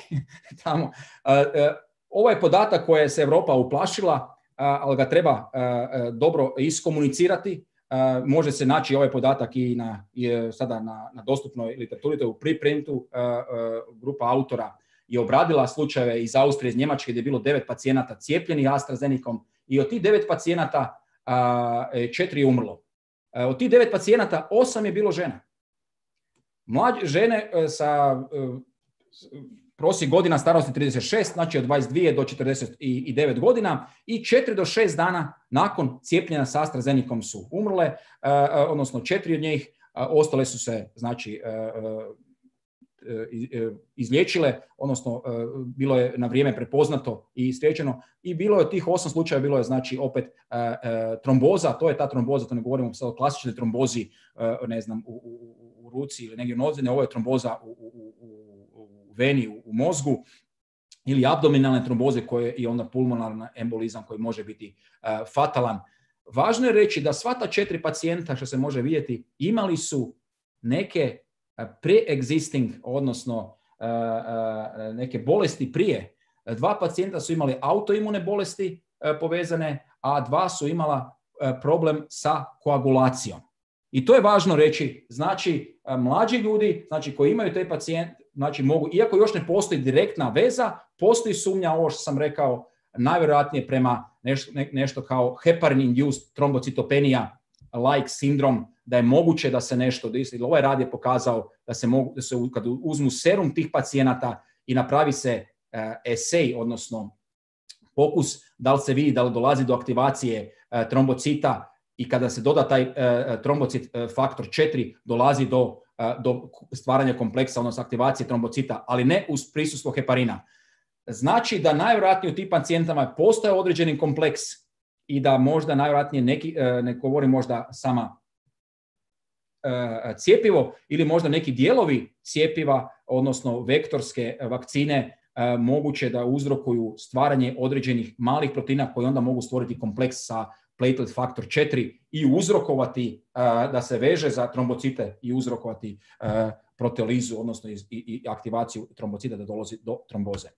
tamo. E, e, ovo je podatak koje se Europa uplašila, ali ga treba e, dobro iskomunicirati. Uh, može se naći ovaj podatak i, na, i sada na, na dostupnoj literaturi, to je u preprintu. Uh, uh, grupa autora je obradila slučajeve iz Austrije, iz Njemačke, gdje je bilo devet pacijenata cijepljenih AstraZenecom i od tih devet pacijenata uh, četiri je umrlo. Uh, od tih devet pacijenata osam je bilo žena. Mlađe žene uh, sa uh, prosjek godina starosti trideset šest, znači od dvadeset dvije do četrdeset devet godina i četiri do šest dana nakon cijepljenja sa AstraZenecom su umrle, uh, odnosno četiri od njih, uh, ostale su se znači uh, uh, izliječile, odnosno uh, bilo je na vrijeme prepoznato i spriječeno i bilo je od tih osam slučajeva, bilo je znači opet uh, uh, tromboza, to je ta tromboza, to ne govorimo sad o klasičnoj trombozi, uh, ne znam, u, u, u ruci ili negdje u nodzi, ne, ovo je tromboza u, u, u veni, u, u mozgu ili abdominalne tromboze koje i onda pulmonarna embolizam koji može biti uh, fatalan. Važno je reći da sva ta četiri pacijenta, što se može vidjeti, imali su neke uh, pre-existing, odnosno uh, uh, neke bolesti prije. Dva pacijenta su imali autoimune bolesti uh, povezane, a dva su imala uh, problem sa koagulacijom. I to je važno reći, znači uh, mlađi ljudi, znači koji imaju te pacijente, znači mogu, iako još ne postoji direktna veza, postoji sumnja, ovo što sam rekao, najvjerojatnije prema nešto, ne, nešto kao heparin-induced trombocitopenija like sindrom, da je moguće da se nešto, da ovaj rad je pokazao da se mogu, da se kad uzmu serum tih pacijenata i napravi se uh, esej, odnosno pokus, da li se vidi da li dolazi do aktivacije uh, trombocita i kada se doda taj uh, trombocit uh, faktor četiri, dolazi do do stvaranja kompleksa, odnosno aktivacije trombocita, ali ne uz prisustvo heparina. Znači da najvjerojatnije u tim pacijentama postoje određeni kompleks i da možda najvjerojatnije neki, ne govori možda sama cjepivo ili možda neki dijelovi cjepiva, odnosno vektorske vakcine, moguće da uzrokuju stvaranje određenih malih proteina koji onda mogu stvoriti kompleks sa platelet faktor četiri i uzrokovati uh, da se veže za trombocite i uzrokovati uh, proteolizu, odnosno i, i, i aktivaciju trombocita da dolazi do tromboze.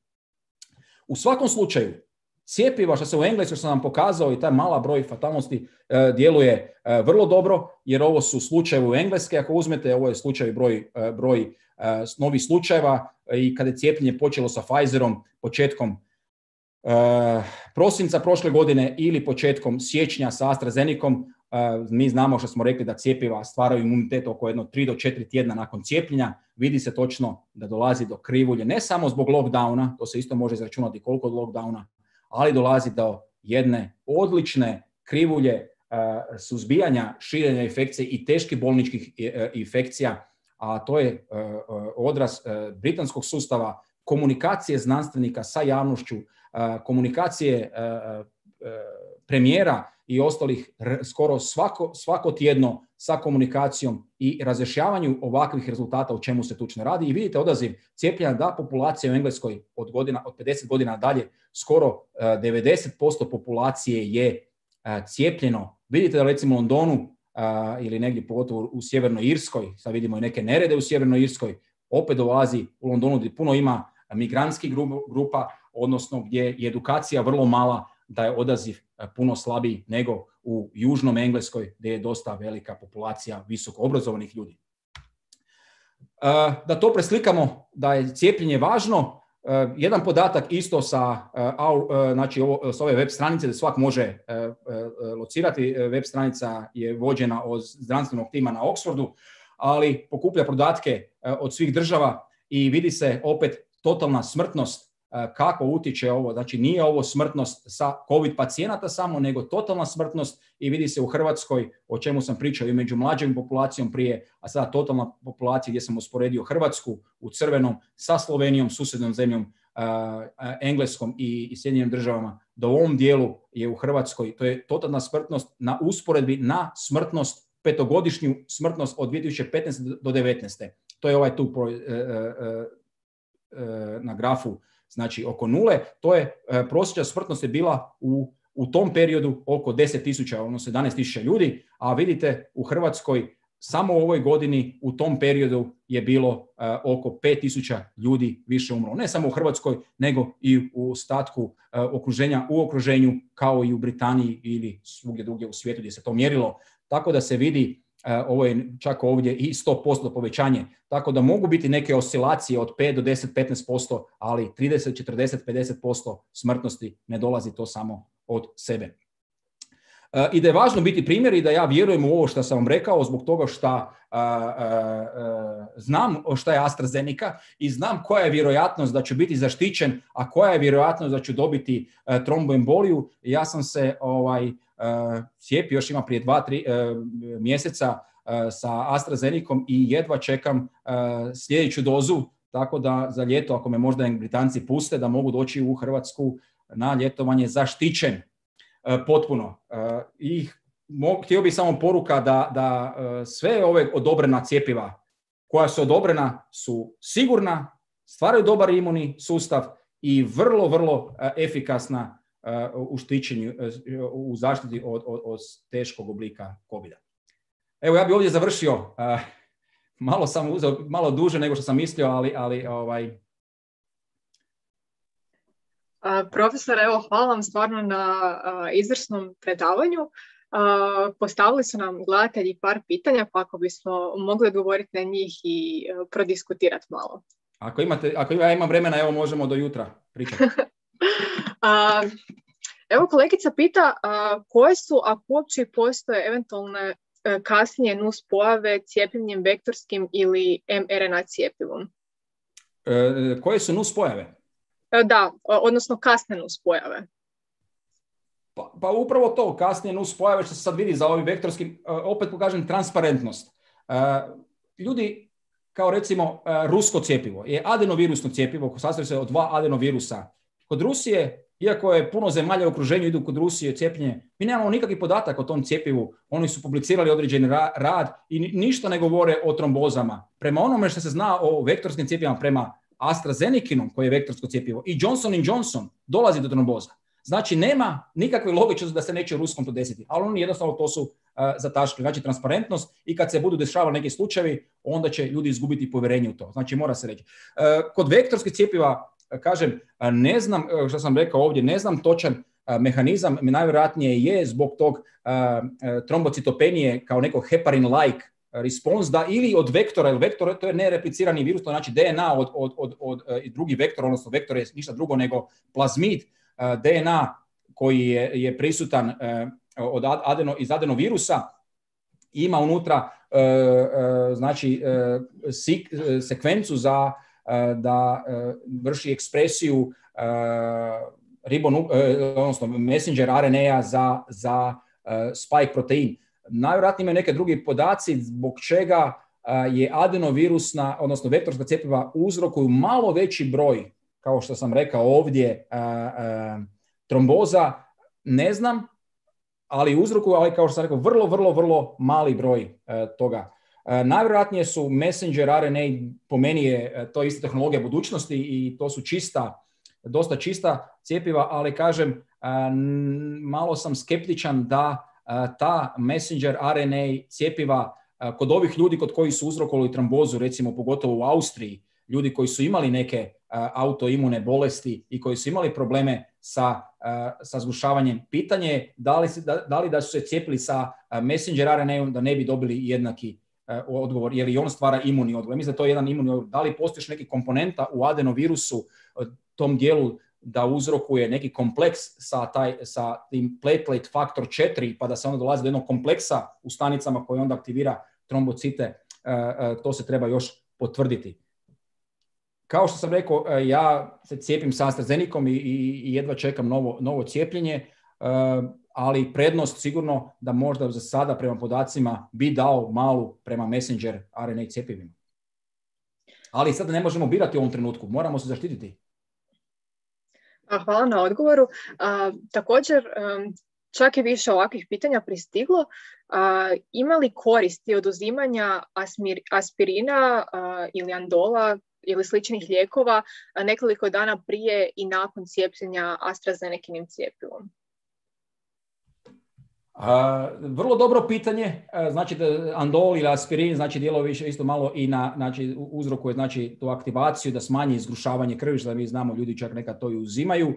U svakom slučaju, cjepiva, što se u Engleskoj sam nam pokazao i taj mala broj fatalnosti uh, djeluje uh, vrlo dobro, jer ovo su slučajevi u Engleske. Ako uzmete, ovo je slučaj broj, uh, broj uh, novih slučajeva i kada je cijepljenje počelo sa Pfizerom početkom Uh, prosinca prošle godine ili početkom siječnja sa AstraZenecom, uh, mi znamo što smo rekli da cjepiva stvaraju imunitet oko jedno tri do četiri tjedna nakon cijepljenja. Vidi se točno da dolazi do krivulje, ne samo zbog lockdowna, to se isto može izračunati koliko od lockdowna, ali dolazi do jedne odlične krivulje uh, suzbijanja širenja infekcije i teških bolničkih uh, infekcija, a to je uh, odraz uh, britanskog sustava, komunikacije znanstvenika sa javnošću, komunikacije premijera i ostalih skoro svako, svako tjedno sa komunikacijom i razjašnjavanju ovakvih rezultata u čemu se tučno radi. I vidite odaziv cijepljenja da populacija u Engleskoj od, godina, od pedeset godina dalje skoro devedeset posto populacije je cijepljeno. Vidite da recimo u Londonu ili negdje pogotovo u Sjevernoj Irskoj, sad vidimo i neke nerede u Sjevernoj Irskoj, opet dolazi u Londonu gdje puno ima migrantskih grupa, odnosno gdje je edukacija vrlo mala, da je odaziv puno slabiji nego u južnom Engleskoj gdje je dosta velika populacija visoko obrazovanih ljudi. Da to preslikamo da je cijepljenje važno, jedan podatak isto sa, znači ovo, s ove web stranice da svak može locirati, web stranica je vođena od zdravstvenog tima na Oxfordu, ali pokuplja podatke od svih država i vidi se opet totalna smrtnost kako utječe ovo. Znači nije ovo smrtnost sa COVID pacijenata samo, nego totalna smrtnost i vidi se u Hrvatskoj, o čemu sam pričao i među mlađom populacijom prije, a sada totalna populacija gdje sam usporedio Hrvatsku u crvenom sa Slovenijom, susjednom zemljom, Engleskom i, i Sjedinjenim državama, da u ovom dijelu je u Hrvatskoj, to je totalna smrtnost na usporedbi na smrtnost, petogodišnju smrtnost od dvije tisuće petnaeste do devetnaeste. To je ovaj tu pro, e, e, e, na grafu, znači oko nule. To je e, prosječna smrtnost je bila u, u tom periodu oko deset tisuća, odnosno sedamnaest tisuća ljudi, a vidite u Hrvatskoj samo u ovoj godini u tom periodu je bilo uh, oko pet tisuća ljudi više umrlo. Ne samo u Hrvatskoj, nego i u ostatku uh, okruženja, u okruženju kao i u Britaniji ili svugdje drugdje u svijetu gdje se to mjerilo. Tako da se vidi, uh, ovo je čak ovdje i sto posto povećanje. Tako da mogu biti neke oscilacije od pet do deset do petnaest posto, ali trideset, četrdeset, pedeset posto smrtnosti ne dolazi to samo od sebe. I da je važno biti primjer i da ja vjerujem u ovo što sam vam rekao zbog toga što uh, uh, znam šta je AstraZeneca i znam koja je vjerojatnost da ću biti zaštićen, a koja je vjerojatnost da ću dobiti uh, tromboemboliju. Ja sam se ovaj, uh, cijepio još ima prije dva, tri uh, mjeseca uh, sa AstraZenecom i jedva čekam uh, sljedeću dozu, tako da za ljeto, ako me možda Britanci puste, da mogu doći u Hrvatsku na ljetovanje zaštićen. Potpuno. I htio bih samo poruka da, da sve ove odobrena cjepiva koja su odobrena su sigurna, stvaraju dobar imunni sustav i vrlo, vrlo efikasna u štićenju, u zaštiti od, od, od teškog oblika covida. Evo, ja bih ovdje završio. Malo sam uzeo, malo duže nego što sam mislio, ali, ali ovaj, Uh, profesor, evo, hvala vam stvarno na uh, izvrsnom predavanju. Uh, postavili su nam gledatelji par pitanja, pa ako bismo mogli odgovoriti na njih i uh, prodiskutirati malo. Ako imate, ako ja imam vremena, evo možemo do jutra pričati. uh, evo, kolegica pita uh, koje su, ako uopće postoje eventualne uh, kasnije nuspojave cijepljenjem vektorskim ili em er en a cijepivom? Uh, koje su nuspojave? Da, odnosno kasne nuspojave. Pa, pa upravo to, kasnije nuspojave što se sad vidi za ovi vektorski, opet pokažem transparentnost. Ljudi, kao recimo rusko cjepivo, je adenovirusno cjepivo, sastoji se od dva adenovirusa. Kod Rusije, iako je puno zemalja u okruženju idu kod Rusije cijepljenje, mi nemamo nikakvi podatak o tom cjepivu. Oni su publicirali određeni rad i ništa ne govore o trombozama. Prema onome što se zna o vektorskim cjepivima, prema AstraZeneca-inom, koji je vektorsko cjepivo, i Johnson and Johnson, dolazi do tromboza. Znači, nema nikakve logičnosti da se neće u ruskom to desiti, ali oni jednostavno to su uh, zataškali. Znači, transparentnost i kad se budu dešavali neki slučajevi, onda će ljudi izgubiti povjerenje u to. Znači, mora se reći. Uh, kod vektorskih cjepiva, uh, kažem, uh, ne znam, uh, što sam rekao ovdje, ne znam točan uh, mehanizam, najvjerojatnije je zbog tog uh, uh, trombocitopenije kao neko heparin-like response, da ili od vektora, ili vektor to je nereplicirani virus, to znači de en a od, od, od, od uh, drugi vektor, odnosno vektor je ništa drugo nego plazmid, uh, de en a koji je, je prisutan uh, od adeno, iz adenovirusa, ima unutra uh, uh, znači uh, sik, uh, sekvencu za uh, da uh, vrši ekspresiju uh, ribonu, uh, odnosno messenger er en a za, za uh, spike protein. Najvjerojatnije imaju neke drugi podaci zbog čega je adenovirusna, odnosno vektorska cjepiva uzrokuju malo veći broj, kao što sam rekao ovdje, tromboza, ne znam, ali uzrokuju, ali kao što sam rekao, vrlo, vrlo, vrlo mali broj toga. Najvjerojatnije su messenger er en a, po meni je to ista tehnologija budućnosti i to su čista, dosta čista cjepiva, ali kažem, malo sam skeptičan da ta messenger er en a cjepiva kod ovih ljudi kod koji su uzrokovali trombozu, recimo pogotovo u Austriji, ljudi koji su imali neke autoimune bolesti i koji su imali probleme sa, sa zgušavanjem, pitanje je da li, da, da li da su se cijepili sa messenger R N A-om da ne bi dobili jednaki odgovor, jer i on stvara imunni odgovor. Mislim da to je jedan imunni odgovor. Da li postoji neki komponenta u adenovirusu, tom dijelu, da uzrokuje neki kompleks sa, taj, sa tim platelet faktor četiri, pa da se onda dolazi do jednog kompleksa u stanicama koji onda aktivira trombocite, to se treba još potvrditi. Kao što sam rekao, ja se cijepim sa AstraZenecom i, i, i jedva čekam novo, novo cijepljenje, ali prednost sigurno da možda za sada prema podacima bi dao malu prema messenger R N A cjepivima. Ali sada ne možemo birati u ovom trenutku, moramo se zaštititi. Hvala na odgovoru. A, također, čak i više ovakvih pitanja pristiglo. A, ima li koristi od uzimanja asmir, aspirina a, ili andola ili sličnih lijekova nekoliko dana prije i nakon cijepljenja AstraZenekinim cijepivom? Uh, vrlo dobro pitanje. Uh, znači da andol ili aspirin znači djeluje više isto malo i na, znači uzrokuje znači tu aktivaciju da smanji izgrušavanje krvi, što mi znamo, ljudi čak nekad to i uzimaju. Uh,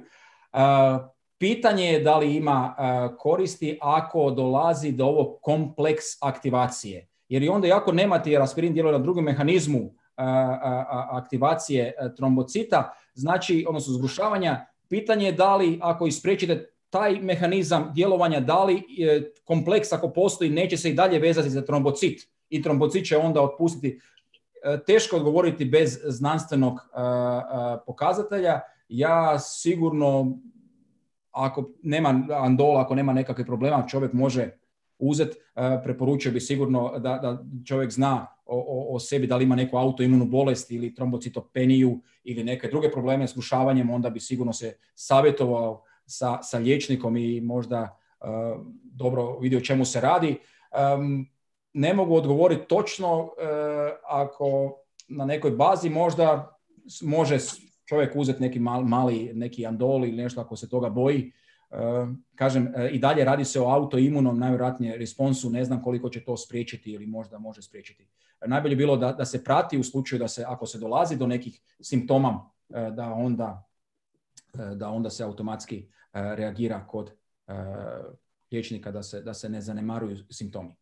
pitanje je da li ima uh, koristi ako dolazi do ovog kompleks aktivacije. Jer i onda jako nemate, jer aspirin djeluje na drugom mehanizmu uh, uh, aktivacije uh, trombocita, znači odnosno zgrušavanja. Pitanje je da li ako ispriječite taj mehanizam djelovanja, da li kompleks ako postoji neće se i dalje vezati za trombocit i trombocit će onda otpustiti. Teško odgovoriti bez znanstvenog pokazatelja. Ja sigurno, ako nema andola, ako nema nekakvih problema, čovjek može uzeti. Preporučio bi sigurno da, da čovjek zna o, o, o sebi, da li ima neku autoimunu bolest ili trombocitopeniju ili neke druge probleme s gušavanjem, onda bi sigurno se savjetovao Sa, sa liječnikom i možda uh, dobro vidio o čemu se radi. Um, ne mogu odgovoriti točno uh, ako na nekoj bazi možda može čovjek uzeti neki mal, mali neki andol ili nešto ako se toga boji. Uh, kažem, uh, i dalje radi se o autoimunom, najvjerojatnije responsu, ne znam koliko će to spriječiti ili možda može spriječiti. Uh, najbolje bilo da, da se prati u slučaju da se, ako se dolazi do nekih simptoma, uh, da onda da onda se automatski uh, reagira kod uh, liječnika da se, da se ne zanemaruju simptomi.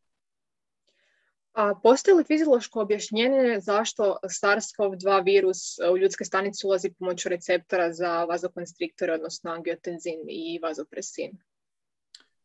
A postoji li fiziološko objašnjenje zašto SARS-CoV dva virus u ljudske stanice ulazi pomoću receptora za vazokonstriktore, odnosno angiotenzin i vazopresin?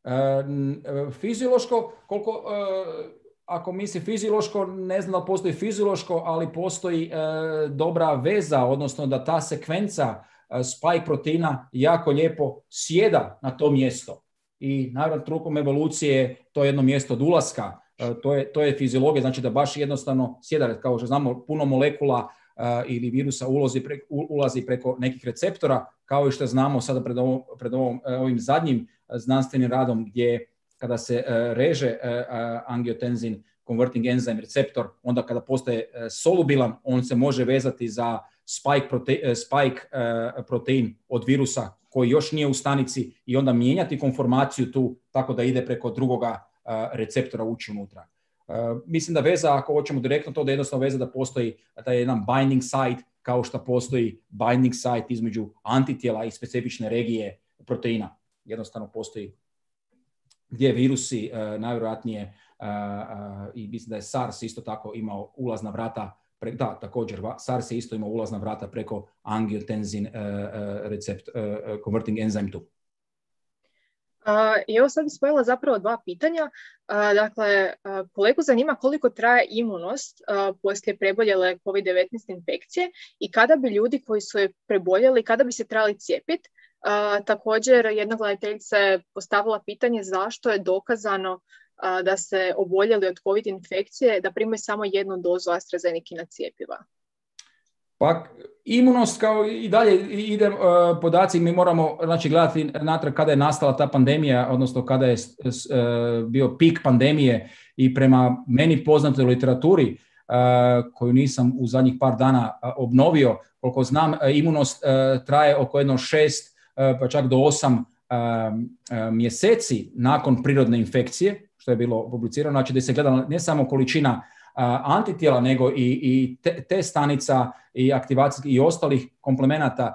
Uh, fiziološko, koliko... Uh, Ako misli fiziološko, ne znam da postoji fiziološko, ali postoji e, dobra veza, odnosno da ta sekvenca e, spike proteina jako lijepo sjeda na to mjesto. I naravno trukom evolucije to je jedno mjesto od ulaska, e, to, je, to je fiziologija, znači da baš jednostavno sjeda, kao što znamo, puno molekula e, ili virusa ulazi preko, ulazi preko nekih receptora, kao i što znamo sada pred, ovo, pred ovom, ovim zadnjim znanstvenim radom gdje kada se uh, reže uh, uh, angiotensin converting enzyme receptor, onda kada postaje uh, solubilan, on se može vezati za spike, prote- uh, spike uh, protein od virusa koji još nije u stanici i onda mijenjati konformaciju tu tako da ide preko drugoga uh, receptora ući unutra. Uh, mislim da veza, ako hoćemo direktno to, da je jednostavno veza da postoji taj jedan binding site kao što postoji binding site između antitijela i specifične regije proteina. Jednostavno postoji gdje virusi uh, najvjerojatnije uh, uh, i mislim da je SARS isto tako imao ulazna vrata, pre, da također SARS je isto imao ulazna vrata preko angiotensin uh, uh, recept, uh, converting enzyme tu. Uh, I evo sad bih spojila zapravo dva pitanja. Uh, dakle, uh, kolegu zanima koliko traje imunost uh, poslije preboljele kovid devetnaest infekcije i kada bi ljudi koji su je preboljeli, kada bi se trebali cijepiti. Uh, također, jedna gledateljica je postavila pitanje zašto je dokazano uh, da se oboljeli od COVID infekcije da primaju samo jednu dozu AstraZenekina cjepiva. Pa imunost kao i dalje ide uh, podaci, mi moramo znači, gledati natrag kada je nastala ta pandemija, odnosno kada je uh, bio pik pandemije i prema meni poznatoj literaturi uh, koju nisam u zadnjih par dana uh, obnovio, koliko znam, uh, imunost uh, traje oko jedno šest pa čak do osam um, mjeseci nakon prirodne infekcije, što je bilo publicirano, znači da se gleda ne samo količina antitijela, nego i, i te, te stanica i aktivacijskih i ostalih komplemenata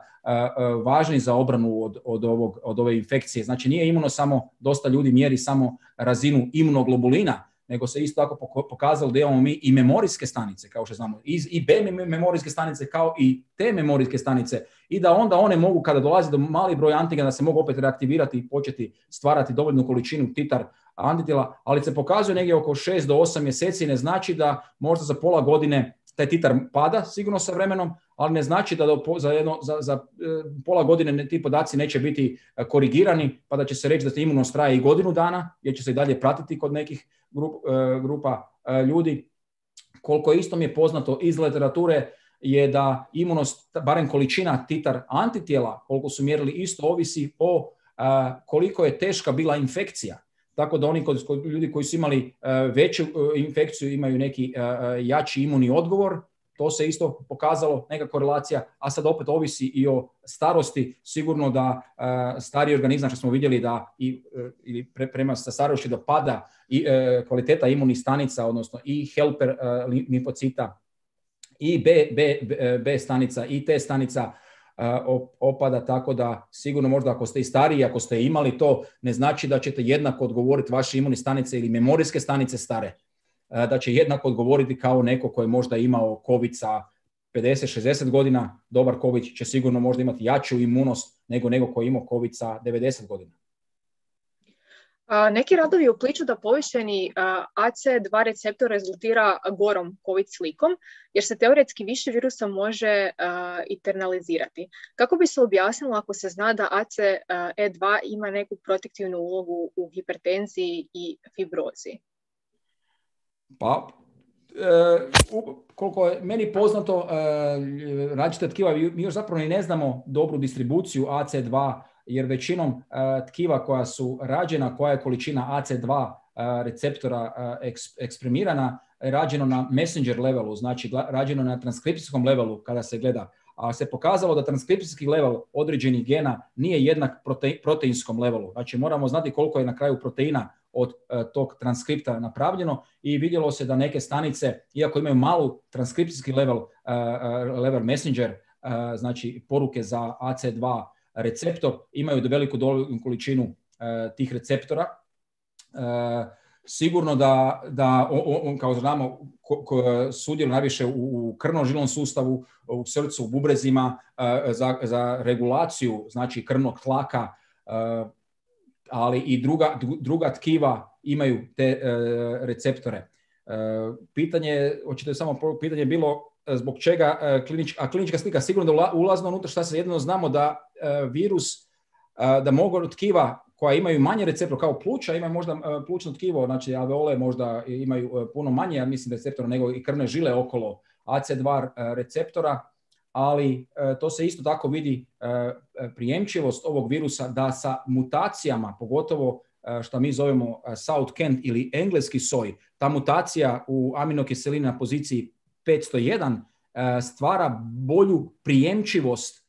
važni za obranu od, od, ovog, od ove infekcije. Znači nije imuno samo, dosta ljudi mjeri samo razinu imunoglobulina, nego se isto tako pokazalo da imamo mi i memorijske stanice, kao što znamo, i B memorijske stanice kao i T memorijske stanice, i da onda one mogu, kada dolazi do mali broj antigena, da se mogu opet reaktivirati i početi stvarati dovoljnu količinu titar antitijela, ali se pokazuje negdje oko šest do osam mjeseci, ne znači da možda za pola godine taj titar pada sigurno sa vremenom, ali ne znači da do, za, jedno, za, za pola godine ti podaci neće biti korigirani, pa da će se reći da te imunost traje i godinu dana, jer će se i dalje pratiti kod nekih grup, grupa ljudi. Koliko isto mi je poznato iz literature je da imunost, barem količina titar antitijela, koliko su mjerili, isto ovisi o koliko je teška bila infekcija. Tako da oni kod, kod ljudi koji su imali uh, veću uh, infekciju imaju neki uh, jači imunni odgovor. To se isto pokazalo, neka korelacija, a sad opet ovisi i o starosti. Sigurno da uh, stariji organizam, što smo vidjeli da i, uh, ili pre, prema sa starošću da pada i uh, kvaliteta imunih stanica, odnosno i helper uh, limfocita, i B, B, B, B stanica, i T stanica opada, tako da sigurno možda ako ste i stariji, ako ste imali to, ne znači da ćete jednako odgovoriti vaše imunne stanice ili memorijske stanice stare, da će jednako odgovoriti kao neko koji je možda imao COVID sa pedeset šezdeset godina. Dobar COVID će sigurno možda imati jaču imunost nego nego koji je imao COVID sa devedeset godina. Neki radovi upliču da povišeni A C dva receptor rezultira gorom COVID slikom, jer se teoretski više virusa može internalizirati. Kako bi se objasnilo ako se zna da A C E dva ima neku protektivnu ulogu u hipertenziji i fibrozi? Pa, e, koliko je meni poznato, e, različite tkiva, mi još zapravo ni ne znamo dobru distribuciju A C dva, jer većinom uh, tkiva koja su rađena, koja je količina A C dva uh, receptora uh, eks, eksprimirana, je rađeno na messenger levelu, znači rađeno na transkripcijskom levelu kada se gleda. A se pokazalo da transkripcijski level određenih gena nije jednak prote, proteinskom levelu. Znači moramo znati koliko je na kraju proteina od uh, tog transkripta napravljeno, i vidjelo se da neke stanice, iako imaju malu transkripcijski level, uh, uh, level messenger, uh, znači poruke za A C dva receptor, imaju veliku dovoljnu količinu uh, tih receptora. Uh, sigurno da, da on, kao znamo, sudjeluje najviše u, u krvno-žilnom sustavu, u srcu, u bubrezima, uh, za, za regulaciju, znači krvnog tlaka, uh, ali i druga, druga tkiva imaju te uh, receptore. Uh, pitanje, hoćete samo pitanje je bilo zbog čega klinička, a klinička slika sigurno da ulazno unutra, šta se jedino znamo da uh, virus, uh, da mogu tkiva koja imaju manje receptora kao pluća, imaju možda uh, plućno tkivo, znači alveole možda imaju uh, puno manje, ja mislim, receptora nego i krvne žile okolo A C dva uh, receptora, ali uh, to se isto tako vidi uh, prijemčivost ovog virusa da sa mutacijama, pogotovo uh, što mi zovemo uh, South Kent ili engleski soj, ta mutacija u aminokiselini na poziciji petsto jedan stvara bolju prijemčivost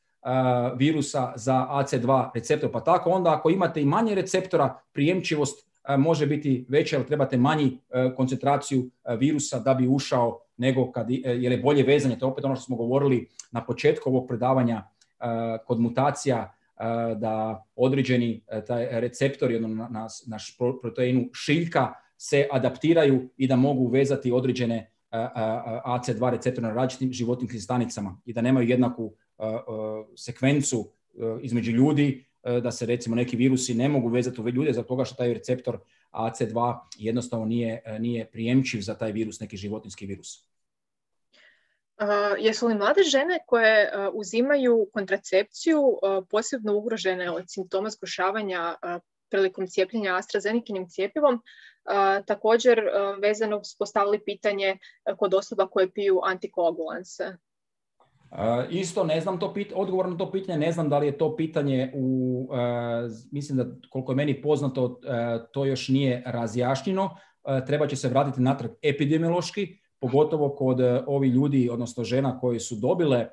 virusa za A C dva receptor. Pa tako onda ako imate i manje receptora, prijemčivost može biti veća, jer trebate manji koncentraciju virusa da bi ušao, nego kad, jer je bolje vezanje. To je opet ono što smo govorili na početku ovog predavanja kod mutacija, da određeni taj receptori na, na naš proteinu šiljka se adaptiraju i da mogu vezati određene A C dva receptora na različitim životinjskim stanicama i da nemaju jednaku uh, uh, sekvencu uh, između ljudi, uh, da se recimo neki virusi ne mogu vezati u ljude zbog toga što taj receptor A C dva jednostavno nije, uh, nije prijemčiv za taj virus, neki životinjski virus. Uh, jesu li mlade žene koje uh, uzimaju kontracepciju uh, posebno ugrožene od simptoma zgoršavanja uh, prilikom cijepljenja AstraZenekinim cijepivom? Uh, također uh, vezano smo postavili pitanje uh, kod osoba koje piju antikoagulanse. Uh, isto ne znam to pit- odgovor na to pitanje, ne znam da li je to pitanje u, uh, mislim da koliko je meni poznato, uh, to još nije razjašnjeno. Uh, treba će se vratiti natrag epidemiološki, pogotovo kod uh, ovih ljudi, odnosno žena koji su dobile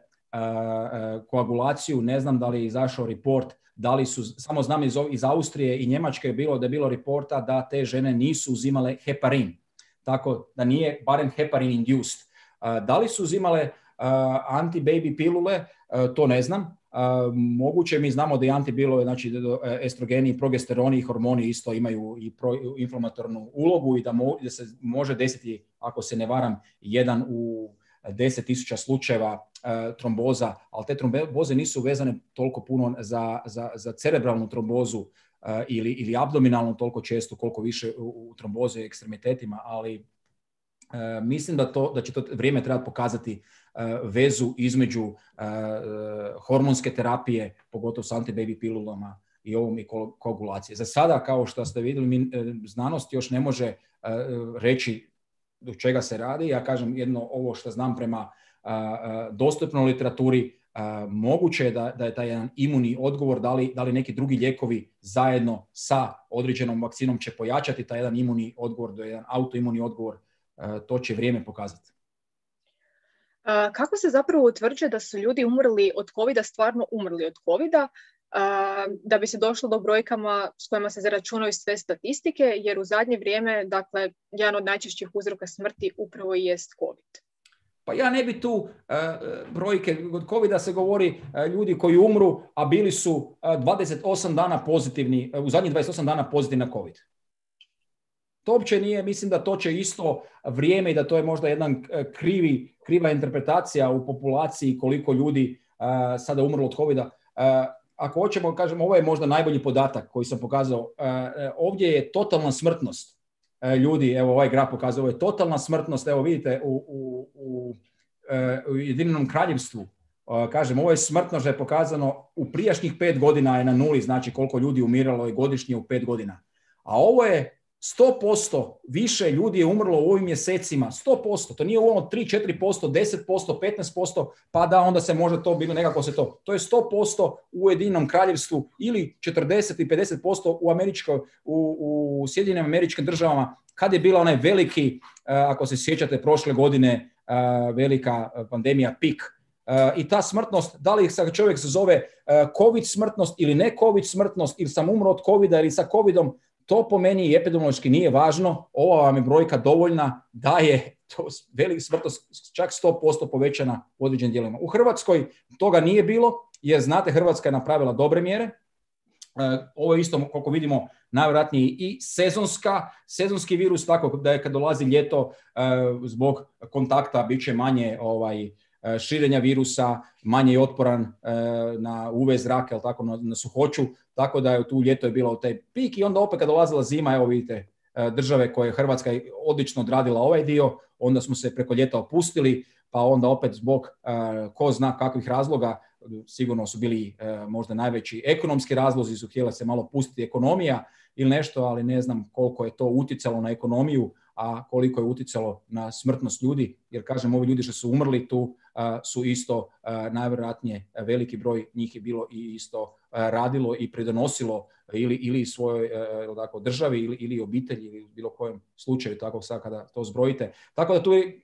koagulaciju. Ne znam da li je izašao report, da li su, samo znam iz, iz Austrije i Njemačke je bilo da je bilo reporta da te žene nisu uzimale heparin. Tako da nije barem heparin induced. Da li su uzimale anti-baby pilule, to ne znam. Moguće, mi znamo da i antibilove, znači estrogeni i progesteroni i hormoni isto imaju i proinflamatornu ulogu i da, mo, da se može desiti, ako se ne varam, jedan u deset tisuća slučajeva uh, tromboza, ali te tromboze nisu vezane toliko puno za, za, za cerebralnu trombozu uh, ili, ili abdominalnu toliko često koliko više u, u tromboze i ekstremitetima, ali uh, mislim da, to, da će to vrijeme trebati pokazati uh, vezu između uh, uh, hormonske terapije, pogotovo s anti-baby pilulama i ovom i koagulacije. Za sada, kao što ste vidjeli, mi, uh, znanost još ne može uh, reći do čega se radi. Ja kažem jedno ovo što znam prema uh, uh, dostupnoj literaturi, uh, moguće je da, da je taj jedan imunni odgovor, da li, da li neki drugi lijekovi zajedno sa određenom vakcinom će pojačati taj jedan imunni odgovor, da je jedan autoimunni odgovor, uh, to će vrijeme pokazati. Uh, kako se zapravo utvrđuje da su ljudi umrli od covida, stvarno umrli od covida, Uh, da bi se došlo do brojkama s kojima se zaračunaju sve statistike, jer u zadnje vrijeme, dakle, jedan od najčešćih uzroka smrti upravo i jest COVID. Pa ja ne bi tu uh, brojke, od covida se govori uh, ljudi koji umru, a bili su uh, dvadeset osam dana pozitivni, uh, u zadnjih dvadeset osam dana pozitivni na COVID. To uopće nije, mislim da to će isto vrijeme i da to je možda jedan krivi, kriva interpretacija u populaciji koliko ljudi uh, sada umrlo od covida. Uh, Ako hoćemo, kažem, ovo je možda najbolji podatak koji sam pokazao. Uh, ovdje je totalna smrtnost uh, ljudi, evo ovaj graf pokazuje, ovo je totalna smrtnost, evo vidite u, u, u, uh, u Ujedinjenom Kraljevstvu, uh, kažem, ovo je smrtnost da je pokazano u prijašnjih pet godina je na nuli, znači koliko ljudi umiralo je godišnje u pet godina. A ovo je sto posto više ljudi je umrlo u ovim mjesecima, sto posto, to nije ono tri do četiri posto, deset posto, petnaest posto, pa da onda se može to bilo nekako se to. To je sto posto u Ujedinjenom Kraljevstvu ili četrdeset i pedeset posto u, Američko, u, u Sjedinjenim Američkim Državama, kad je bila onaj veliki, ako se sjećate prošle godine, velika pandemija pik. I ta smrtnost, da li se čovjek se zove COVID smrtnost ili ne COVID smrtnost, ili sam umro od covida ili sa covidom, to po meni epidemiološki nije važno. Ova vam je brojka dovoljna da je to velika smrtnost čak sto posto povećana u određenim dijelovima. U Hrvatskoj toga nije bilo, jer znate, Hrvatska je napravila dobre mjere. Ovo je isto, koliko vidimo, najvjerojatnije i sezonska, sezonski virus, tako da je kad dolazi ljeto zbog kontakta bit će manje ovaj, širenja virusa, manje je otporan na U V zrak, jel tako, na, na suhoću, tako da je tu ljeto je bilo taj pik i onda opet kad dolazila zima, evo vidite, države koje je Hrvatska odlično odradila ovaj dio, onda smo se preko ljeta opustili, pa onda opet zbog ko zna kakvih razloga, sigurno su bili možda najveći ekonomski razlozi, su htjela se malo pustiti ekonomija ili nešto, ali ne znam koliko je to utjecalo na ekonomiju, a koliko je utjecalo na smrtnost ljudi, jer kažem, ovi ljudi što su umrli tu uh, su isto uh, najvjerojatnije veliki broj njih je bilo i isto uh, radilo i pridonosilo ili, ili svojoj uh, tako, državi ili, ili obitelji ili bilo kojem slučaju, tako sad kada to zbrojite. Tako da tu je,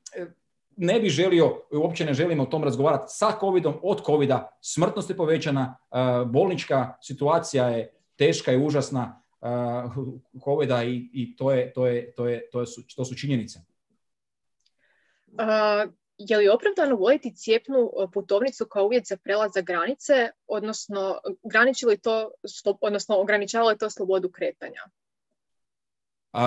ne bih želio, uopće ne želimo o tom razgovarati sa covidom, od covida, smrtnost je povećana, uh, bolnička situacija je teška i užasna, Uh, covida i, i to, je, to, je, to, je, to, je, to su činjenice. Uh, je li opravdano voditi cijepnu putovnicu kao uvjet za prelazak granice, odnosno graniči li to, odnosno ograničava li to slobodu kretanja? Uh,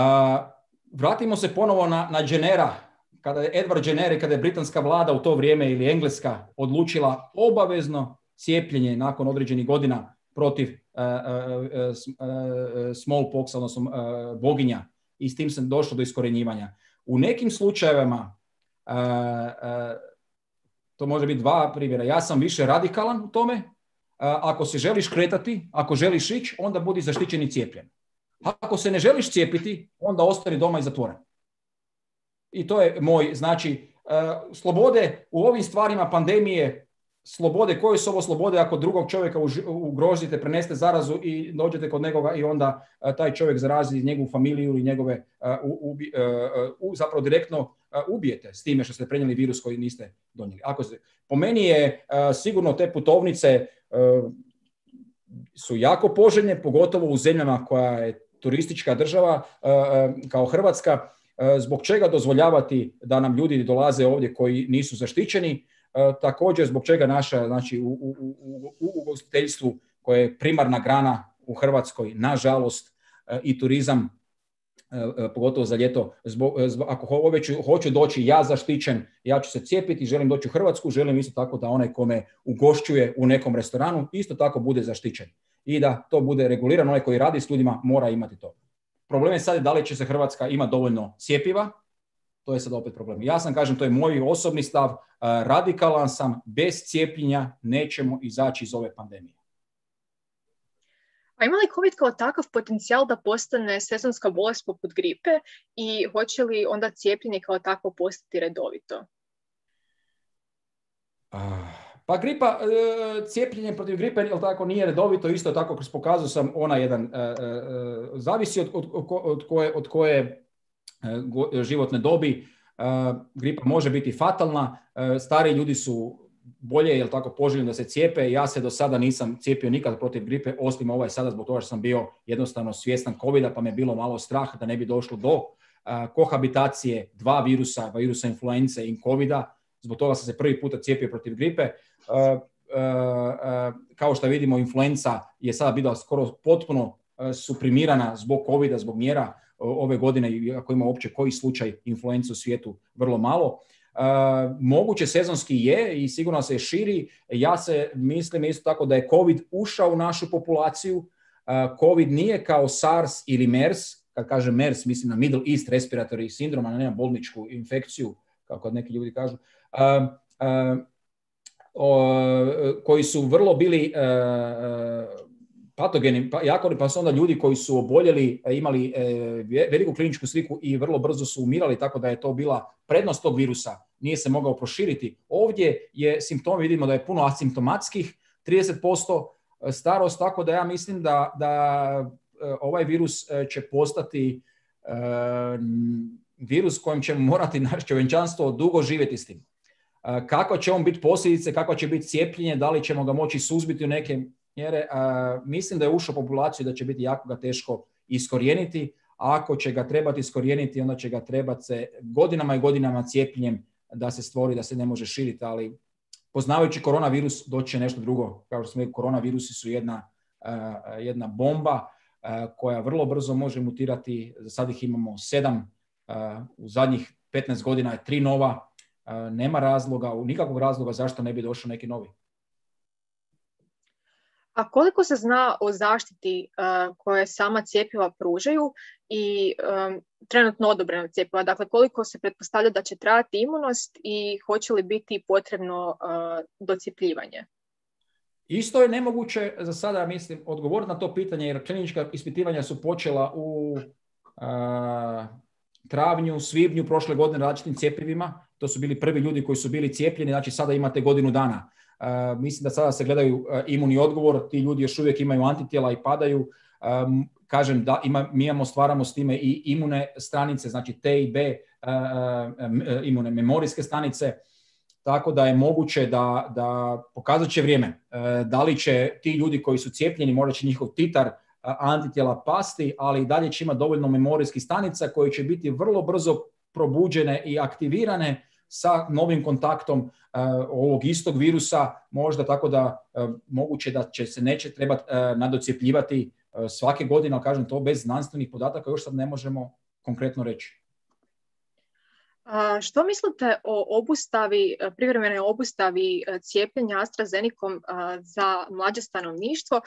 vratimo se ponovo na, na Jennera. Kada je Edward Jenner i kada je britanska vlada u to vrijeme ili engleska odlučila obavezno cijepljenje nakon određenih godina protiv uh, uh, uh, smallpox, odnosno uh, boginja, i s tim se došlo do iskorenjivanja. U nekim slučajevima uh, uh, to može biti dva primjera. Ja sam više radikalan u tome. Uh, ako se želiš kretati, ako želiš ići, onda budi zaštićen i cijepljen. Ako se ne želiš cijepiti, onda ostani doma i zatvoren. I to je moj, znači, uh, slobode u ovim stvarima pandemije, slobode, koje su ovo slobode ako drugog čovjeka ugrozite, preneste zarazu i dođete kod nekoga i onda uh, taj čovjek zarazi njegovu familiju ili njegove uh, u, u, uh, uh, zapravo direktno uh, ubijete s time što ste prenijeli virus koji niste donijeli. Ako se, po meni je sigurno te putovnice su jako poželjne, pogotovo u zemljama koja je turistička država kao Hrvatska, zbog čega dozvoljavati da nam ljudi dolaze ovdje koji nisu zaštićeni, također zbog čega naša, znači u, u, u, u ugostiteljstvu koje je primarna grana u Hrvatskoj, nažalost, i turizam, pogotovo za ljeto, zbog, zbog, ako već hoću doći ja zaštićen, ja ću se cijepiti, želim doći u Hrvatsku, želim isto tako da onaj ko me ugošćuje u nekom restoranu isto tako bude zaštićen i da to bude regulirano, onaj koji radi s ljudima mora imati to. Problem je sad da li će se Hrvatska ima dovoljno cjepiva, to je sad opet problem. Ja sam, kažem, to je moj osobni stav, radikalan sam, bez cijepljenja nećemo izaći iz ove pandemije. A ima li COVID kao takav potencijal da postane sezonska bolest poput gripe i hoće li onda cijepljenje kao takvo postati redovito? Pa gripa, cijepljenje protiv gripe jel tako, nije redovito, isto tako kroz pokazao sam ona jedan, zavisi od, od, od koje, od koje životne dobi. Gripa može biti fatalna, stari ljudi su bolje, jel tako, poželjno da se cijepe. Ja se do sada nisam cijepio nikad protiv gripe, osim ovaj sada zbog toga što sam bio jednostavno svjestan covida, pa me je bilo malo strah da ne bi došlo do uh, kohabitacije dva virusa, virusa influence i covida. Zbog toga sam se prvi puta cijepio protiv gripe. Uh, uh, uh, kao što vidimo, influenca je sada bila skoro potpuno uh, suprimirana zbog covida, zbog mjera uh, ove godine, ako ima uopće koji slučaj influencu u svijetu, vrlo malo. Uh, moguće sezonski je i sigurno se širi. Ja se mislim isto tako da je COVID ušao u našu populaciju. Uh, COVID nije kao SARS ili MERS. Kad kažem MERS, mislim na Middle East Respiratory Syndrome, a ne na bolničku infekciju, kako neki ljudi kažu, uh, uh, uh, koji su vrlo bili uh, patogeni, pa, jako, pa su onda ljudi koji su oboljeli, imali uh, veliku kliničku sliku i vrlo brzo su umirali, tako da je to bila prednost tog virusa. Nije se mogao proširiti. Ovdje je simptom, vidimo da je puno asimptomatskih, trideset posto starost, tako da ja mislim da, da ovaj virus će postati uh, virus kojim ćemo morati naše čovječanstvo dugo živjeti s tim. Uh, kako će on biti posljedice, kako će biti cijepljenje, da li ćemo ga moći suzbiti u neke mjere, uh, mislim da je ušao u populaciju da će biti jako ga teško iskorijeniti. A ako će ga trebati iskorijeniti, onda će ga trebati se godinama i godinama cijepljenjem da se stvori, da se ne može širiti, ali poznavajući koronavirus doći će nešto drugo. Kao što smo rekli, koronavirusi su jedna, uh, jedna bomba uh, koja vrlo brzo može mutirati. Za sad ih imamo sedam, uh, u zadnjih petnaest godina je tri nova. Uh, nema razloga, nikakvog razloga zašto ne bi došao neki novi. A koliko se zna o zaštiti uh, koje sama cjepiva pružaju i um, trenutno odobrena cjepiva? Dakle, koliko se pretpostavlja da će trajati imunost i hoće li biti potrebno uh, docjepljivanje? Isto je nemoguće za sada, mislim, odgovoriti na to pitanje, jer klinička ispitivanja su počela u uh, travnju, svibnju prošle godine različitim cjepivima. To su bili prvi ljudi koji su bili cijepljeni, znači sada imate godinu dana. Uh, mislim da sada se gledaju uh, imunni odgovor, ti ljudi još uvijek imaju antitijela i padaju. Um, kažem da ima, mi imamo, stvaramo s time i imune stranice, znači T i B, uh, uh, imune memorijske stanice, tako da je moguće da, da pokazat će vrijeme. Uh, da li će ti ljudi koji su cijepljeni, možda će njihov titar uh, antitijela pasti, ali i dalje će imati dovoljno memorijskih stanica koje će biti vrlo brzo probuđene i aktivirane sa novim kontaktom uh, ovog istog virusa, možda tako da uh, moguće da će se neće trebati uh, nadocjepljivati uh, svake godine, ali kažem to bez znanstvenih podataka još sad ne možemo konkretno reći. A što mislite o obustavi, privremenoj obustavi cijepljenja AstraZenecom za mlađe stanovništvo?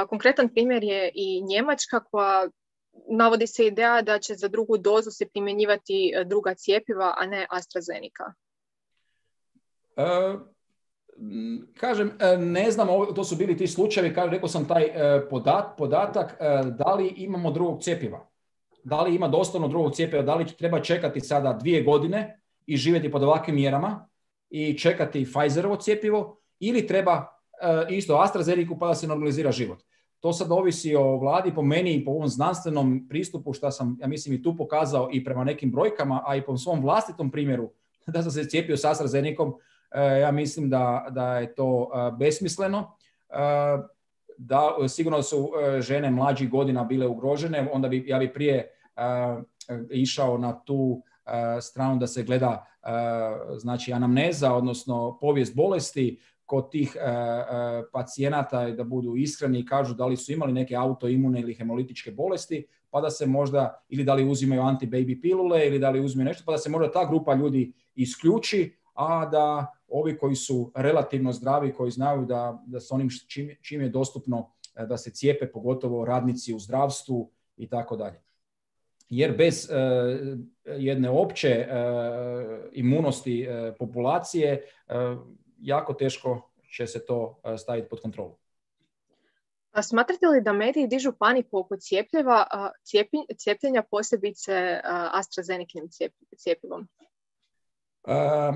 Konkretan primjer je i Njemačka koja navodi se ideja da će za drugu dozu se primjenjivati druga cjepiva, a ne AstraZeneca. Uh, kažem, ne znam, to su bili ti slučajevi, kažem, rekao sam taj podat, podatak, da li imamo drugog cjepiva? Da li ima doslovno drugog cjepiva? Da li treba čekati sada dvije godine i živjeti pod ovakvim mjerama i čekati Pfizerovo cjepivo ili treba isto AstraZeneca pa da se normalizira život? to sad ovisi o vladi, po meni i po ovom znanstvenom pristupu što sam, ja mislim, i tu pokazao i prema nekim brojkama, a i po svom vlastitom primjeru da sam se cijepio s AstraZenecom, ja mislim da, da je to besmisleno. Da, sigurno su žene mlađih godina bile ugrožene, onda bi, ja bi prije išao na tu stranu da se gleda znači anamneza, odnosno povijest bolesti kod tih pacijenata, da budu iskreni i kažu da li su imali neke autoimune ili hemolitičke bolesti, pa da se možda, ili da li uzimaju anti-baby pilule, ili da li uzimaju nešto, pa da se možda ta grupa ljudi isključi, a da ovi koji su relativno zdravi, koji znaju da, da s onim čim, čim je dostupno da se cijepe, pogotovo radnici u zdravstvu i tako dalje. Jer bez uh, jedne opće uh, imunosti uh, populacije uh, jako teško će se to uh, staviti pod kontrolu. A smatrate li da mediji dižu paniku oko cijepljeva, cijepi, cijepljenja, posebice AstraZenekinim cijepivom? Uh,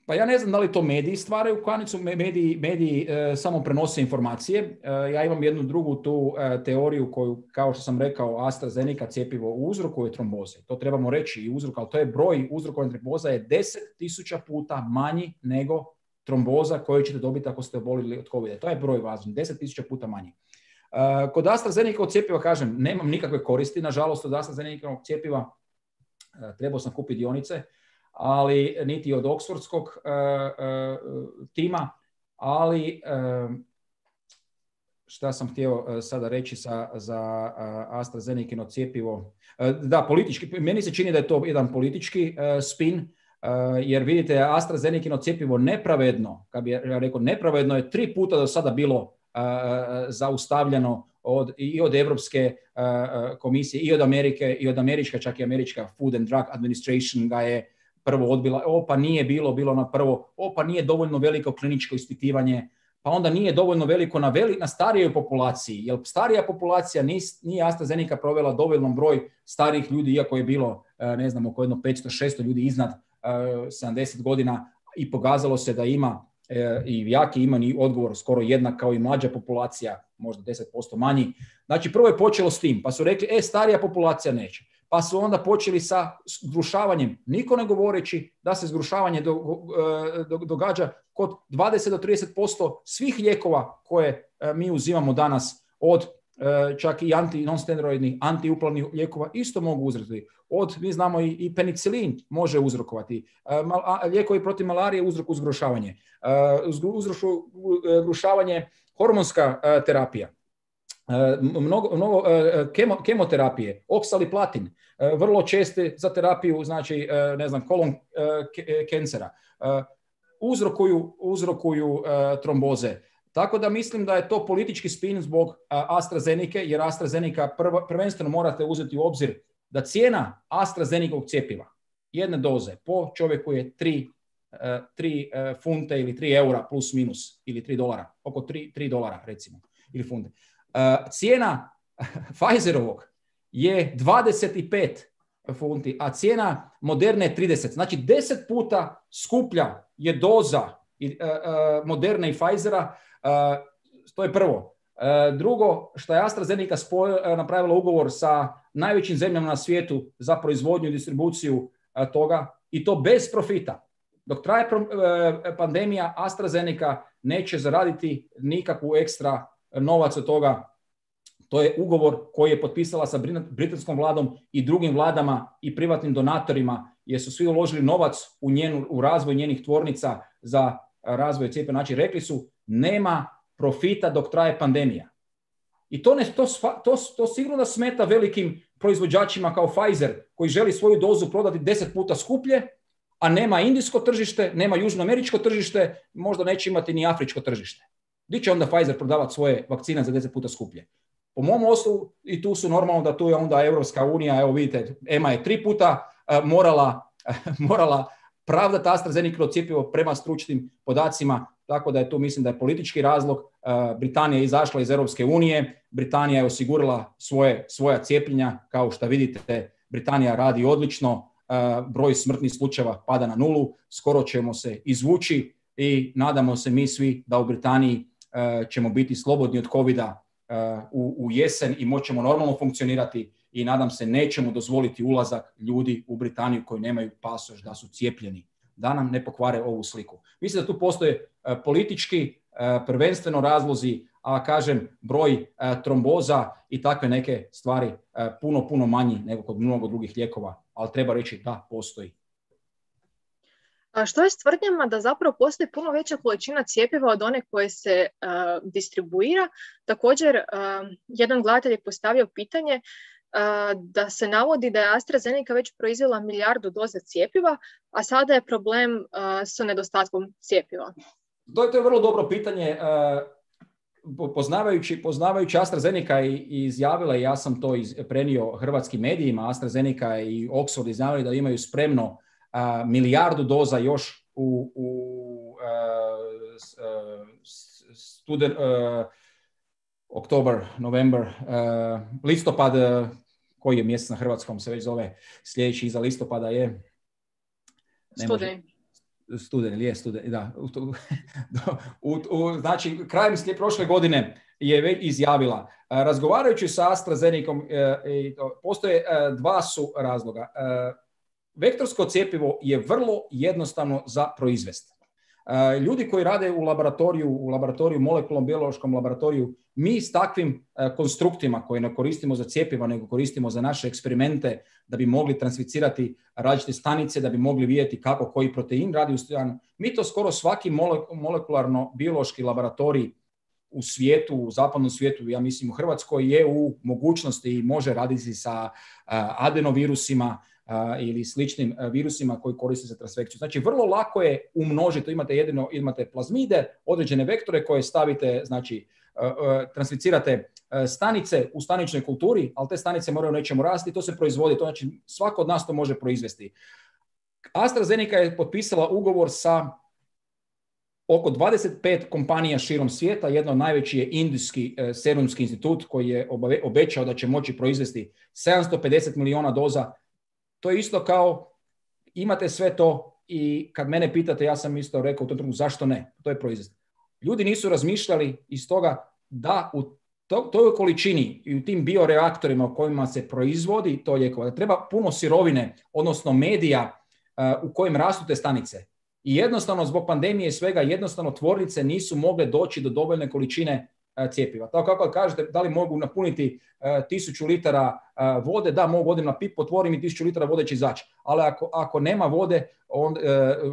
Pa ja ne znam da li to mediji stvaraju paniku, mediji, mediji e, samo prenose informacije. E, ja imam jednu drugu tu e, teoriju koju, kao što sam rekao, AstraZeneca cjepivo uzrokuje tromboze. To trebamo reći i uzrok, ali to je broj uzrokovanih tromboza je deset tisuća puta manji nego tromboza koju ćete dobiti ako ste obolili od covida. To je broj važan, deset tisuća puta manji. E, kod AstraZeneca od cjepiva, kažem, nemam nikakve koristi. Nažalost, od AstraZeneca cjepiva e, trebao sam kupiti dionice, ali niti od Oxfordskog uh, uh, tima, ali uh, šta sam htio uh, sada reći sa, za uh, AstraZeneca cjepivo. Uh, da, politički, meni se čini da je to jedan politički uh, spin, uh, jer vidite, AstraZeneca cjepivo nepravedno, kad bi ja rekao nepravedno, je tri puta do sada bilo uh, zaustavljeno od, i od Europske uh, komisije, i od Amerike, i od Američka, čak i Američka Food and Drug Administration ga je prvo odbila, o pa nije bilo, bilo na prvo, o pa nije dovoljno veliko kliničko ispitivanje, pa onda nije dovoljno veliko na, veli, na starijoj populaciji, jer starija populacija nije, nije AstraZeneca provela dovoljno broj starijih ljudi, iako je bilo, ne znam, oko jedno petsto šesto ljudi iznad uh, sedamdeset godina i pokazalo se da ima uh, i jaki imani odgovor skoro jednak kao i mlađa populacija, možda deset posto manji. Znači prvo je počelo s tim, pa su rekli, e, starija populacija neće. Pa su onda počeli sa zgrušavanjem, niko ne govoreći da se zgrušavanje do, do, događa kod dvadeset do trideset posto svih lijekova koje mi uzimamo danas, od čak i anti, non-steroidnih, antiuplavnih lijekova isto mogu uzrokovati. Od, mi znamo i, i penicilin može uzrokovati. Lijekovi protiv malarije uzrokuju zgrušavanje. Uzrokuju zgrušavanje hormonska terapija. Mnogo, mnogo kemo, kemoterapije, oksaliplatin, vrlo česte za terapiju, znači, ne znam, kolon kancera, uzrokuju, uzrokuju tromboze. Tako da mislim da je to politički spin zbog AstraZeneca, jer AstraZeneca prv, prvenstveno morate uzeti u obzir da cijena AstraZenecovog cjepiva, jedne doze po čovjeku je tri funte ili tri eura plus minus, ili tri dolara, oko tri dolara recimo, ili funte. Uh, cijena Pfizerovog je dvadeset pet funti, a cijena Moderne je trideset. Znači deset puta skuplja je doza uh, uh, Moderne i Pfizera. Uh, to je prvo. Uh, drugo, što je AstraZeneca spoj, uh, napravila ugovor sa najvećim zemljama na svijetu za proizvodnju i distribuciju uh, toga, i to bez profita. Dok traje pro, uh, pandemija, AstraZeneca neće zaraditi nikakvu ekstra novac od toga. To je ugovor koji je potpisala sa britanskom vladom i drugim vladama i privatnim donatorima, jer su svi uložili novac u, njenu, u razvoj njenih tvornica za razvoj cjepiva. Znači, rekli su, nema profita dok traje pandemija. I to, ne, to, to, to sigurno da smeta velikim proizvođačima kao Pfizer, koji želi svoju dozu prodati deset puta skuplje, a nema indijsko tržište, nema južnoameričko tržište, možda neće imati ni afričko tržište. Gdje će onda Pfizer prodavati svoje vakcine za deset puta skuplje? Po mom osnovu, i tu su normalno da tu je onda Europska unija, evo vidite, E M A je tri puta uh, morala, uh, morala pravdati AstraZeneca cjepivo prema stručnim podacima, tako da je tu, mislim da je politički razlog. Uh, Britanija je izašla iz Europske unije, Britanija je osigurala svoje, svoja cijepljenja, kao što vidite, Britanija radi odlično, uh, broj smrtnih slučajeva pada na nulu, skoro ćemo se izvući i nadamo se mi svi da u Britaniji ćemo biti slobodni od covida u, u jesen i moćemo normalno funkcionirati i nadam se nećemo dozvoliti ulazak ljudi u Britaniju koji nemaju pasoš da su cijepljeni, da nam ne pokvare ovu sliku. Mislim da tu postoje politički prvenstveno razlozi, a kažem broj tromboza i takve neke stvari puno, puno manji nego kod mnogo drugih lijekova, ali treba reći da postoji. A što je s tvrdnjama da zapravo postoji puno veća količina cjepiva od one koje se uh, distribuira? Također, uh, jedan gledatelj je postavio pitanje uh, da se navodi da je AstraZeneca već proizvela milijardu doza cjepiva, a sada je problem uh, sa nedostatkom cjepiva. To je, to je vrlo dobro pitanje. Uh, poznavajući, poznavajući AstraZeneca i, i izjavila, i ja sam to iz, prenio hrvatskim medijima, AstraZeneca i Oxford izjavili da imaju spremno Uh, milijardu doza još u, u uh, studen, uh, oktober, november, uh, listopad, uh, koji je mjesec na hrvatskom se već zove, sljedeći iza listopada je studeni. Studeni, je studeni, da. u, u, znači, krajem prošle godine je već izjavila. Uh, razgovarajući sa AstraZenecom, uh, i to, postoje uh, dva su razloga. Uh, Vektorsko cjepivo je vrlo jednostavno za proizvesti. Ljudi koji rade u laboratoriju, u laboratoriju, molekulnom biološkom laboratoriju, mi s takvim konstruktima koje ne koristimo za cjepivo, nego koristimo za naše eksperimente da bi mogli transficirati različite stanice, da bi mogli vidjeti kako koji protein radi u stanu. Mi to skoro svaki molekularno-biološki laboratorij u svijetu, u zapadnom svijetu, ja mislim u Hrvatskoj, je u mogućnosti i može raditi sa adenovirusima, Uh, ili sličnim uh, virusima koji koriste za transfekciju. Znači, vrlo lako je umnožiti. Imate jedino, imate plazmide, određene vektore koje stavite, znači, uh, uh, transficirate uh, stanice u staničnoj kulturi, ali te stanice moraju nečemu rasti, to se proizvodi. To znači, svako od nas to može proizvesti. AstraZeneca je potpisala ugovor sa oko dvadeset pet kompanija širom svijeta. Jedno od najveći je Indijski uh, serumski institut koji je obave, obećao da će moći proizvesti sedamsto pedeset milijuna doza. To je isto kao, imate sve to i kad mene pitate, ja sam isto rekao u tom trenutku zašto ne, to je proizvest. Ljudi nisu razmišljali iz toga da u to, toj količini i u tim bioreaktorima u kojima se proizvodi to lijekova, da treba puno sirovine, odnosno medija uh, u kojim rastu te stanice. I jednostavno zbog pandemije i svega, jednostavno tvornice nisu mogle doći do dovoljne količine cjepiva. Tako kako kažete, da li mogu napuniti uh, tisuću litara uh, vode, da mogu, odim na pip, otvorim i tisuću litara vode će izaći. Ali ako, ako nema vode, on, uh, uh,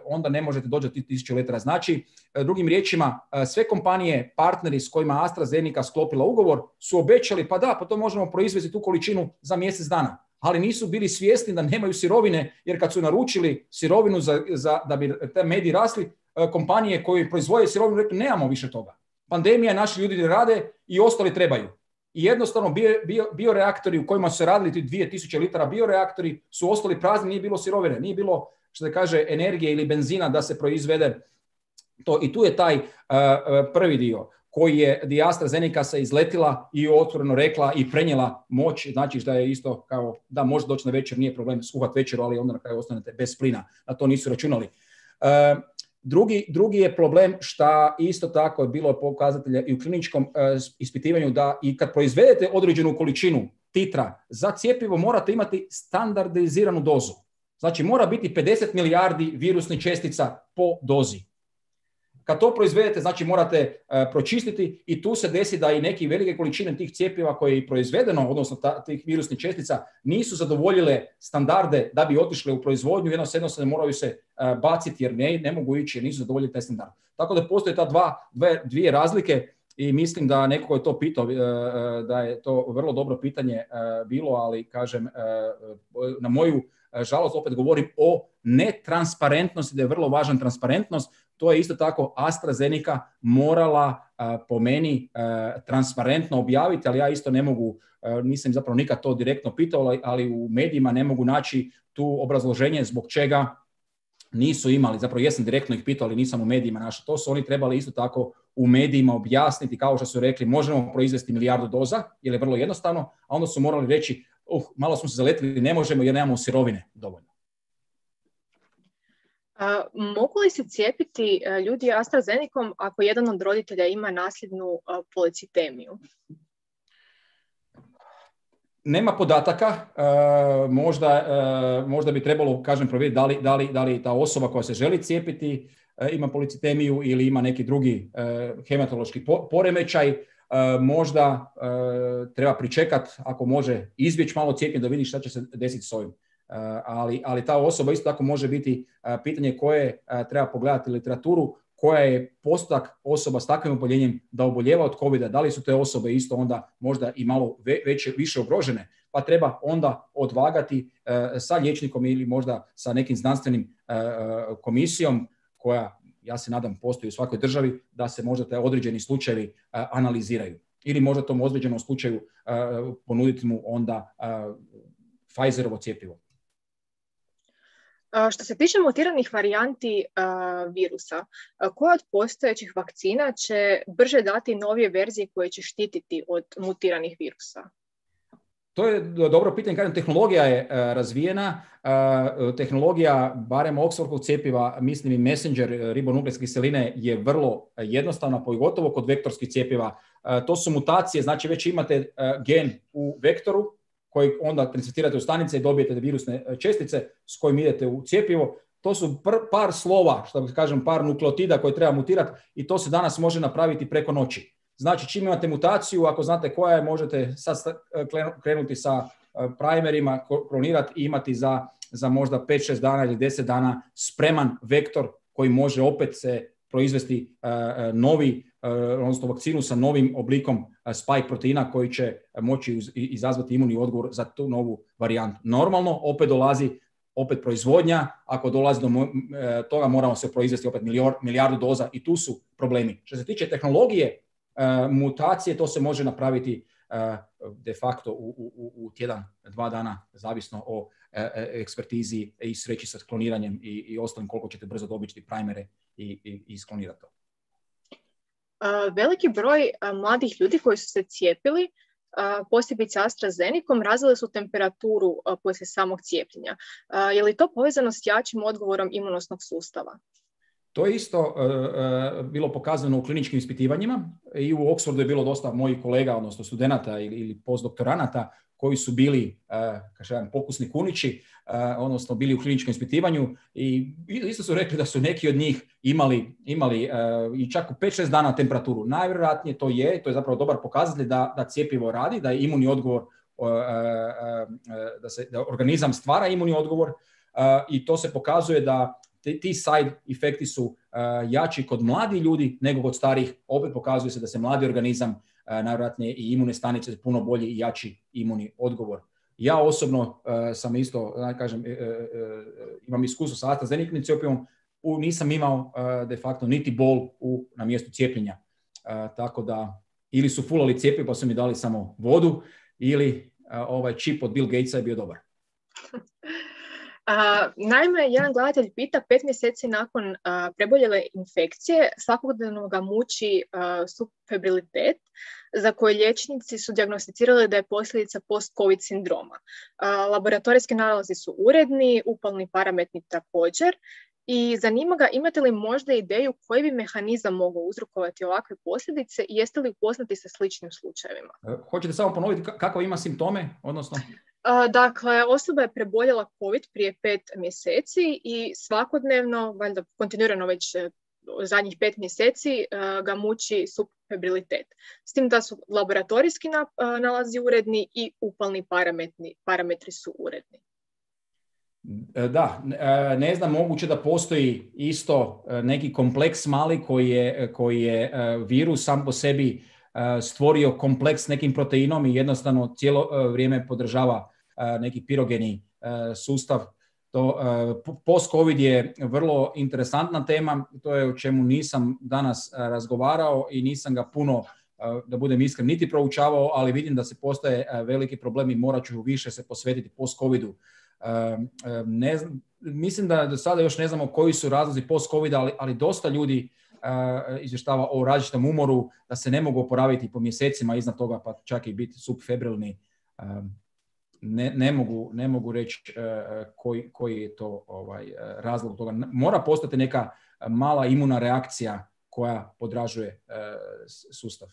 onda ne možete doći do tisuću litara. Znači, uh, drugim riječima, uh, sve kompanije, partneri s kojima AstraZeneca sklopila ugovor, su obećali, pa da, pa to možemo proizvesti tu količinu za mjesec dana. Ali nisu bili svjesni da nemaju sirovine, jer kad su naručili sirovinu za, za, da bi te mediji rasli, uh, kompanije koje proizvode sirovinu rekli, nemamo više toga. Pandemija, naši ljudi ne rade i ostali trebaju. I jednostavno bio, bio, bioreaktori u kojima su se radili ti dvije tisuće litara bioreaktori su ostali prazni, nije bilo sirovine, nije bilo, što se kaže, energije ili benzina da se proizvede to. I tu je taj uh, prvi dio koji je di AstraZeneca se izletila i otvoreno rekla i prenijela moć, znači da je isto kao da može doći na večer, nije problem skuhati večeru, ali onda na kraju ostanete bez plina, na to nisu računali. Uh, Drugi, drugi je problem što isto tako je bilo pokazatelja i u kliničkom uh, ispitivanju da i kad proizvedete određenu količinu titra za cjepivo morate imati standardiziranu dozu. Znači mora biti pedeset milijardi virusnih čestica po dozi. Kad to proizvedete, znači morate uh, pročistiti i tu se desi da i neke velike količine tih cjepiva koje je proizvedeno, odnosno ta, tih virusnih čestica, nisu zadovoljile standarde da bi otišle u proizvodnju, jednostavno se moraju se uh, baciti jer ne, ne mogu ići jer nisu zadovoljili taj standard. Tako da postoje ta dva, dve, dvije razlike i mislim da neko je to pitao, uh, da je to vrlo dobro pitanje uh, bilo, ali kažem, uh, na moju žalost opet govorim o netransparentnosti, da je vrlo važna transparentnost. To je isto tako AstraZeneca morala uh, po meni uh, transparentno objaviti, ali ja isto ne mogu, uh, nisam zapravo nikad to direktno pitao, ali u medijima ne mogu naći tu obrazloženje zbog čega nisu imali, zapravo jesam direktno ih pitao, ali nisam u medijima našao. To su oni trebali isto tako u medijima objasniti, kao što su rekli, možemo proizvesti milijardu doza, jer je vrlo jednostavno, a onda su morali reći, uh, malo smo se zaletili, ne možemo jer nemamo sirovine dovoljno. A, mogu li se cijepiti a, ljudi AstraZenecom ako jedan od roditelja ima nasljednu a, policitemiju? Nema podataka, uh, možda, uh, možda bi trebalo, kažem, provjeriti da li, da, li, da li ta osoba koja se želi cijepiti uh, ima policitemiju ili ima neki drugi uh, hematološki po, poremećaj. Uh, možda uh, treba pričekati, ako može izbjeći malo cijepljenje da vidi šta će se desiti s ovim. Uh, ali, ali ta osoba isto tako može biti uh, pitanje koje uh, treba pogledati literaturu, koja je postotak osoba s takvim oboljenjem da oboljeva od covida, da li su te osobe isto onda možda i malo veće, više ugrožene, pa treba onda odvagati uh, sa liječnikom ili možda sa nekim znanstvenim uh, komisijom koja, ja se nadam, postoji u svakoj državi, da se možda te određeni slučajevi uh, analiziraju. Ili možda tom određenom slučaju uh, ponuditi mu onda uh, Pfizerovo cjepivo. Što se tiče mutiranih varijanti uh, virusa, uh, koja od postojećih vakcina će brže dati novije verzije koje će štititi od mutiranih virusa? To je dobro pitanje. Kažem, tehnologija je uh, razvijena. Uh, tehnologija, barem Oxfordovog cjepiva, mislim i messenger ribonukleinske kiseline je vrlo jednostavna, pogotovo kod vektorskih cjepiva. Uh, to su mutacije, znači već imate uh, gen u vektoru, koji onda transferirate u stanice i dobijete virusne čestice s kojim idete u cjepivo. To su pr- par slova, što bi kažem, par nukleotida koje treba mutirati i to se danas može napraviti preko noći. Znači, čim imate mutaciju, ako znate koja je, možete sad krenuti sa primerima, klonirati i imati za, za možda pet šest dana ili deset dana spreman vektor koji može opet se proizvesti uh, novi, uh, odnosno vakcinu sa novim oblikom uh, spike proteina koji će moći uz, izazvati imunni odgovor za tu novu varijantu. Normalno, opet dolazi opet proizvodnja, ako dolazi do uh, toga moramo se proizvesti opet milijor, milijardu doza i tu su problemi. Što se tiče tehnologije, uh, mutacije, to se može napraviti uh, de facto u, u, u tjedan, dva dana, zavisno o ekspertizi i sreći sa kloniranjem i, i ostalim koliko ćete brzo dobiti primere i, i, i sklonirati to. Uh, veliki broj uh, mladih ljudi koji su se cijepili, uh, posebice AstraZenecom, razvili su temperaturu uh, poslije samog cijepljenja. Uh, je li to povezano s jačim odgovorom imunosnog sustava? To je isto uh, uh, bilo pokazano u kliničkim ispitivanjima i u Oxfordu je bilo dosta mojih kolega, odnosno studenata ili, ili postdoktoranata koji su bili, uh, kažem, pokusni kunići, uh, odnosno bili u kliničkom ispitivanju i isto su rekli da su neki od njih imali, imali uh, i čak u pet šest dana temperaturu. Najvjerojatnije to je, to je zapravo dobar pokazatelj da, da cjepivo radi, da je imunni odgovor, uh, uh, uh, da, se, da organizam stvara imunni odgovor uh, i to se pokazuje da ti side efekti su uh, jači kod mladih ljudi nego kod starih. Opet pokazuje se da se mladi organizam, uh, najvjerojatnije i imune stanice, puno bolji i jači imunni odgovor. Ja osobno uh, sam isto, da kažem, uh, uh, imam iskustvo sa AstraZenecom cjepivom, nisam imao uh, de facto niti bol u, na mjestu cijepljenja. Uh, tako da ili su fulali cjepivo pa su mi dali samo vodu ili uh, ovaj čip od Bill Gatesa je bio dobar. Uh, naime, jedan gledatelj pita, pet mjeseci nakon uh, preboljele infekcije svakodnevno ga muči uh, subfebrilitet za koje liječnici su dijagnosticirali da je posljedica post-covid sindroma. Uh, laboratorijski nalazi su uredni, upalni parametri također i zanima ga imate li možda ideju koji bi mehanizam mogao uzrokovati ovakve posljedice i jeste li upoznati sa sličnim slučajevima? Uh, hoćete samo ponoviti kako ima simptome, odnosno... Dakle, osoba je preboljela COVID prije pet mjeseci i svakodnevno, valjda kontinuirano već zadnjih pet mjeseci, ga muči subfebrilitet. S tim da su laboratorijski nalazi uredni i upalni parametri, parametri su uredni. Da, ne znam, moguće da postoji isto neki kompleks mali koji je, koji je virus sam po sebi stvorio kompleks nekim proteinom i jednostavno cijelo vrijeme podržava neki pirogeni sustav. To, post-covid je vrlo interesantna tema, to je o čemu nisam danas razgovarao i nisam ga puno, da budem iskren, niti proučavao, ali vidim da se postaje veliki problem i morat ću više se posvetiti post-covidu. Ne znam, mislim da do sada još ne znamo koji su razlozi post-covida, ali, ali dosta ljudi Uh, izvještava o različitom umoru, da se ne mogu oporaviti po mjesecima iznad toga, pa čak i biti subfebrilni. Um, ne, ne, mogu, ne mogu reći koji, koji je to ovaj, razlog toga. Mora postati neka mala imuna reakcija koja podražuje sustav.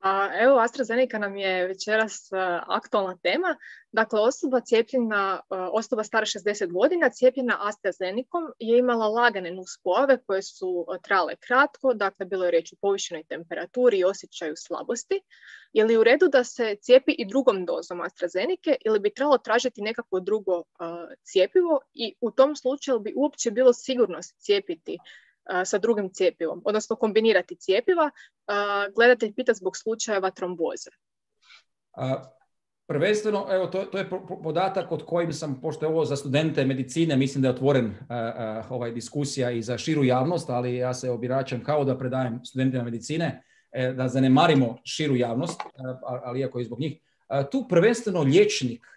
A evo, AstraZeneca nam je večeras uh, aktualna tema. Dakle, osoba cijepljena, uh, osoba stara šezdeset godina, cijepljena AstraZenecom je imala lagane nuspojave koje su uh, trajale kratko, dakle, bilo je riječ o povišenoj temperaturi i osjećaju slabosti. Je li u redu da se cijepi i drugom dozom AstraZeneca ili bi trebalo tražiti nekako drugo uh, cijepivo i u tom slučaju bi uopće bilo sigurno se cijepiti sa drugim cijepivom, odnosno kombinirati cijepiva. Gledatelj pita zbog slučajeva tromboze. A, prvenstveno, evo, to, to je podatak od kojim sam, pošto je ovo za studente medicine, mislim da je otvoren a, a, ovaj diskusija i za širu javnost, ali ja se obiračam kao da predajem studentima medicine, e, da zanemarimo širu javnost, a, ali iako je zbog njih. A, tu prvenstveno liječnik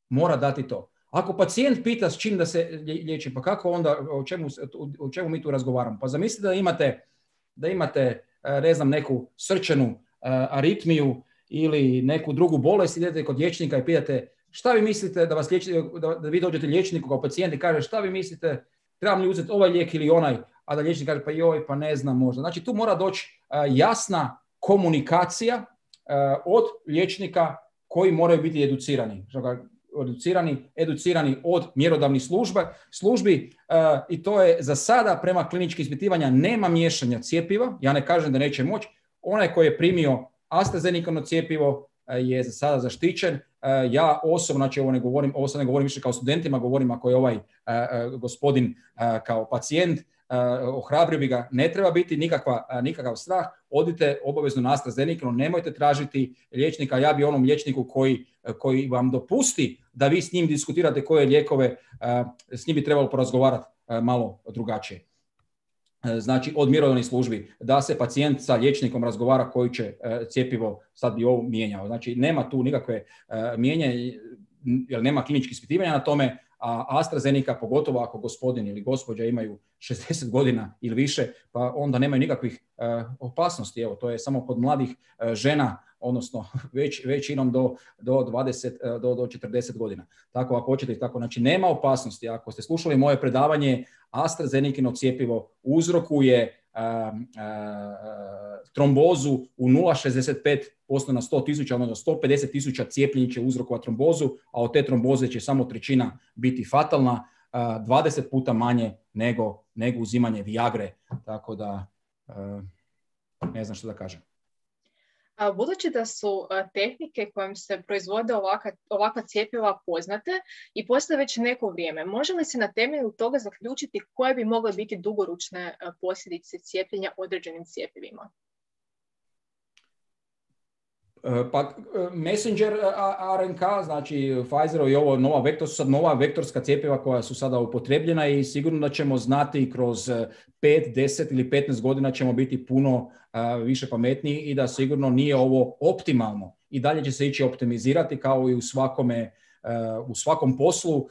mora dati to. Ako pacijent pita s čim da se liječi, pa kako onda, o čemu, o čemu mi tu razgovaramo? Pa zamislite da imate, da imate ne znam, neku srčanu aritmiju ili neku drugu bolest, idete kod liječnika i pitate šta vi mislite da vas liječi, da, da vi dođete liječniku kao pacijent i kaže šta vi mislite, trebam li uzeti ovaj lijek ili onaj, a da liječnik kaže pa joj, pa ne znam možda. Znači tu mora doći jasna komunikacija od liječnika koji moraju biti educirani. Educirani, educirani od mjerodavnih služba, službi uh, i to je za sada prema kliničkim ispitivanja nema miješanja cjepiva. Ja ne kažem da neće moći. Onaj koji je primio AstraZeneca cjepivo uh, je za sada zaštićen. Uh, ja osobno, znači ovo ne govorim, ovo sad ne govorim više kao studentima, govorim ako je ovaj uh, uh, gospodin uh, kao pacijent, uh, ohrabrio bi ga, ne treba biti nikakva, uh, nikakav strah. Odite obavezno na AstraZeneca, nemojte tražiti liječnika. Ja bi onom liječniku koji, koji vam dopusti da vi s njim diskutirate koje lijekove, s njim bi trebalo porazgovarati malo drugačije. Znači, od mjerodavnih službi, da se pacijent sa liječnikom razgovara koji će cjepivo sad bi ovo mijenjao. Znači, nema tu nikakve mijenjanje, jer nema kliničkih ispitivanja na tome, a AstraZeneca, pogotovo ako gospodin ili gospođa imaju šezdeset godina ili više, pa onda nemaju nikakvih uh, opasnosti. Evo, to je samo kod mladih uh, žena, odnosno već, većinom do, do, dvadeset, uh, do, do četrdeset godina. Tako ako hoćete, tako, znači nema opasnosti. Ako ste slušali moje predavanje, AstraZeneca cjepivo uzrokuje uh, uh, trombozu u nula zarez šezdeset pet posto na sto tisuća, odnosno sto pedeset tisuća cijepljenja će uzrokovati trombozu, a od te tromboze će samo trećina biti fatalna, dvadeset puta manje nego, nego uzimanje Viagre. Tako da ne znam što da kažem. Budući da su tehnike kojim se proizvode ovakva, ovakva cjepiva poznate i postoje već neko vrijeme, može li se na temelju toga zaključiti koje bi mogle biti dugoročne posljedice cijepljenja određenim cjepivima? Pa Messenger R N K, znači Pfizer i ovo nova vektor, su sad nova vektorska cjepiva koja su sada upotrebljena i sigurno da ćemo znati kroz pet, deset ili petnaest godina ćemo biti puno uh, više pametniji i da sigurno nije ovo optimalno. I dalje će se ići optimizirati kao i u svakome, uh, u svakom poslu, uh,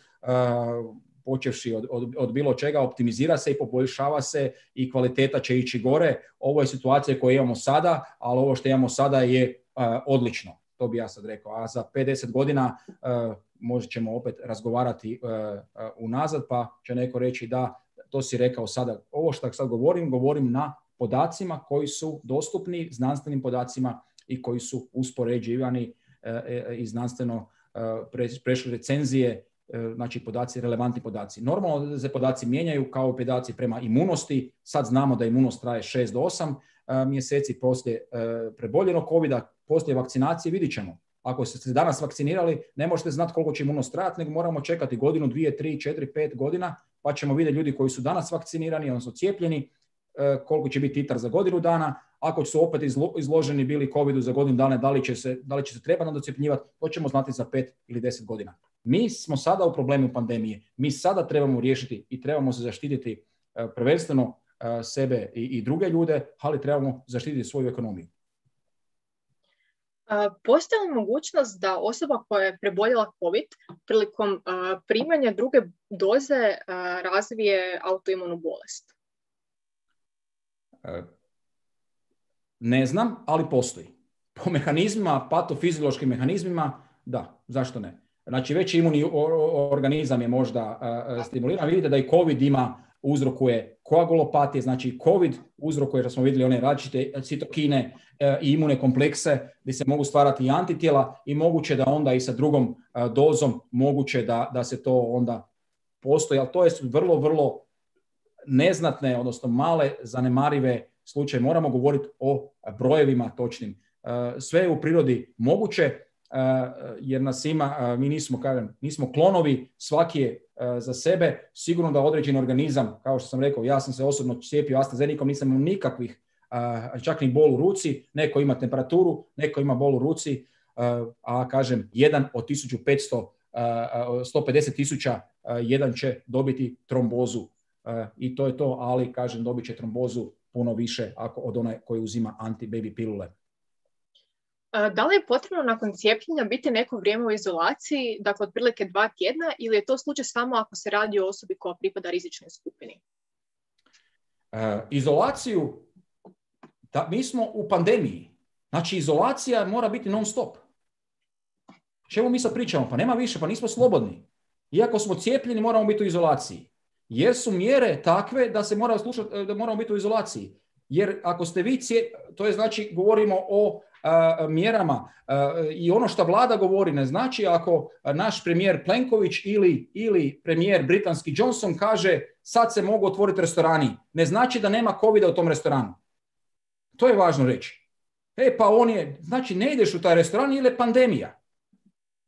počevši od, od, od bilo čega, optimizira se i poboljšava se i kvaliteta će ići gore. Ovo je situacija koju imamo sada, ali ovo što imamo sada je Uh, odlično, to bi ja sad rekao. A za pedeset godina uh, možda ćemo opet razgovarati uh, uh, unazad, pa će neko reći da, to si rekao sada. Ovo što sad govorim, govorim na podacima koji su dostupni, znanstvenim podacima i koji su uspoređivani uh, i znanstveno uh, pre, prešli recenzije, uh, znači podaci, relevantni podaci. Normalno da se podaci mijenjaju kao i podaci prema imunosti. Sad znamo da imunost traje šest do osam uh, mjeseci poslije uh, preboljenog covida. Poslije vakcinacije vidit ćemo. Ako ste se danas vakcinirali, ne možete znati koliko će imunost trajati, nego moramo čekati godinu, dvije, tri, četiri, pet godina, pa ćemo vidjeti ljudi koji su danas vakcinirani, odnosno cijepljeni, koliko će biti titar za godinu dana. Ako su opet izloženi bili covidu za godinu dana, da li će se, da li će se treba nadocjepljivati, to ćemo znati za pet ili deset godina. Mi smo sada u problemu pandemije. Mi sada trebamo riješiti i trebamo se zaštititi prvenstveno sebe i, i druge ljude, ali trebamo zaštititi svoju ekonomiju. Postoji li mogućnost da osoba koja je preboljela COVID prilikom primanja druge doze razvije autoimunu bolest? Ne znam, ali postoji. Po mehanizmima, patofiziološkim mehanizmima, da, zašto ne? Znači već imuni organizam je možda uh, stimuliran. Vidite da i COVID ima, uzrokuje koagulopatije, znači COVID uzrokuje, što smo vidjeli, one različite citokine uh, i imune komplekse gdje se mogu stvarati i antitijela i moguće da onda i sa drugom uh, dozom moguće da, da se to onda postoji, ali to je vrlo, vrlo neznatne, odnosno male, zanemarive slučaje. Moramo govoriti o brojevima točnim. Sve je u prirodi moguće, jer nas ima, mi nismo, kažem, nismo klonovi, svaki je za sebe. Sigurno da određeni organizam, kao što sam rekao, ja sam se osobno cijepio AstraZenecom, nisam imao nikakvih, čak ni bol u ruci, neko ima temperaturu, neko ima bol u ruci, a kažem, jedan od tisuću petsto, sto pedeset tisuća, jedan će dobiti trombozu. I to je to, ali kažem, dobit će trombozu puno više ako od onaj koji uzima anti-baby pilule. Da li je potrebno nakon cijepljenja biti neko vrijeme u izolaciji, dakle otprilike dva tjedna, ili je to slučaj samo ako se radi o osobi koja pripada rizičnoj skupini? E, izolaciju, da, mi smo u pandemiji, znači izolacija mora biti non stop. Čemu mi sad pričamo? Pa nema više, pa nismo slobodni. Iako smo cijepljeni, moramo biti u izolaciji. Jer su mjere takve da se mora slušati, da moramo biti u izolaciji. Jer ako ste vi cijepljeni, to je znači govorimo o a, mjerama a, i ono što vlada govori ne znači ako naš premijer Plenković ili, ili premijer britanski Johnson kaže sad se mogu otvoriti restorani. Ne znači da nema covida u tom restoranu. To je važno reći. E pa on je, znači ne ideš u taj restoran ili je pandemija.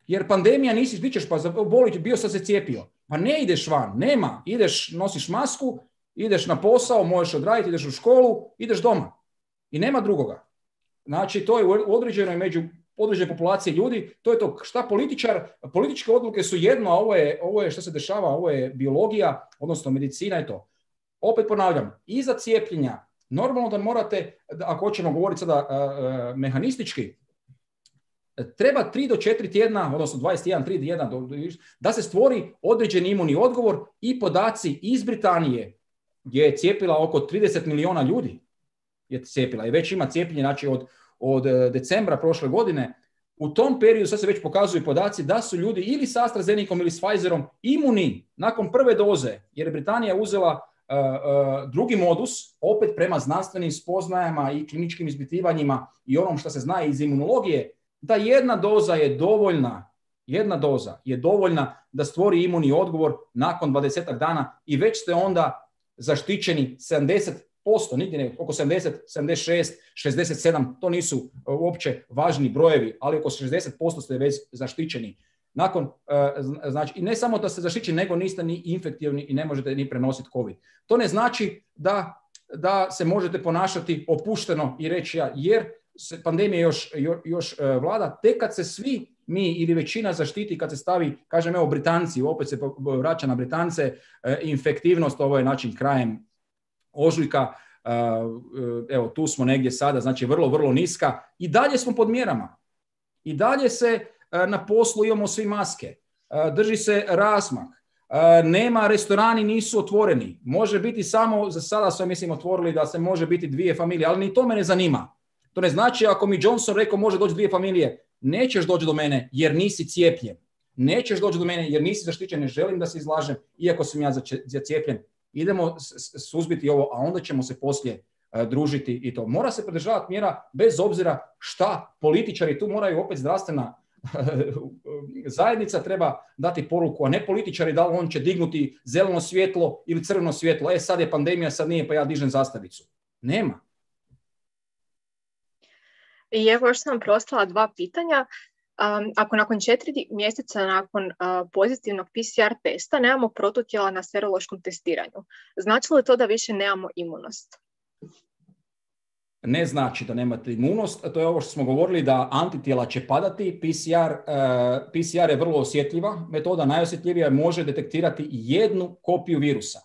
Jer pandemija nisi, bit ćeš pa zaboliti, bio sam se cijepio. Pa ne ideš van, nema. Ideš, nosiš masku, ideš na posao, možeš odraditi, ideš u školu, ideš doma. I nema drugoga. Znači, to je u određenoj među određenoj populacije ljudi, to je to šta političar, političke odluke su jedno, a ovo je, ovo je što se dešava, ovo je biologija, odnosno medicina i to. Opet ponavljam, iza cijepljenja, normalno da morate, ako hoćemo govoriti sada uh, uh, mehanistički, treba tri do četiri tjedna, odnosno dvadeset jedan, tri tjedna, da se stvori određeni imunni odgovor i podaci iz Britanije, gdje je cijepila oko trideset milijuna ljudi, je cijepila i već ima cijepljenje, znači od, od decembra prošle godine. U tom periodu sad se već pokazuju podaci da su ljudi ili s AstraZenecom ili s Pfizerom imuni nakon prve doze, jer je Britanija uzela uh, uh, drugi modus, opet prema znanstvenim spoznajama i kliničkim ispitivanjima i onom što se zna iz imunologije, da jedna doza je dovoljna, jedna doza je dovoljna da stvori imunni odgovor nakon dvadesetak dana i već ste onda zaštićeni sedamdeset posto, nigdje ne, oko sedamdeset, sedamdeset šest, šezdeset sedam, to nisu uopće važni brojevi, ali oko šezdeset posto ste već zaštićeni. Nakon, znači, i ne samo da ste zaštićeni, nego niste ni infektivni i ne možete ni prenositi COVID. To ne znači da, da se možete ponašati opušteno i reći ja, jer se pandemija još, još, još vlada, tek kad se svi mi ili većina zaštiti, kad se stavi, kažem evo Britanci, opet se vraća na Britance, infektivnost, ovo je način krajem ožujka, evo tu smo negdje sada, znači vrlo, vrlo niska i dalje smo pod mjerama. I dalje se na poslu imamo svi maske, drži se razmak, nema, restorani nisu otvoreni, može biti samo, za sada su mislim otvorili da se može biti dvije familije, ali ni to me ne zanima. To ne znači ako mi Johnson rekao može doći dvije familije, nećeš doći do mene jer nisi cijepljen. Nećeš doći do mene jer nisi zaštićen, ne želim da se izlažem, iako sam ja zacijepljen. Idemo suzbiti ovo, a onda ćemo se poslije uh, družiti i to. Mora se pridržavati mjera bez obzira šta političari, tu moraju opet zdravstvena zajednica treba dati poruku, a ne političari da on će dignuti zeleno svjetlo ili crveno svjetlo. E sad je pandemija, sad nije, pa ja dižem zastavicu. Nema. I evo još sam preostala dva pitanja. Um, ako nakon četiri mjeseca nakon uh, pozitivnog P C R testa nemamo protutijela na serološkom testiranju, znači li to da više nemamo imunost? Ne znači da nemate imunost, to je ovo što smo govorili da antitijela će padati. P C R, uh, P C R je vrlo osjetljiva metoda, najosjetljivija, može detektirati jednu kopiju virusa.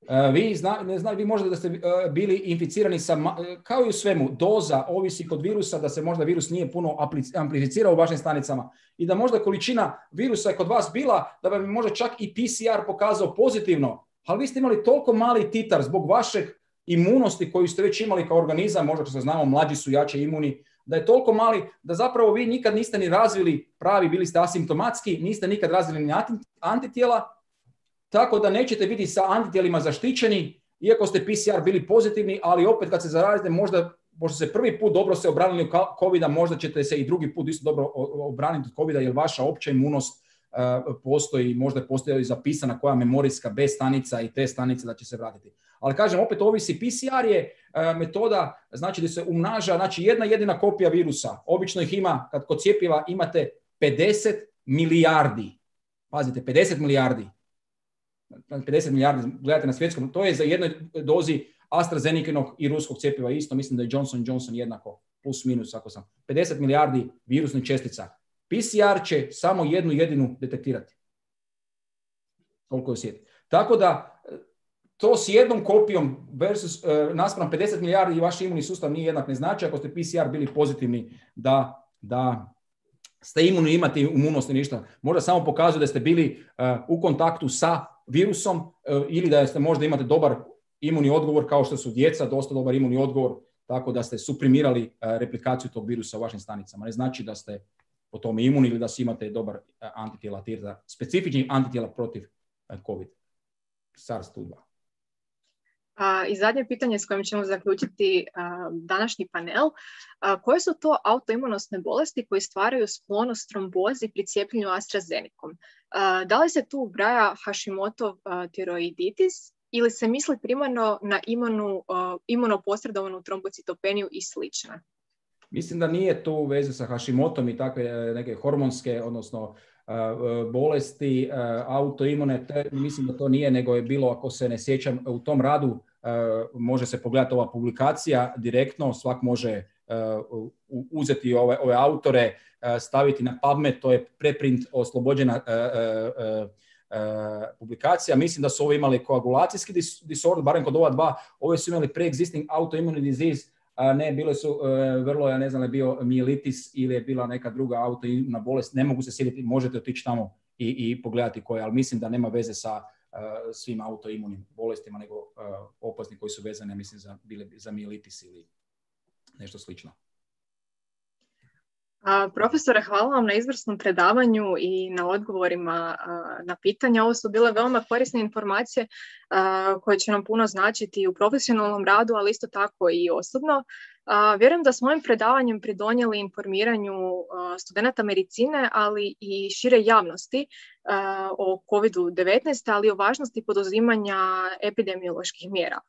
Uh, vi, zna, ne zna, vi možda da ste uh, bili inficirani sa, kao i u svemu, doza ovisi kod virusa da se možda virus nije puno amplificirao u vašim stanicama i da možda količina virusa je kod vas bila da vam možda čak i P C R pokazao pozitivno, ali vi ste imali toliko mali titar zbog vašeg imunosti koju ste već imali kao organizam, možda što se znamo, mlađi su jače imuni, da je toliko mali da zapravo vi nikad niste ni razvili pravi, bili ste asimptomatski, niste nikad razvili ni antitijela, tako da nećete biti sa antitijelima zaštićeni, iako ste P C R bili pozitivni, ali opet kad se zarazite, možda, možda se prvi put dobro se obranili od covida, možda ćete se i drugi put isto dobro obraniti od covida, jer vaša opća imunost uh, postoji, možda postoji zapisana koja memorijska B stanica i T stanica da će se vratiti. Ali kažem, opet ovisi, P C R je uh, metoda, znači da se umnaža, znači jedna jedina kopija virusa. Obično ih ima, kad kod cjepiva imate pedeset milijardi. Pazite, pedeset milijardi. pedeset milijardi, gledajte na svjetskom, to je za jednoj dozi AstraZenekinog i ruskog cjepiva isto, mislim da je Johnson and Johnson jednako, plus minus ako sam. pedeset milijardi virusnih čestica. P C R će samo jednu jedinu detektirati. Koliko je osjeti. Tako da, to s jednom kopijom versus uh, naspram pedeset milijardi i vaš imunni sustav nije jednak, ne znači ako ste P C R bili pozitivni da, da ste imunni, imate imunost i ništa. Možda samo pokazuje da ste bili uh, u kontaktu sa virusom uh, ili da ste možda imate dobar imunni odgovor, kao što su djeca, dosta dobar imunni odgovor, tako da ste suprimirali uh, replikaciju tog virusa u vašim stanicama. Ne znači da ste po tome imuni ili da si imate dobar uh, antitijela, specifični antitijela protiv uh, COVID, SARS dva. A, I zadnje pitanje s kojim ćemo zaključiti a, današnji panel. A, koje su to autoimunosne bolesti koje stvaraju sklonost trombozi pri cijepljenju AstraZenecom? A, da li se tu ubraja Hashimotov tiroiditis ili se misli primarno na imuno, imunoposredovanu trombocitopeniju i slično? Mislim da nije tu veze sa Hashimotom i takve neke hormonske, odnosno bolesti, autoimune, mislim da to nije, nego je bilo, ako se ne sjećam, u tom radu može se pogledati ova publikacija direktno, svak može uzeti ove, ove autore, staviti na PubMed, to je preprint oslobođena publikacija. Mislim da su ovo imali koagulacijski disorder, barem kod ova dva, ove su imali pre-existing autoimmune disease, a ne, bile su uh, vrlo, ja ne znam, je bio mijelitis ili je bila neka druga autoimuna bolest, ne mogu se sjetiti, možete otići tamo i, i pogledati koje, ali mislim da nema veze sa uh, svim autoimunim bolestima, nego uh, opasni koji su vezani, mislim, za, bile, za mijelitis ili nešto slično. A, profesore, hvala vam na izvrsnom predavanju i na odgovorima a, na pitanja. Ovo su bile veoma korisne informacije a, koje će nam puno značiti u profesionalnom radu, ali isto tako i osobno. A, vjerujem da smo ovim predavanjem pridonijeli informiranju a, studenata medicine, ali i šire javnosti a, o kovid devetnaest, ali i o važnosti poduzimanja epidemioloških mjera.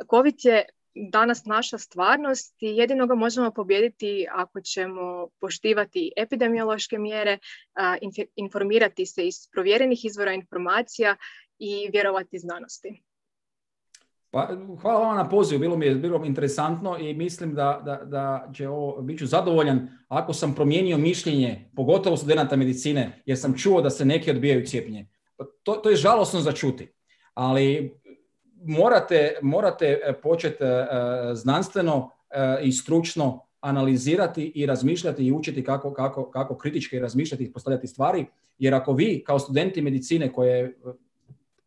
COVID je danas naša stvarnost i jedino ga možemo pobijediti ako ćemo poštivati epidemiološke mjere, informirati se iz provjerenih izvora informacija i vjerovati znanosti. Pa, hvala vam na pozivu, bilo mi je bilo interesantno i mislim da, da, da će ovo, bit ću zadovoljan ako sam promijenio mišljenje, pogotovo studenata medicine, jer sam čuo da se neki odbijaju cijepljenje. To, to je žalosno za čuti, ali Morate, morate početi uh, znanstveno uh, i stručno analizirati i razmišljati i učiti kako, kako, kako kritički razmišljati i postavljati stvari, jer ako vi kao studenti medicine koje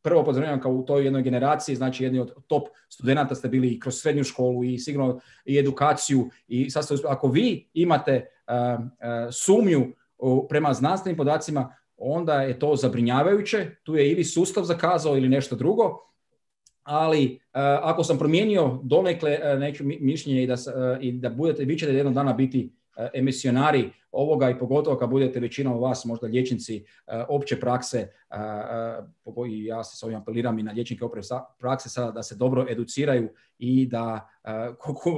prvo pozdravljam kao u toj jednoj generaciji, znači jedni od top studenata ste bili i kroz srednju školu i sigurno i edukaciju, i sad ste, ako vi imate uh, uh, sumnju uh, prema znanstvenim podacima, onda je to zabrinjavajuće, tu je ili sustav zakazao ili nešto drugo. Ali uh, ako sam promijenio donekle uh, neću mišljenje i da, uh, i da budete, vi ćete jednog dana biti uh, emisionari ovoga i pogotovo kad budete većinom vas možda liječnici uh, opće prakse, uh, uh, i ja se s ovim apeliram i na liječnike opće prakse sada da se dobro educiraju i da uh,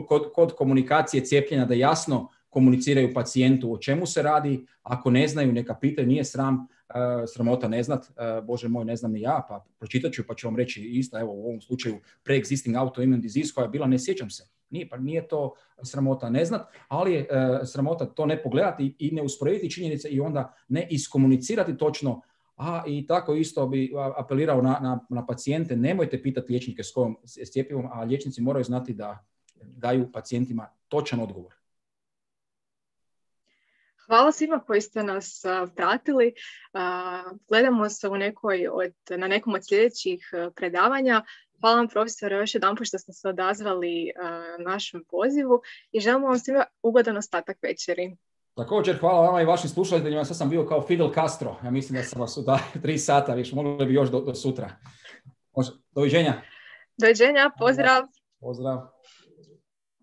kod, kod komunikacije cijepljenja da jasno komuniciraju pacijentu o čemu se radi, ako ne znaju neka pitaju, nije sram. Uh, sramota ne znat, uh, Bože moj, ne znam ni ja, pa pročitat ću pa ću vam reći isto, evo u ovom slučaju pre-existing autoimmune disease koja je bila, ne sjećam se, nije, pa nije to sramota ne znat, ali je uh, sramota to ne pogledati i ne usporediti činjenice i onda ne iskomunicirati točno, a i tako isto bi apelirao na, na, na pacijente, nemojte pitati liječnike s kojom s cjepivom, a liječnici moraju znati da daju pacijentima točan odgovor. Hvala svima koji ste nas uh, pratili. Uh, gledamo se u nekoj od, na nekom od sljedećih uh, predavanja. Hvala vam profesore još jedan put što ste se odazvali uh, našem pozivu i želimo vam svima ugodan ostatak večeri. Također, hvala vama i vašim slušateljima. Sad sam bio kao Fidel Castro. Ja mislim da sam vas u tri sata, više mogli bi još do, do sutra. Doviđenja. Doviđenja, pozdrav. Pozdrav.